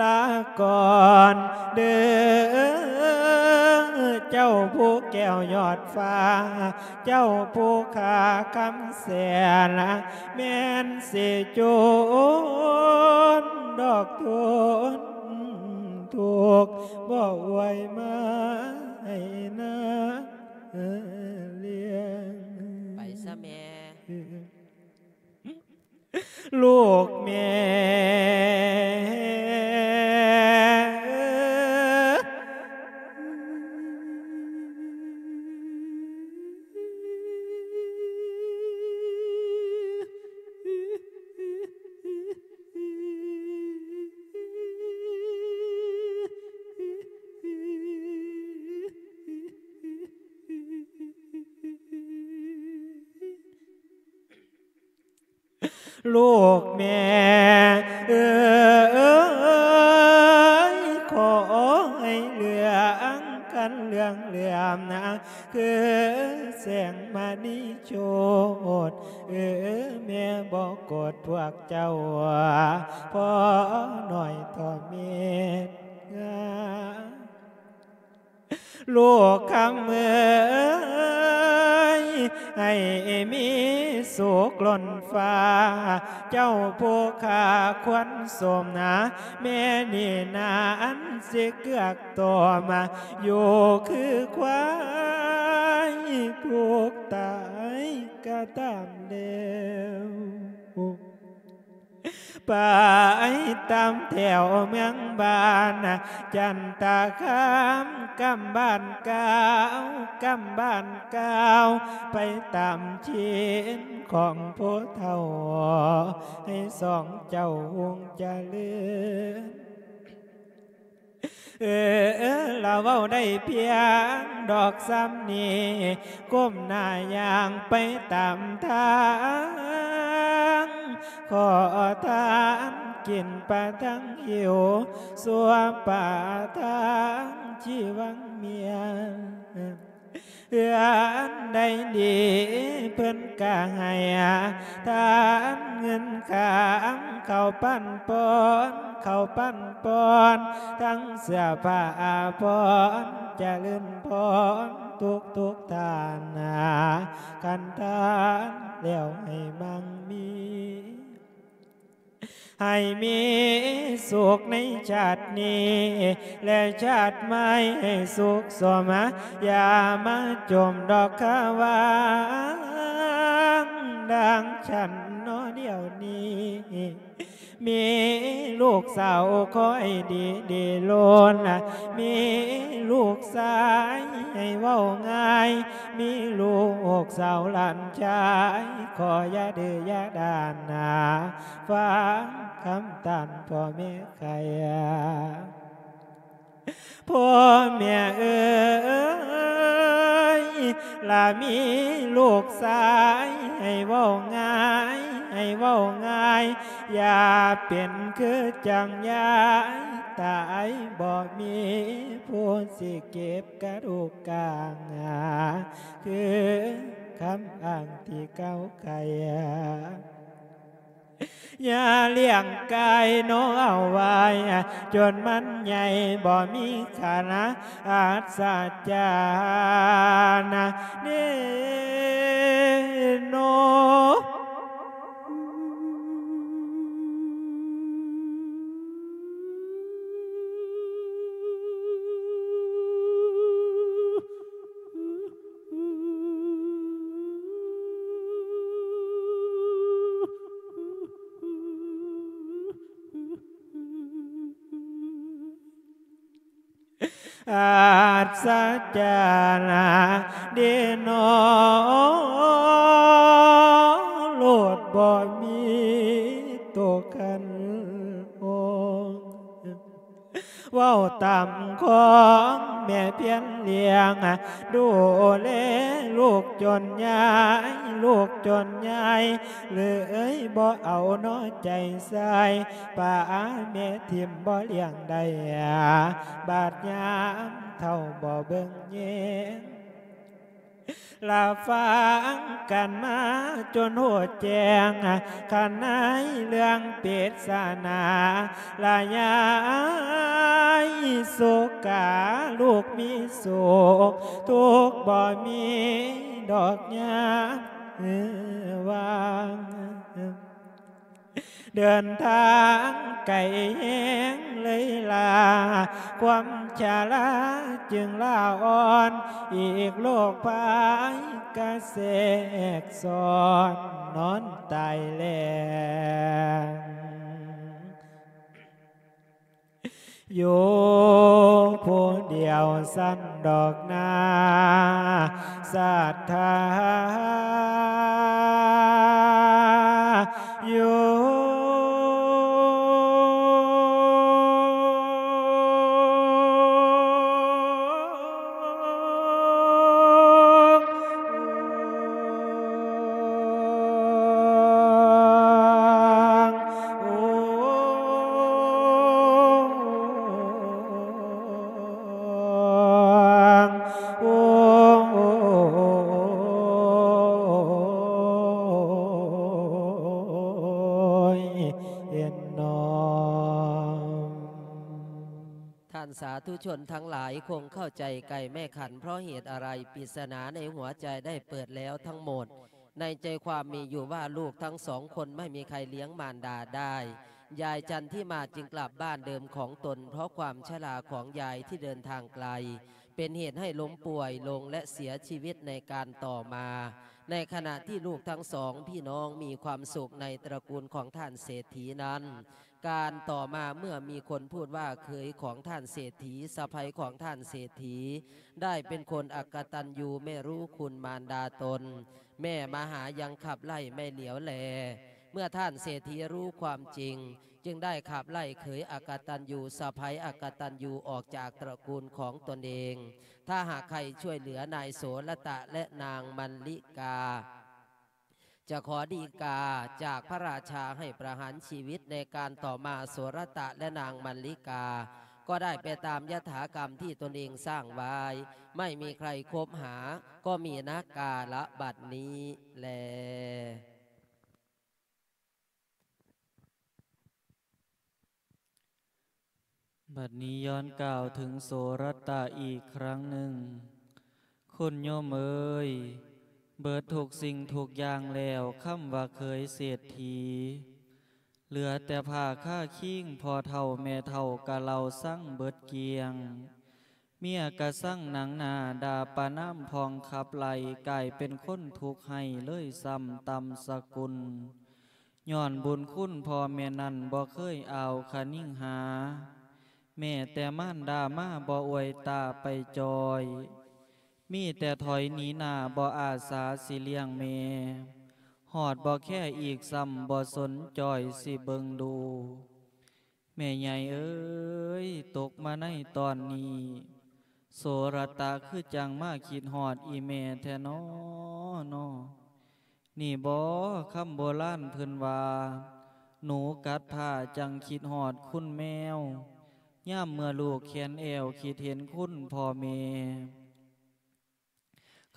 ລາກ່ອນເດີ ເຈົ້າພູແກ້ວຍອດຟ້າ ເຈົ້າພູຄາຄຳແສນ ແມ່ນຊິຈົນດອກທົນທຸກ ບໍ່ອວຍມາໃຫ້ນາລ້ຽງ ໄປຊະແມ່ ລູກແມ່. ລູກແມ່ເອີຍ ຂໍໃຫ້ເລື່ອງຄັນເລື່ອງເຫຼືອມນະ ຄືແສງມະນີໂຊດ ເອີ ແມ່ບໍ່ໂກດພວກເຈົ້າ ພໍໜ້ອຍຕໍ່ເມັດງາ ລູກຄຳເອີຍ ໃຫ້ມີສຸກລົ້ນຟ້າ ເຈົ້າຜູ້ຂ້າຄວນສົມນາ ແມ່ນີ້ນາອັນຊິເກືອກຕົມ ຢູ່ຄືຄວາຍ ທຸກຕາຍກະຕາມແລ້ວ. ໄປຕາມແຖວເມືອງບ້ານ ຈັນຕະຄາມ ກຳບ້ານກ່າວ ກຳບ້ານກ່າວ ໄປຕາມຖິ່ນຂອງຜູ້ເຖົ້າ ໃຫ້ສອງເຈົ້າຮຸ່ງຈະເລີນ. ເອີ ລາເວົ້າໄດ້ພຽງດອກສ່ຳນີ້ ກົ້ມໜ້າຍ່າງໄປຕາມທາງ ຂໍທານກິນປະທັງຫິວ ຊົ່ວປະທັງຊີວັງເມຍ. ເຮືອນໃດດີເພິ່ນກະໃຫ້ທານເງິນຄຳ ເຂົ້າປັນປ້ອນ ເຂົ້າປັນປ້ອນ ທັງເສື້ອຜ້າອາພອນ ຈະເລີນພອນທຸກໆທ່ານນາ ຄັນທານແລ້ວໃຫ້ມັ່ງມີ ໃຫ້ມີສຸກໃນຊາດນີ້ ແລະຊາດໃໝ່ໃຫ້ສຸກສົມ ຢ່າມາຈົມດອກຄາຫວ່າງ ດັ່ງຊັ້ນເນາະດຽວນີ້ ມີລູກສາວຄ່ອຍດີດີລົ້ນ ມີລູກຊາຍໃຫ້ເວົ້າງ່າຍ ມີລູກສາວຫຼານຊາຍ ຂໍຢ່າດື້ຢ່າດ້ານນາ ຟັງຄຳຕ້ານພໍ່ແມ່ໄຂ່. ພໍ່ແມ່ເອີຍ ລະມີລູກຊາຍໃຫ້ເວົ້າງ່າຍ ໃຫ້ເວົ້າງ່າຍ ຢ່າເປັນຄືຈັ່ງຍາຍ ຕາຍບໍ່ມີຜູ້ຊິເກັບກະດູກກາງ ຄືຄຳອ້າງທີ່ເກົ່າໄກ່. ຢ່າລ້ຽງໄກ່ນ້ອງເອົາໄວ້ ຈົນມັນໃຫຍ່ບໍ່ມີຄ່ານະ ອັດສະຈັນເດ້ນ້ອງ. ອັດສະຈານະເດນໍ ໂລດບໍ່ມີໂຕຂັນອົງ ເວົ້າຕາມຂອງແມ່ພຽນລ້ຽງ ດູແລລູກຈົນໃຫຍ່ ລູກຈົນໃຫຍ່ ເລີຍບໍ່ເອົານໍໃຈໃສ່ ປະອາແມ່ຖິ້ມບໍ່ລ້ຽງໄດ້ ບາດຍາມເຖົ້າບໍ່ເບິ່ງແຍງ ລະຟັງກັນມາຈົນຮູ້ແຈ້ງ ຄັນໃນເລື່ອງປິດສະໜາ ລະຍາຍໂສກາ ລູກມີໂສກ ທຸກບໍ່ມີດອກຍາມວາງ ເດີນທາງໄກແຮງເລີຍລາ ຄວາມຊະລາຈຶ່ງລາອ່ອນ ອີກໂລກໄພກະແຊກຊ້ອນ ນອນຕາຍແລງ ຢູ່ຜູ້ດຽວຊັ້ນດອກນາ ສັດທາຢູ່. ໂອ້ຍ ເຫັນໜໍ່. ທ່ານສາທຸຊົນທັງຫຼາຍຄົງເຂົ້າໃຈໄກ່ແມ່ຂັນ ເພາະເຫດອະໄລ? ປິດສະໜາໃນຫົວໃຈໄດ້ເປີດແລ້ວທັງໝົດ. ໃນໃຈຄວາມມີຢູ່ວ່າ ລູກທັງສອງຄົນໄມ່ມີໃຄລ້ຽງມານດາໄດ້. ຍາຍຈັນທິມາຈຶ່ງກັບບ້ານເດີມຂອງຕົນ ເພາະຄວາມຊະລາຂອງຍາຍທີ່ເດີນທາງໄກ ເປັນເຫດໃຫ້ລົ້ມປ່ວຍລົງ ແລະ ເສຍຊີວິດໃນການຕໍ່ມາ. ໃນຂະນະທີ່ລູກທັງສອງພີ່ນ້ອງມີຄວາມສຸກໃນຕະກູນຂອງທ່ານເສດຖີນັ້ນ, ການຕໍ່ມາເມື່ອມີຄົນພູດວ່າເຂີຍຂອງທ່ານເສດຖີ, ສະໃພ້ຂອງທ່ານເສດຖີ ໄດ້ເປັນຄົນອະກະຕັນຍູ ແມ່ຮູ້ຄຸນມານດາຕົນ, ແມ່ມະຫາຍັງຂັບໄລ່ໄມ່ຫຼຽວແລ. ເມື່ອທ່ານເສດຖີຮູ້ຄວາມຈິງ, ຈຶ່ງໄດ້ຂັບໄລ່ເຂີຍອະກະຕັນຍູ, ສະໃພ້ອະກະຕັນຍູອອກຈາກຕະກູນຂອງຕົນເອງ. ຖ້າຫາກໃຄ່ຊ່ວຍເຫຼືອນາຍໂສລະຕະ ແລະ ນາງມັນລິກາ, ຈະຂໍດີກາຈາກພະລາຊາໃຫ້ປະຫານຊີວິດໃນການຕໍ່ມາ. ໂສລະຕະ ແລະ ນາງມັນລິກາ ກໍໄດ້ໄປຕາມຍະຖາກຳທີ່ຕົນເອງສ້າງໄວ້, ໄມ່ມີໃຄຄົບຫາ, ກໍມີນະກາລະບັດນີ້ແລ. ບັດນີ້ຍ້ອນກ່າວເຖິງໂສລະຕະອີກຄັ້ງໜຶ່ງ. ຄຸນໂຍມເອີຍ, ເບິດທຸກສິ່ງທຸກຢ່າງແລ້ວ, ຄຳວ່າເຂີຍເສດຖີ, ເຫຼືອແຕ່ຜ້າຄາຄີງ, ພໍ່ເຖົ້າແມ່ເຖົ້າກະເລົ່າສັງເບິດກ້ຽງ. ເມຍກະສັງໜັງໜ້າ, ດ່າປະນາມພ້ອມຂັບໄລ່, ກາຍເປັນຄົນທຸກໄຮ້ເລີຍຊ້ຳຕ່ຳສະກຸນ. ຍ້ອນບຸນຄຸນພໍ່ແມ່ນັ້ນບໍ່ເຄີຍອາວຄະນິງຫາ, ແມ້ແຕ່ມານດາມາບໍ່ອວຍຕາໄປຈ່ອຍ, ມີແຕ່ຖອຍໜີໜ້າ ບໍ່ອາສາຊິລ້ຽງແມ່, ຮອດບໍ່ແຄອີກຊ້ຳ ບໍ່ສົນຈ່ອຍຊິເບິ່ງດູ. ແມ່ໃຫຍ່ເອີຍ, ຕົກມາໃນຕອນນີ້, ໂສລະຕະຄືຈັ່ງມາຄິດຮອດອີ່ແມ່ແທ້ນໍ ນໍ. ນີ້ບໍຄຳໂບລານເພິ່ນວ່າ, ໜູກັດຜ້າຈັ່ງຄິດຮອດຄຸນແມວ, ຍາມເມື່ອລູກແຂນແອວ ຄິດເຫັນຄຸນພໍ່ແມ່.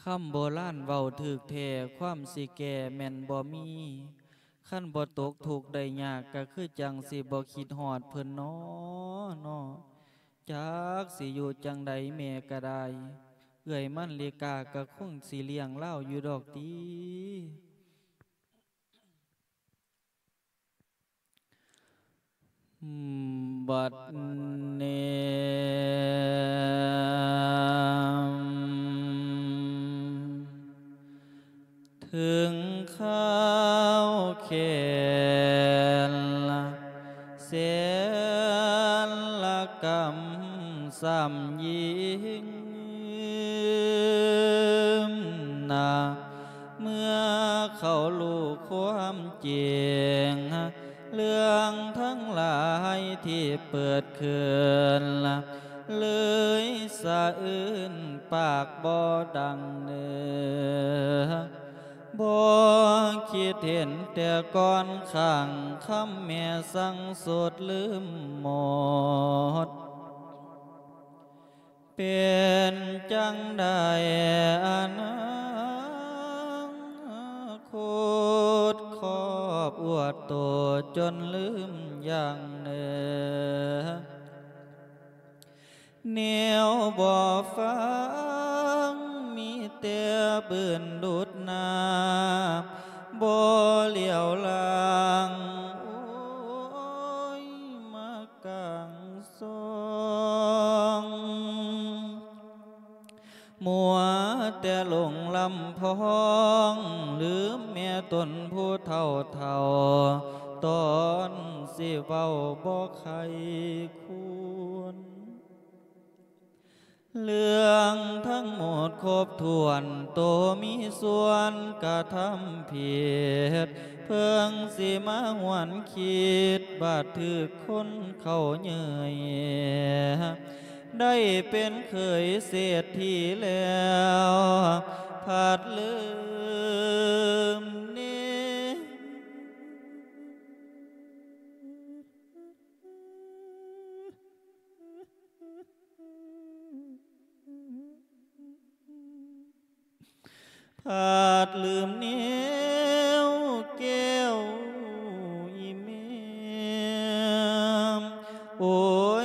ຄຳໂບລານເວົ້າຖືກແທ້, ຄວາມຊິແກ້ແມ່ນບໍ່ມີ. ຄັນບໍ່ຕົກທຸກໄດ້ຍາກ, ກະຄືຈັ່ງຊິບໍ່ຄິດຮອດເພິ່ນນໍ ນໍ. ຈັກຊິຢູ່ຈັ່ງໃດແມ່ກະໄດ້, ເອື້ອຍມັນລິກາກະຄົງຊິລ້ຽງລາວຢູ່ດອກຕິ. ບັດນີ້ ເຖິງຄາວແຄນລະ ແສນລະກຳ ຊ້ຳຍິ່ງນາ ເມື່ອເຂົາຮູ້ຄວາມຈິງ ເລື່ອງທັງຫຼາຍທີ່ເປີດຂຶ້ນ ເລີຍສະອືນປາກບໍ່ດັງເນີ ບໍ່ຄິດເຫັນແຕ່ກ່ອນຂ້າງຄຳແມ່ສັ່ງສົດລືມໝົດ ເປັນຈັ່ງໃດອະນາຄົດຄອບອວດໂຕຈົນລືມຢ່າງເນີ ແນວບໍ່ຟັງມີແຕ່ບືນຫຼຸດໜ້າ ບໍ່ຫຼຽວຫຼັງ ໂອ້ຍ ມາກາງຊ່ອງ ມົວແຕ່ຫຼົງລຳພອງ ລືມແມ່ຕົນຜູ້ເຖົ້າໆ ຕອນຊິເວົ້າບໍ່ໃຄ່ຄວນ ເລື່ອງທັງໝົດຄົບຖ້ວນ ໂຕມີສ່ວນກະທຳຜິດ ເພິ່ງຊິມາຫວນຄິດ ບາດຖືກຄົນເຂົາເຍີ້ຍ ໄດ້ເປັນເຂີຍເສດຖີແລ້ວ ພັດລືມເນ ພັດລືມແນວແກ້ວອີ່ແມ່ ໂອ້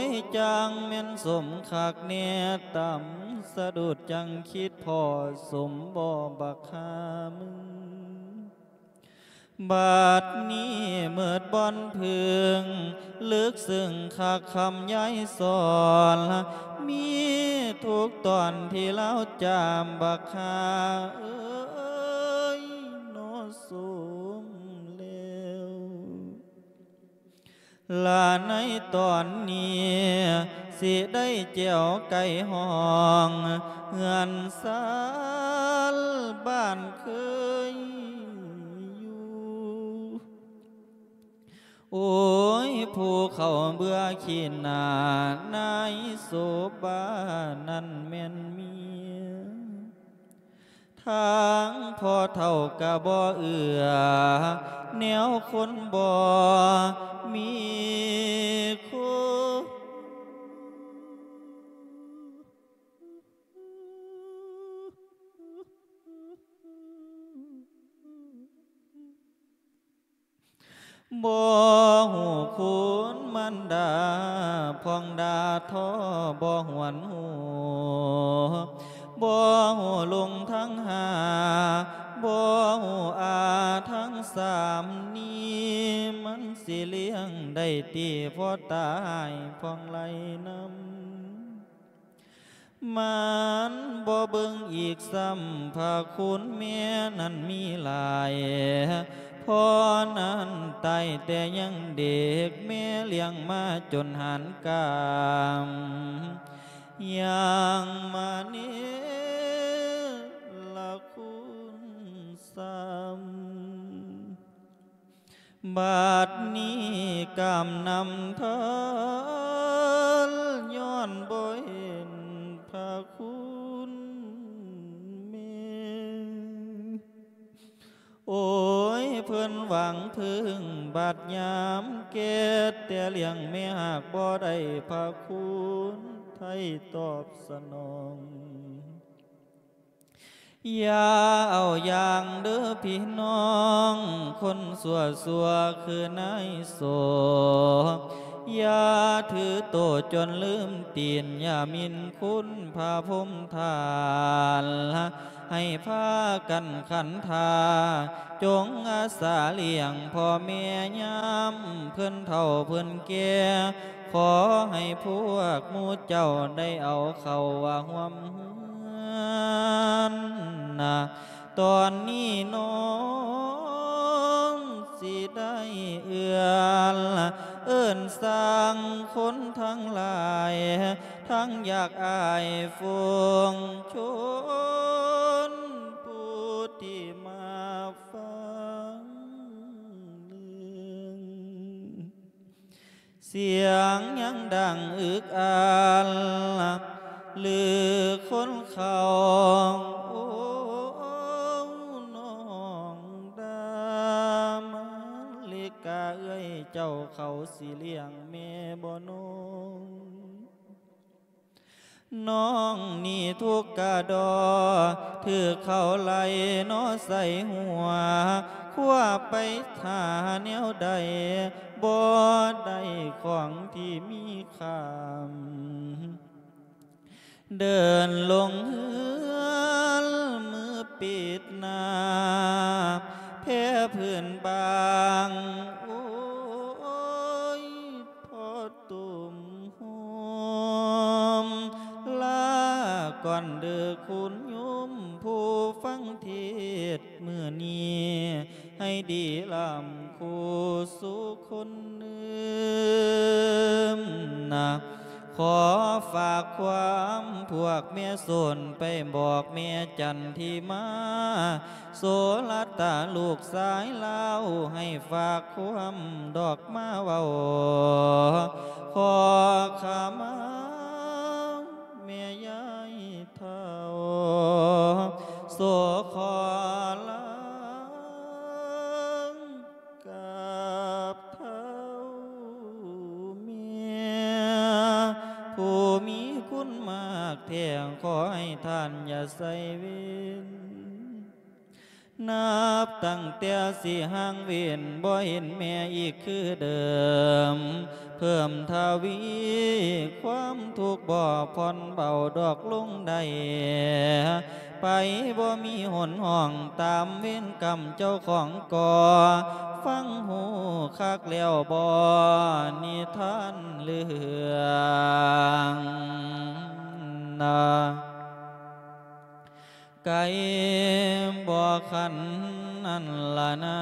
ຍ ຈັ່ງແມ່ນສົມຄັກແນ່ ຕຳສະດຸດຈັ່ງຄິດພໍສົມບໍ່ບັກຫາມຶງ ບາດນີ້ເໝິດບ່ອນເພິ່ງ ເລິກເຊິ່ງຄັກຄຳຍາຍສອນ ມີທຸກຕອນທີ່ລາວຈາມ ບັກຫາເອີຍ ນໍສົມແລ້ວ ລະໃນຕອນນີ້ ຊິໄດ້ແຈວໄກ່ຫ້ອງ ເຮືອນຊານບ້ານເຄີຍຢູ່ ໂອ້ຍ ຜູ້ເຂົາເບື່ອຂີ້ໜ້າ ນາຍໂສບານັ້ນແມ່ນເມຍ ທາງພໍ່ເຖົ້າກະບໍ່ເອື້ອ ແນວຄົນບໍ່ມີຄຸນ ບໍ່ຮູ້ຄຸນມານດາ ຜ່ອງດ່າທໍບໍ່ຫວນຮູ້ ບໍ່ຮູ້ລຸງທັງຫ້າ ບໍ່ຮູ້ອາທັງສາມ ນີ້ມັນຊິລ້ຽງໄດ້ຕິ ພໍຕາຍຜ່ອງໄຫຼນຳ ມັນບໍ່ເບິ່ງອີກຊ້ຳ ພະຄຸນແມ່ນັ້ນມີຫຼາຍ ພໍ່ນັ້ນຕາຍແຕ່ຍັງເດັກ ແມ່ລ້ຽງມາຈົນຫານກາມ ຍັງມາເນລະຄຸນຊ້ຳ ບາດນີ້ກຳນຳທານ ຍ້ອນບໍ່ເຫັນພະຄຸນແມ່ ໂອ້ຍ ເພິ່ນຫວັງເພິ່ງ ບາດຍາມແກ່ ແຕ່ລ້ຽງແມ່ຫາກບໍ່ໄດ້ ພະຄຸນໄທຕອບສະໜອງ ຢ່າເອົາຢ່າງເດີພີ່ນ້ອງ ຄົນຊົ່ວໆຄືນາຍໂສ ຢ່າຖືໂຕຈົນລືມຕີນ ຢ່າໝິ່ນຄຸນພະພົມທ່ານ ໃຫ້ພາກັນຂັນທາ ຈົ່ງອາສາລ້ຽງພໍ່ແມ່ຍາມເພິ່ນເຖົ້າເພິ່ນແກ່ ຂໍໃຫ້ພວກໝູ່ເຈົ້າໄດ້ເອົາເຂົ້າວ່າຮ່ວມເຮືອນນະ ຕອນນີ້ນ້ອງຊິໄດ້ເອື້ອນ ເອີ້ນຊ່າງຄົນທັງຫຼາຍ ທັງຢາກອາຍຝູງຊົນຜູ້ທີ່ມາຟັງເລື່ອງ ສຽງຍັງດັງອຶກອັນ ຫຼືຄົນເຂົາ ໂອ້ ນ້ອງດາມາລິກາເອື້ອຍເຈົ້າ ເຂົາຊິລ້ຽງແມ່ບໍ່ນ້ອງ? ນ້ອງນີ້ທຸກກະດໍ ຖືກເຂົາໄລ່ເນາະໃສ່ຫົວ ຄວ້າໄປຫາແນວໃດ ບໍ່ໄດ້ຂອງທີ່ມີຄ່າ ເດີນລົງເຮືອນ ມືປິດໜ້າ ແພພື້ນບາງ ໂອ້ຍ ພໍຕຸ້ມໂຮມ ລາກ່ອນເດີຄຸນໂຍມ ຜູ້ຟັງເທດມື້ນີ້ ໃຫ້ດີລ້ຳຄູ່ສູ່ຄົນເດີມນະ ຂໍຝາກຄວາມພວກແມ່ໂສນ ໄປບອກແມ່ຈັນທິມາ ໂສລັດຕາລູກຊາຍລາວ ໃຫ້ຝາກຄວາມດອກມາເວົ້າ ຂໍຂະມາແມ່ຍາຍເຖົ້າ ໂສຂໍລາ ກາບເທົ້າແມ່ ຜູ້ມີຄຸນມາກແທ້ ຂໍໃຫ້ທ່ານຢ່າໃສ່ເວນ ນັບຕັ້ງແຕ່ຊິຫ່າງເວນ ບໍ່ເຫັນແມ່ອີກຄືເດີມ ເພີ່ມທະວີຄວາມທຸກ ບໍ່ຜ່ອນເບົາດອກລົງໄດ້ ໄປບໍ່ມີຫົນຫ້ອງ ຕາມເວນກຳເຈົ້າຂອງກໍ ຟັງຮູ້ຄັກແລ້ວບໍ່ ນິທານເລື່ອງນາ ໄກບໍ່ຄັນນັ້ນລະນາ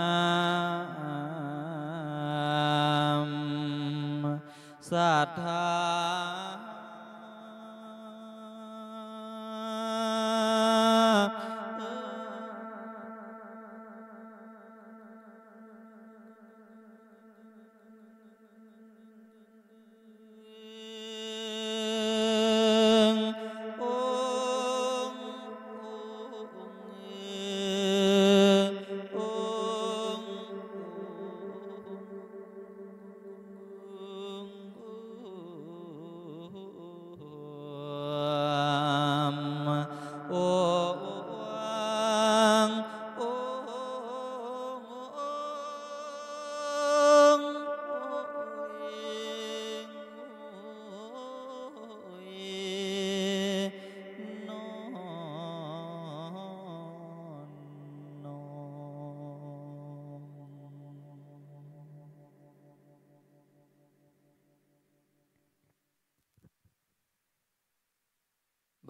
ສາທາ.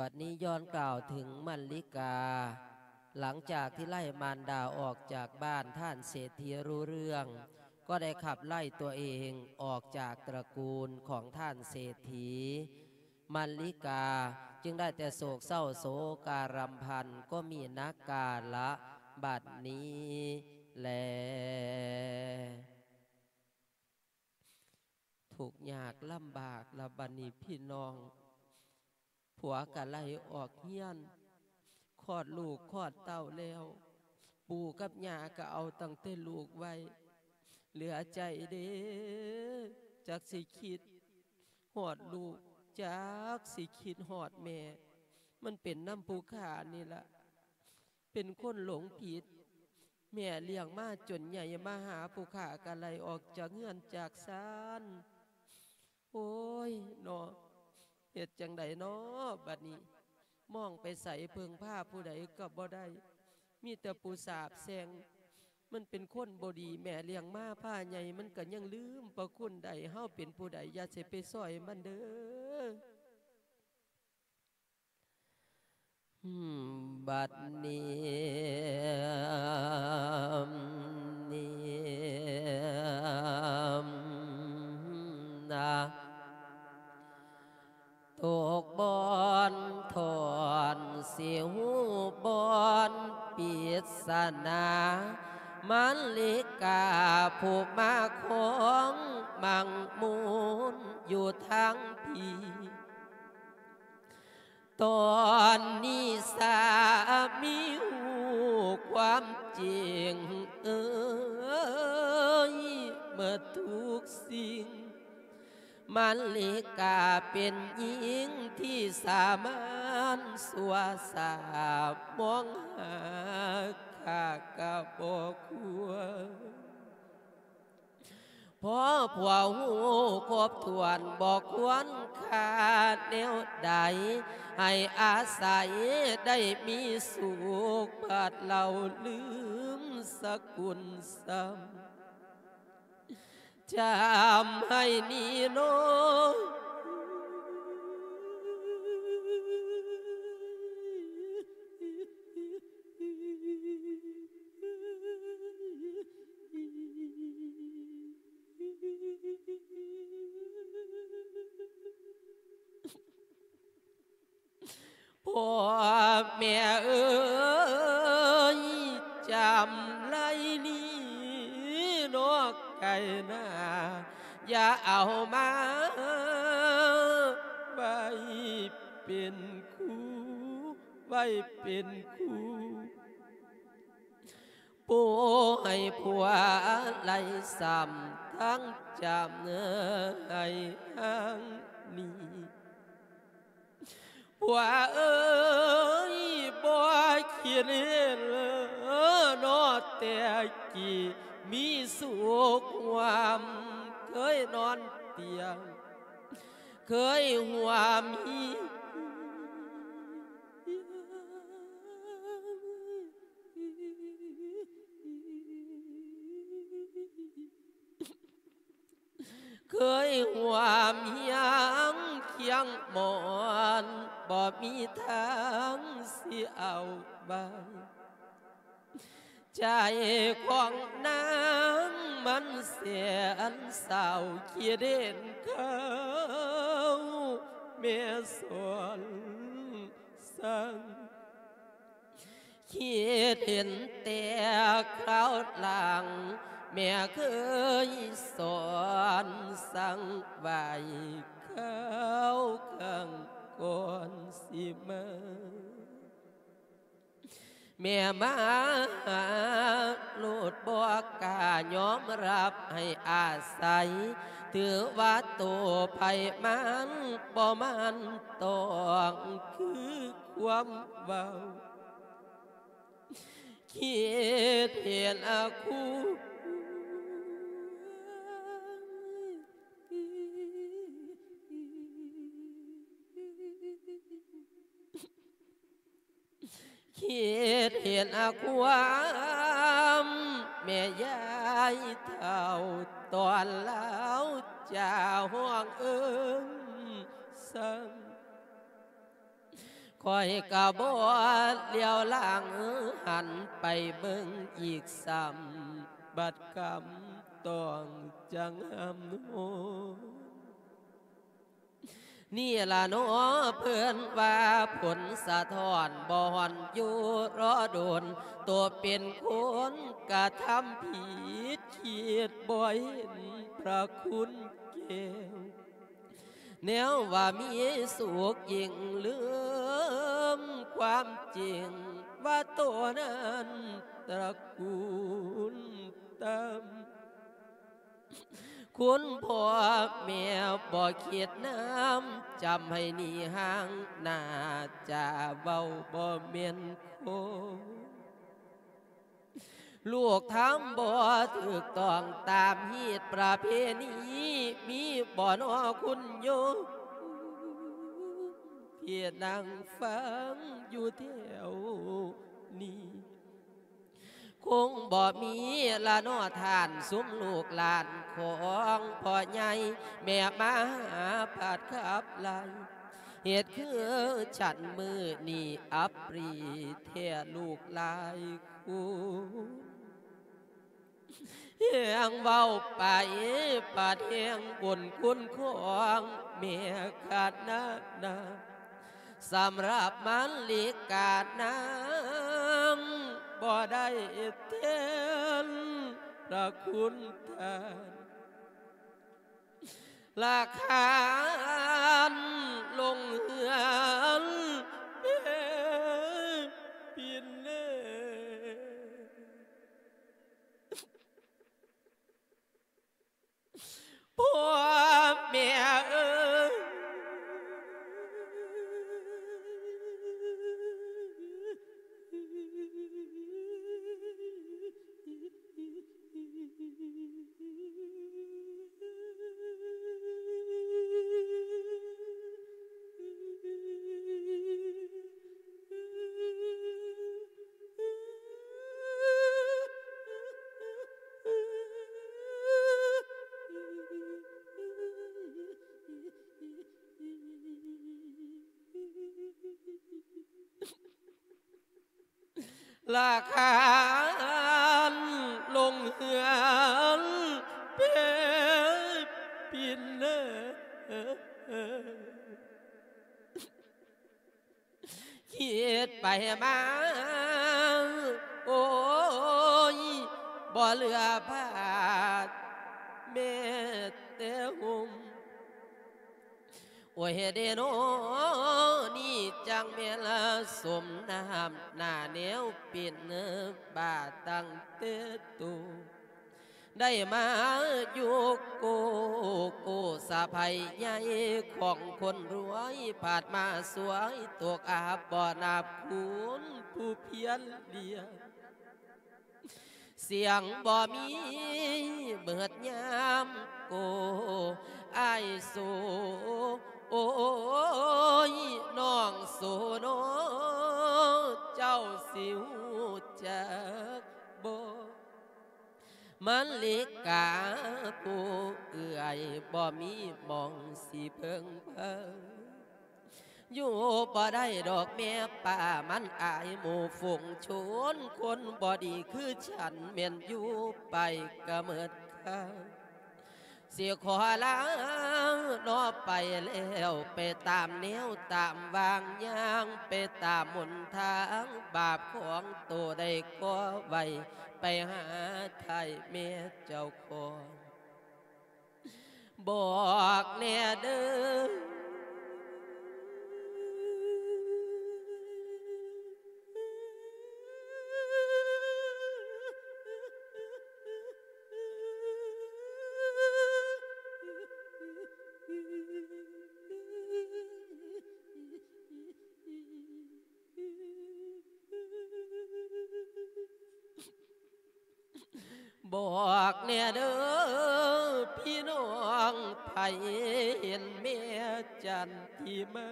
ບັດນີ້ຍ້ອນກ່າວເຖິງມັນລິກາ, ຫຼັງຈາກທີ່ໄລ່ມານດາອອກຈາກບ້ານ, ທ່ານເສດຖີຮູ້ເລື່ອງ ກໍໄດ້ຂັບໄລ່ຕົວເອງອອກຈາກຕະກູນຂອງທ່ານເສດຖີ. ມັນລິກາຈຶ່ງໄດ້ແຕ່ໂສກເສົ້າໂສກາລຳພັນ, ກໍມີນັກກາລະບັດນີ້ແລ. ທຸກຍາກລຳບາກລະບັດນີ້ພີ່ນ້ອງ, ຜົວກະໄລ່ອອກເຮືອນ, ຄອດລູກຄອດເຕົ້າແລ້ວ, ປູ່ກັບຍ່າກະເອົາຕັ້ງແຕ່ລູກໄວ້, ເຫຼືອໃຈເດ້, ຈັກຊິຄິດຮອດລູກ, ຈັກຊິຄິດຮອດແມ່, ມັນເປັນນຳຜູ້ຂ້ານີ້ລະ. ເປັນຄົນຫຼົງຜິດ, ແມ່ລ້ຽງມາຈົນໃຫຍ່, ມາຫາຜູ້ຂ້າກະໄລ່ອອກຈາກເຮືອນຈາກຊານ. ໂອ້ຍເນາະ, ເຮັດຈັ່ງໃດເນາະບັດນີ້? ມອງໄປໃສເພິ່ງພາຜູ້ໃດກໍບໍ່ໄດ້, ມີແຕ່ຜູ້ສາບແຊ່ງ. ມັນເປັນຄົນບໍ່ດີ, ແມ່ລ້ຽງມາພາໃຫຍ່, ມັນກໍຍັງລືມພະຄຸນໄດ້. ເຮົາເປັນຜູ້ໃດ, ຢ່າຊິໄປຊ່ອຍມັນເດີ້. ບັດນີ້ ນະ ໂຕ ຂອງມັງມູນຢູ່ທາງພີ້. ຕອນນີ້ສາມີຮູ້ຄວາມຈິງເອີຍ ເໝິດທຸກສິ່ງ ມະລິກາເປັນຍິງທີ່ສາມານຊົ່ວຊາ ມອງຫາຂ້າກະບໍ່ຄວນ. ພໍຜົວຮູ້ຄົບຖ້ວນບໍ່ຄວນຄ່າແນວໃດ ໃຫ້ອາໄສໄດ້ມີສຸກ ບັດເລົ່າລືມສະກຸນຊ້ຳ ຈຳໃຫ້ນີ້ເນາະ. ພໍ່ແມ່ເອີຍ ຈຳໄລນີ້ນອກໄກນາ ຢ່າເອົາມາໄວ້ເປັນຄູ່ ໄວ້ເປັນຄູ່. ປູໃຫ້ຜົວໄລ່ຊ້ຳທັງຈຳໃຫ້ຫ່າງໜີ. ຜົວເອີຍ ບໍ່ຄິດເຫັນເລີເນາະ ແຕ່ກີ້ມີສຸກຮ່ວມ ເຄີຍນອນຕຽງ ເຄີຍຮ່ວມຮີ ເຄີຍຮ່ວມຮຽງຄຽງໝອນ ບໍ່ມີທາງຊິເອົາໄວ້ ໃຈຂອງນາງມັນແສນເສົ້າ ຄິດເຫັນເຂົາແມ່ສອນ ສັ່ງ ຄິດເຫັນແຕ່ຄາວຫຼັງ ແມ່ເຄີຍສອນສັ່ງໄວ້ຄາວຄັ້ງກ່ອນຊິມາ. ແມ່ມາຫາໂລດ ບໍ່ກ້າຍອມຮັບໃຫ້ອາໄສ ຖືວ່າໂຕໃຜມັນບໍ່ໝັ້ນຕ້ອງ ຄືຄວາມເວົ້າ ຄິດເຫັນອາຄູ ຄິດເຫັນອາຄວາມແມ່ຍາຍເຖົ້າ ຕອນລາວຈາຮ້ອງເອີ້ນສັ່ງ ຂ້ອຍກະບໍ່ຫຼຽວຫຼັງຫັນໄປເບິ່ງອີກຊ້ຳ ບັດກຳຕ້ອງຈັ່ງຫຳໂຮມ. ນີ້ລະເນາະ ເພິ່ນວ່າຜົນສະທ້ອນບໍ່ຮ້ອນຢູ່ລໍດົນ ໂຕເປັນຄົນກະທຳຜິດ ຄິດບໍ່ເຫັນພະຄຸນແກ້ວ ແນວວ່າມີສຸກຍິ່ງລືມຄວາມຈິງ ວ່າໂຕນັ້ນຕະກູນຕ່ຳ. ຄຸນພໍ່ແມ່ບໍ່ຄິດນຳ ຈຳໃຫ້ໜີຫ່າງໜ້າ ຈາເວົ້າບໍ່ແມ່ນຄົນ ລູກທຳບໍ່ຖືກຕ້ອງຕາມຮີດປະເພນີ ມີບໍ່ນໍຄຸນໂຍມ ທີ່ນັ່ງຟັງຢູ່ແຖວນີ້? ຄົງບໍ່ມີລະເນາະທ່ານ ຊຸມລູກຫຼານຂອງພໍ່ໃຫຍ່ ແມ່ມາຫາພັດຂັບໄລ່ ເຮັດຄືສັນມື້ນີ້ອັບປຣີແທ້ລູກຫຼາຍຄົນ ແຮງເວົ້າໄປປາດແຮງບຸນຄຸນຂອງແມ່ຂະນະນາ ສຳລັບມະລິການາງບໍ່ໄດ້ແທນ ພະຄຸນທ່ານ ລະຄານລົງເຮືອນເປັນເດີ ພໍ່ແມ່ເອີຍ ລະຄານລົງເຮືອນເປັນປີເດີ ຄິດໄປມາ ໂອ້ຍ ບໍ່ເຫຼືອບາດແມ້ແຕ່ຫົ່ມ ໂອ້ຍເດເນາະ ນີ້ຈັ່ງແມ່ນສົມນ້ຳໜ້າແນວເປັນບາດຕັ້ງແຕ່ໂຕ ໄດ້ມາຢູ່ໂກໂກສະໃພໃຫຍ່ຂອງຄົນລວຍ ພາດມາສວຍຕົກອັບບໍ່ນັບຄູນຜູ້ພຽນລ້ຽງ ສຽງບໍ່ມີເໝິດຍາມໂກ ອ້າຍໂສ ໂອ້ຍ ນ້ອງໂສເນາະ ເຈົ້າຊິຮູ້ຈັກບໍ່? ມະລິກາຜູ້ເອື້ອຍ ບໍ່ມີໝ່ອງຊິເພິ່ງພາ ຢູ່ບໍ່ໄດ້ດອກແມ່ປ້າ ມັນອາຍໝູ່ຝູງຊົນ ຄົນບໍ່ດີຄືສັນ ແມ່ນຢູ່ໄປກະເໝິດຄ່າ ຊິຂໍລາເນາະ ໄປແລ້ວ ໄປຕາມແນວຕາມວາງ ຍ່າງໄປຕາມຫົນທາງ ບາບຂອງໂຕໄດ້ກໍ່ໄວ້ ໄປຫາທ້າຍແມ່ເຈົ້າຂອງ ບອກແດ່ເດີ ບອກແດ່ເດີພີ່ນ້ອງ ໃຜເຫັນແມ່ຈັນທິມາ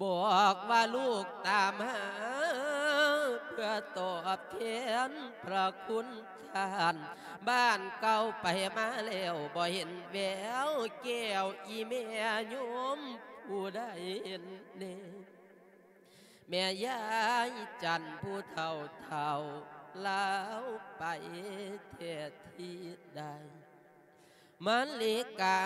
ບອກວ່າລູກຕາມຫາ ເພື່ອຕອບແທນພະຄຸນທ່ານ ບ້ານເກົ່າໄປມາແລ້ວ ບໍ່ເຫັນແວວແກ້ວ ອີ່ແມ່ໂຍມຜູ້ໃດເຫັນແນ່? ແມ່ຍາຍຈັນຜູ້ເຖົ້າເຖົ້າ ລາວໄປແທ້ທີ່ໃດ ມະລິກາ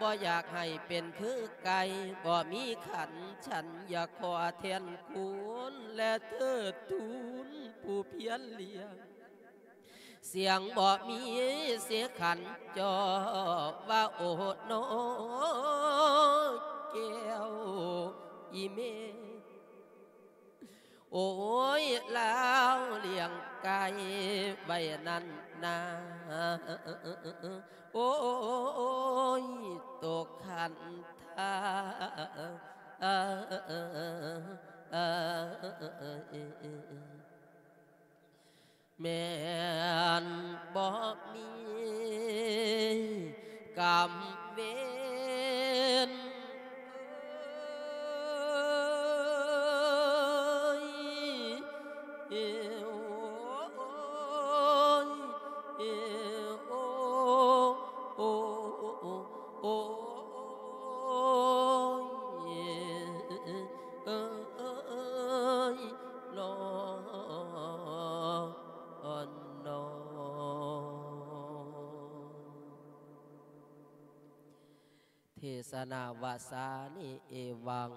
ບໍ່ຢາກໃຫ້ເປັນຄືໄກ່ ບໍ່ມີຂັນ ສັນຢາກຂໍແທນຄຸນ ແລະເທີດທູນຜູ້ພຽນລ້ຽງ ສຽງບໍ່ມີເສຍຂັນຈໍ ວ່າໂອໂນແກ້ວອີ່ແມ່ ໂອ້ຍ ລາວລ້ຽງໄກ່ໄວ້ນັ້ນນາ ໂອ້ຍ ຕົກຂັນທາ ແມ່ນບໍ່ມີກຳເວນ ເອີຍ ເອີຍ ໂອ້ຍ ເອີຍ ໂອ້ ໂອ້ ໂອ້ຍ ເອີຍ ເນາະ ເນາະ. ເທສະນາວາສານິ ເອວັງ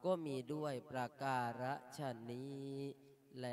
ກໍມີດ້ວຍປະກາລະຊະນີ້ແລ.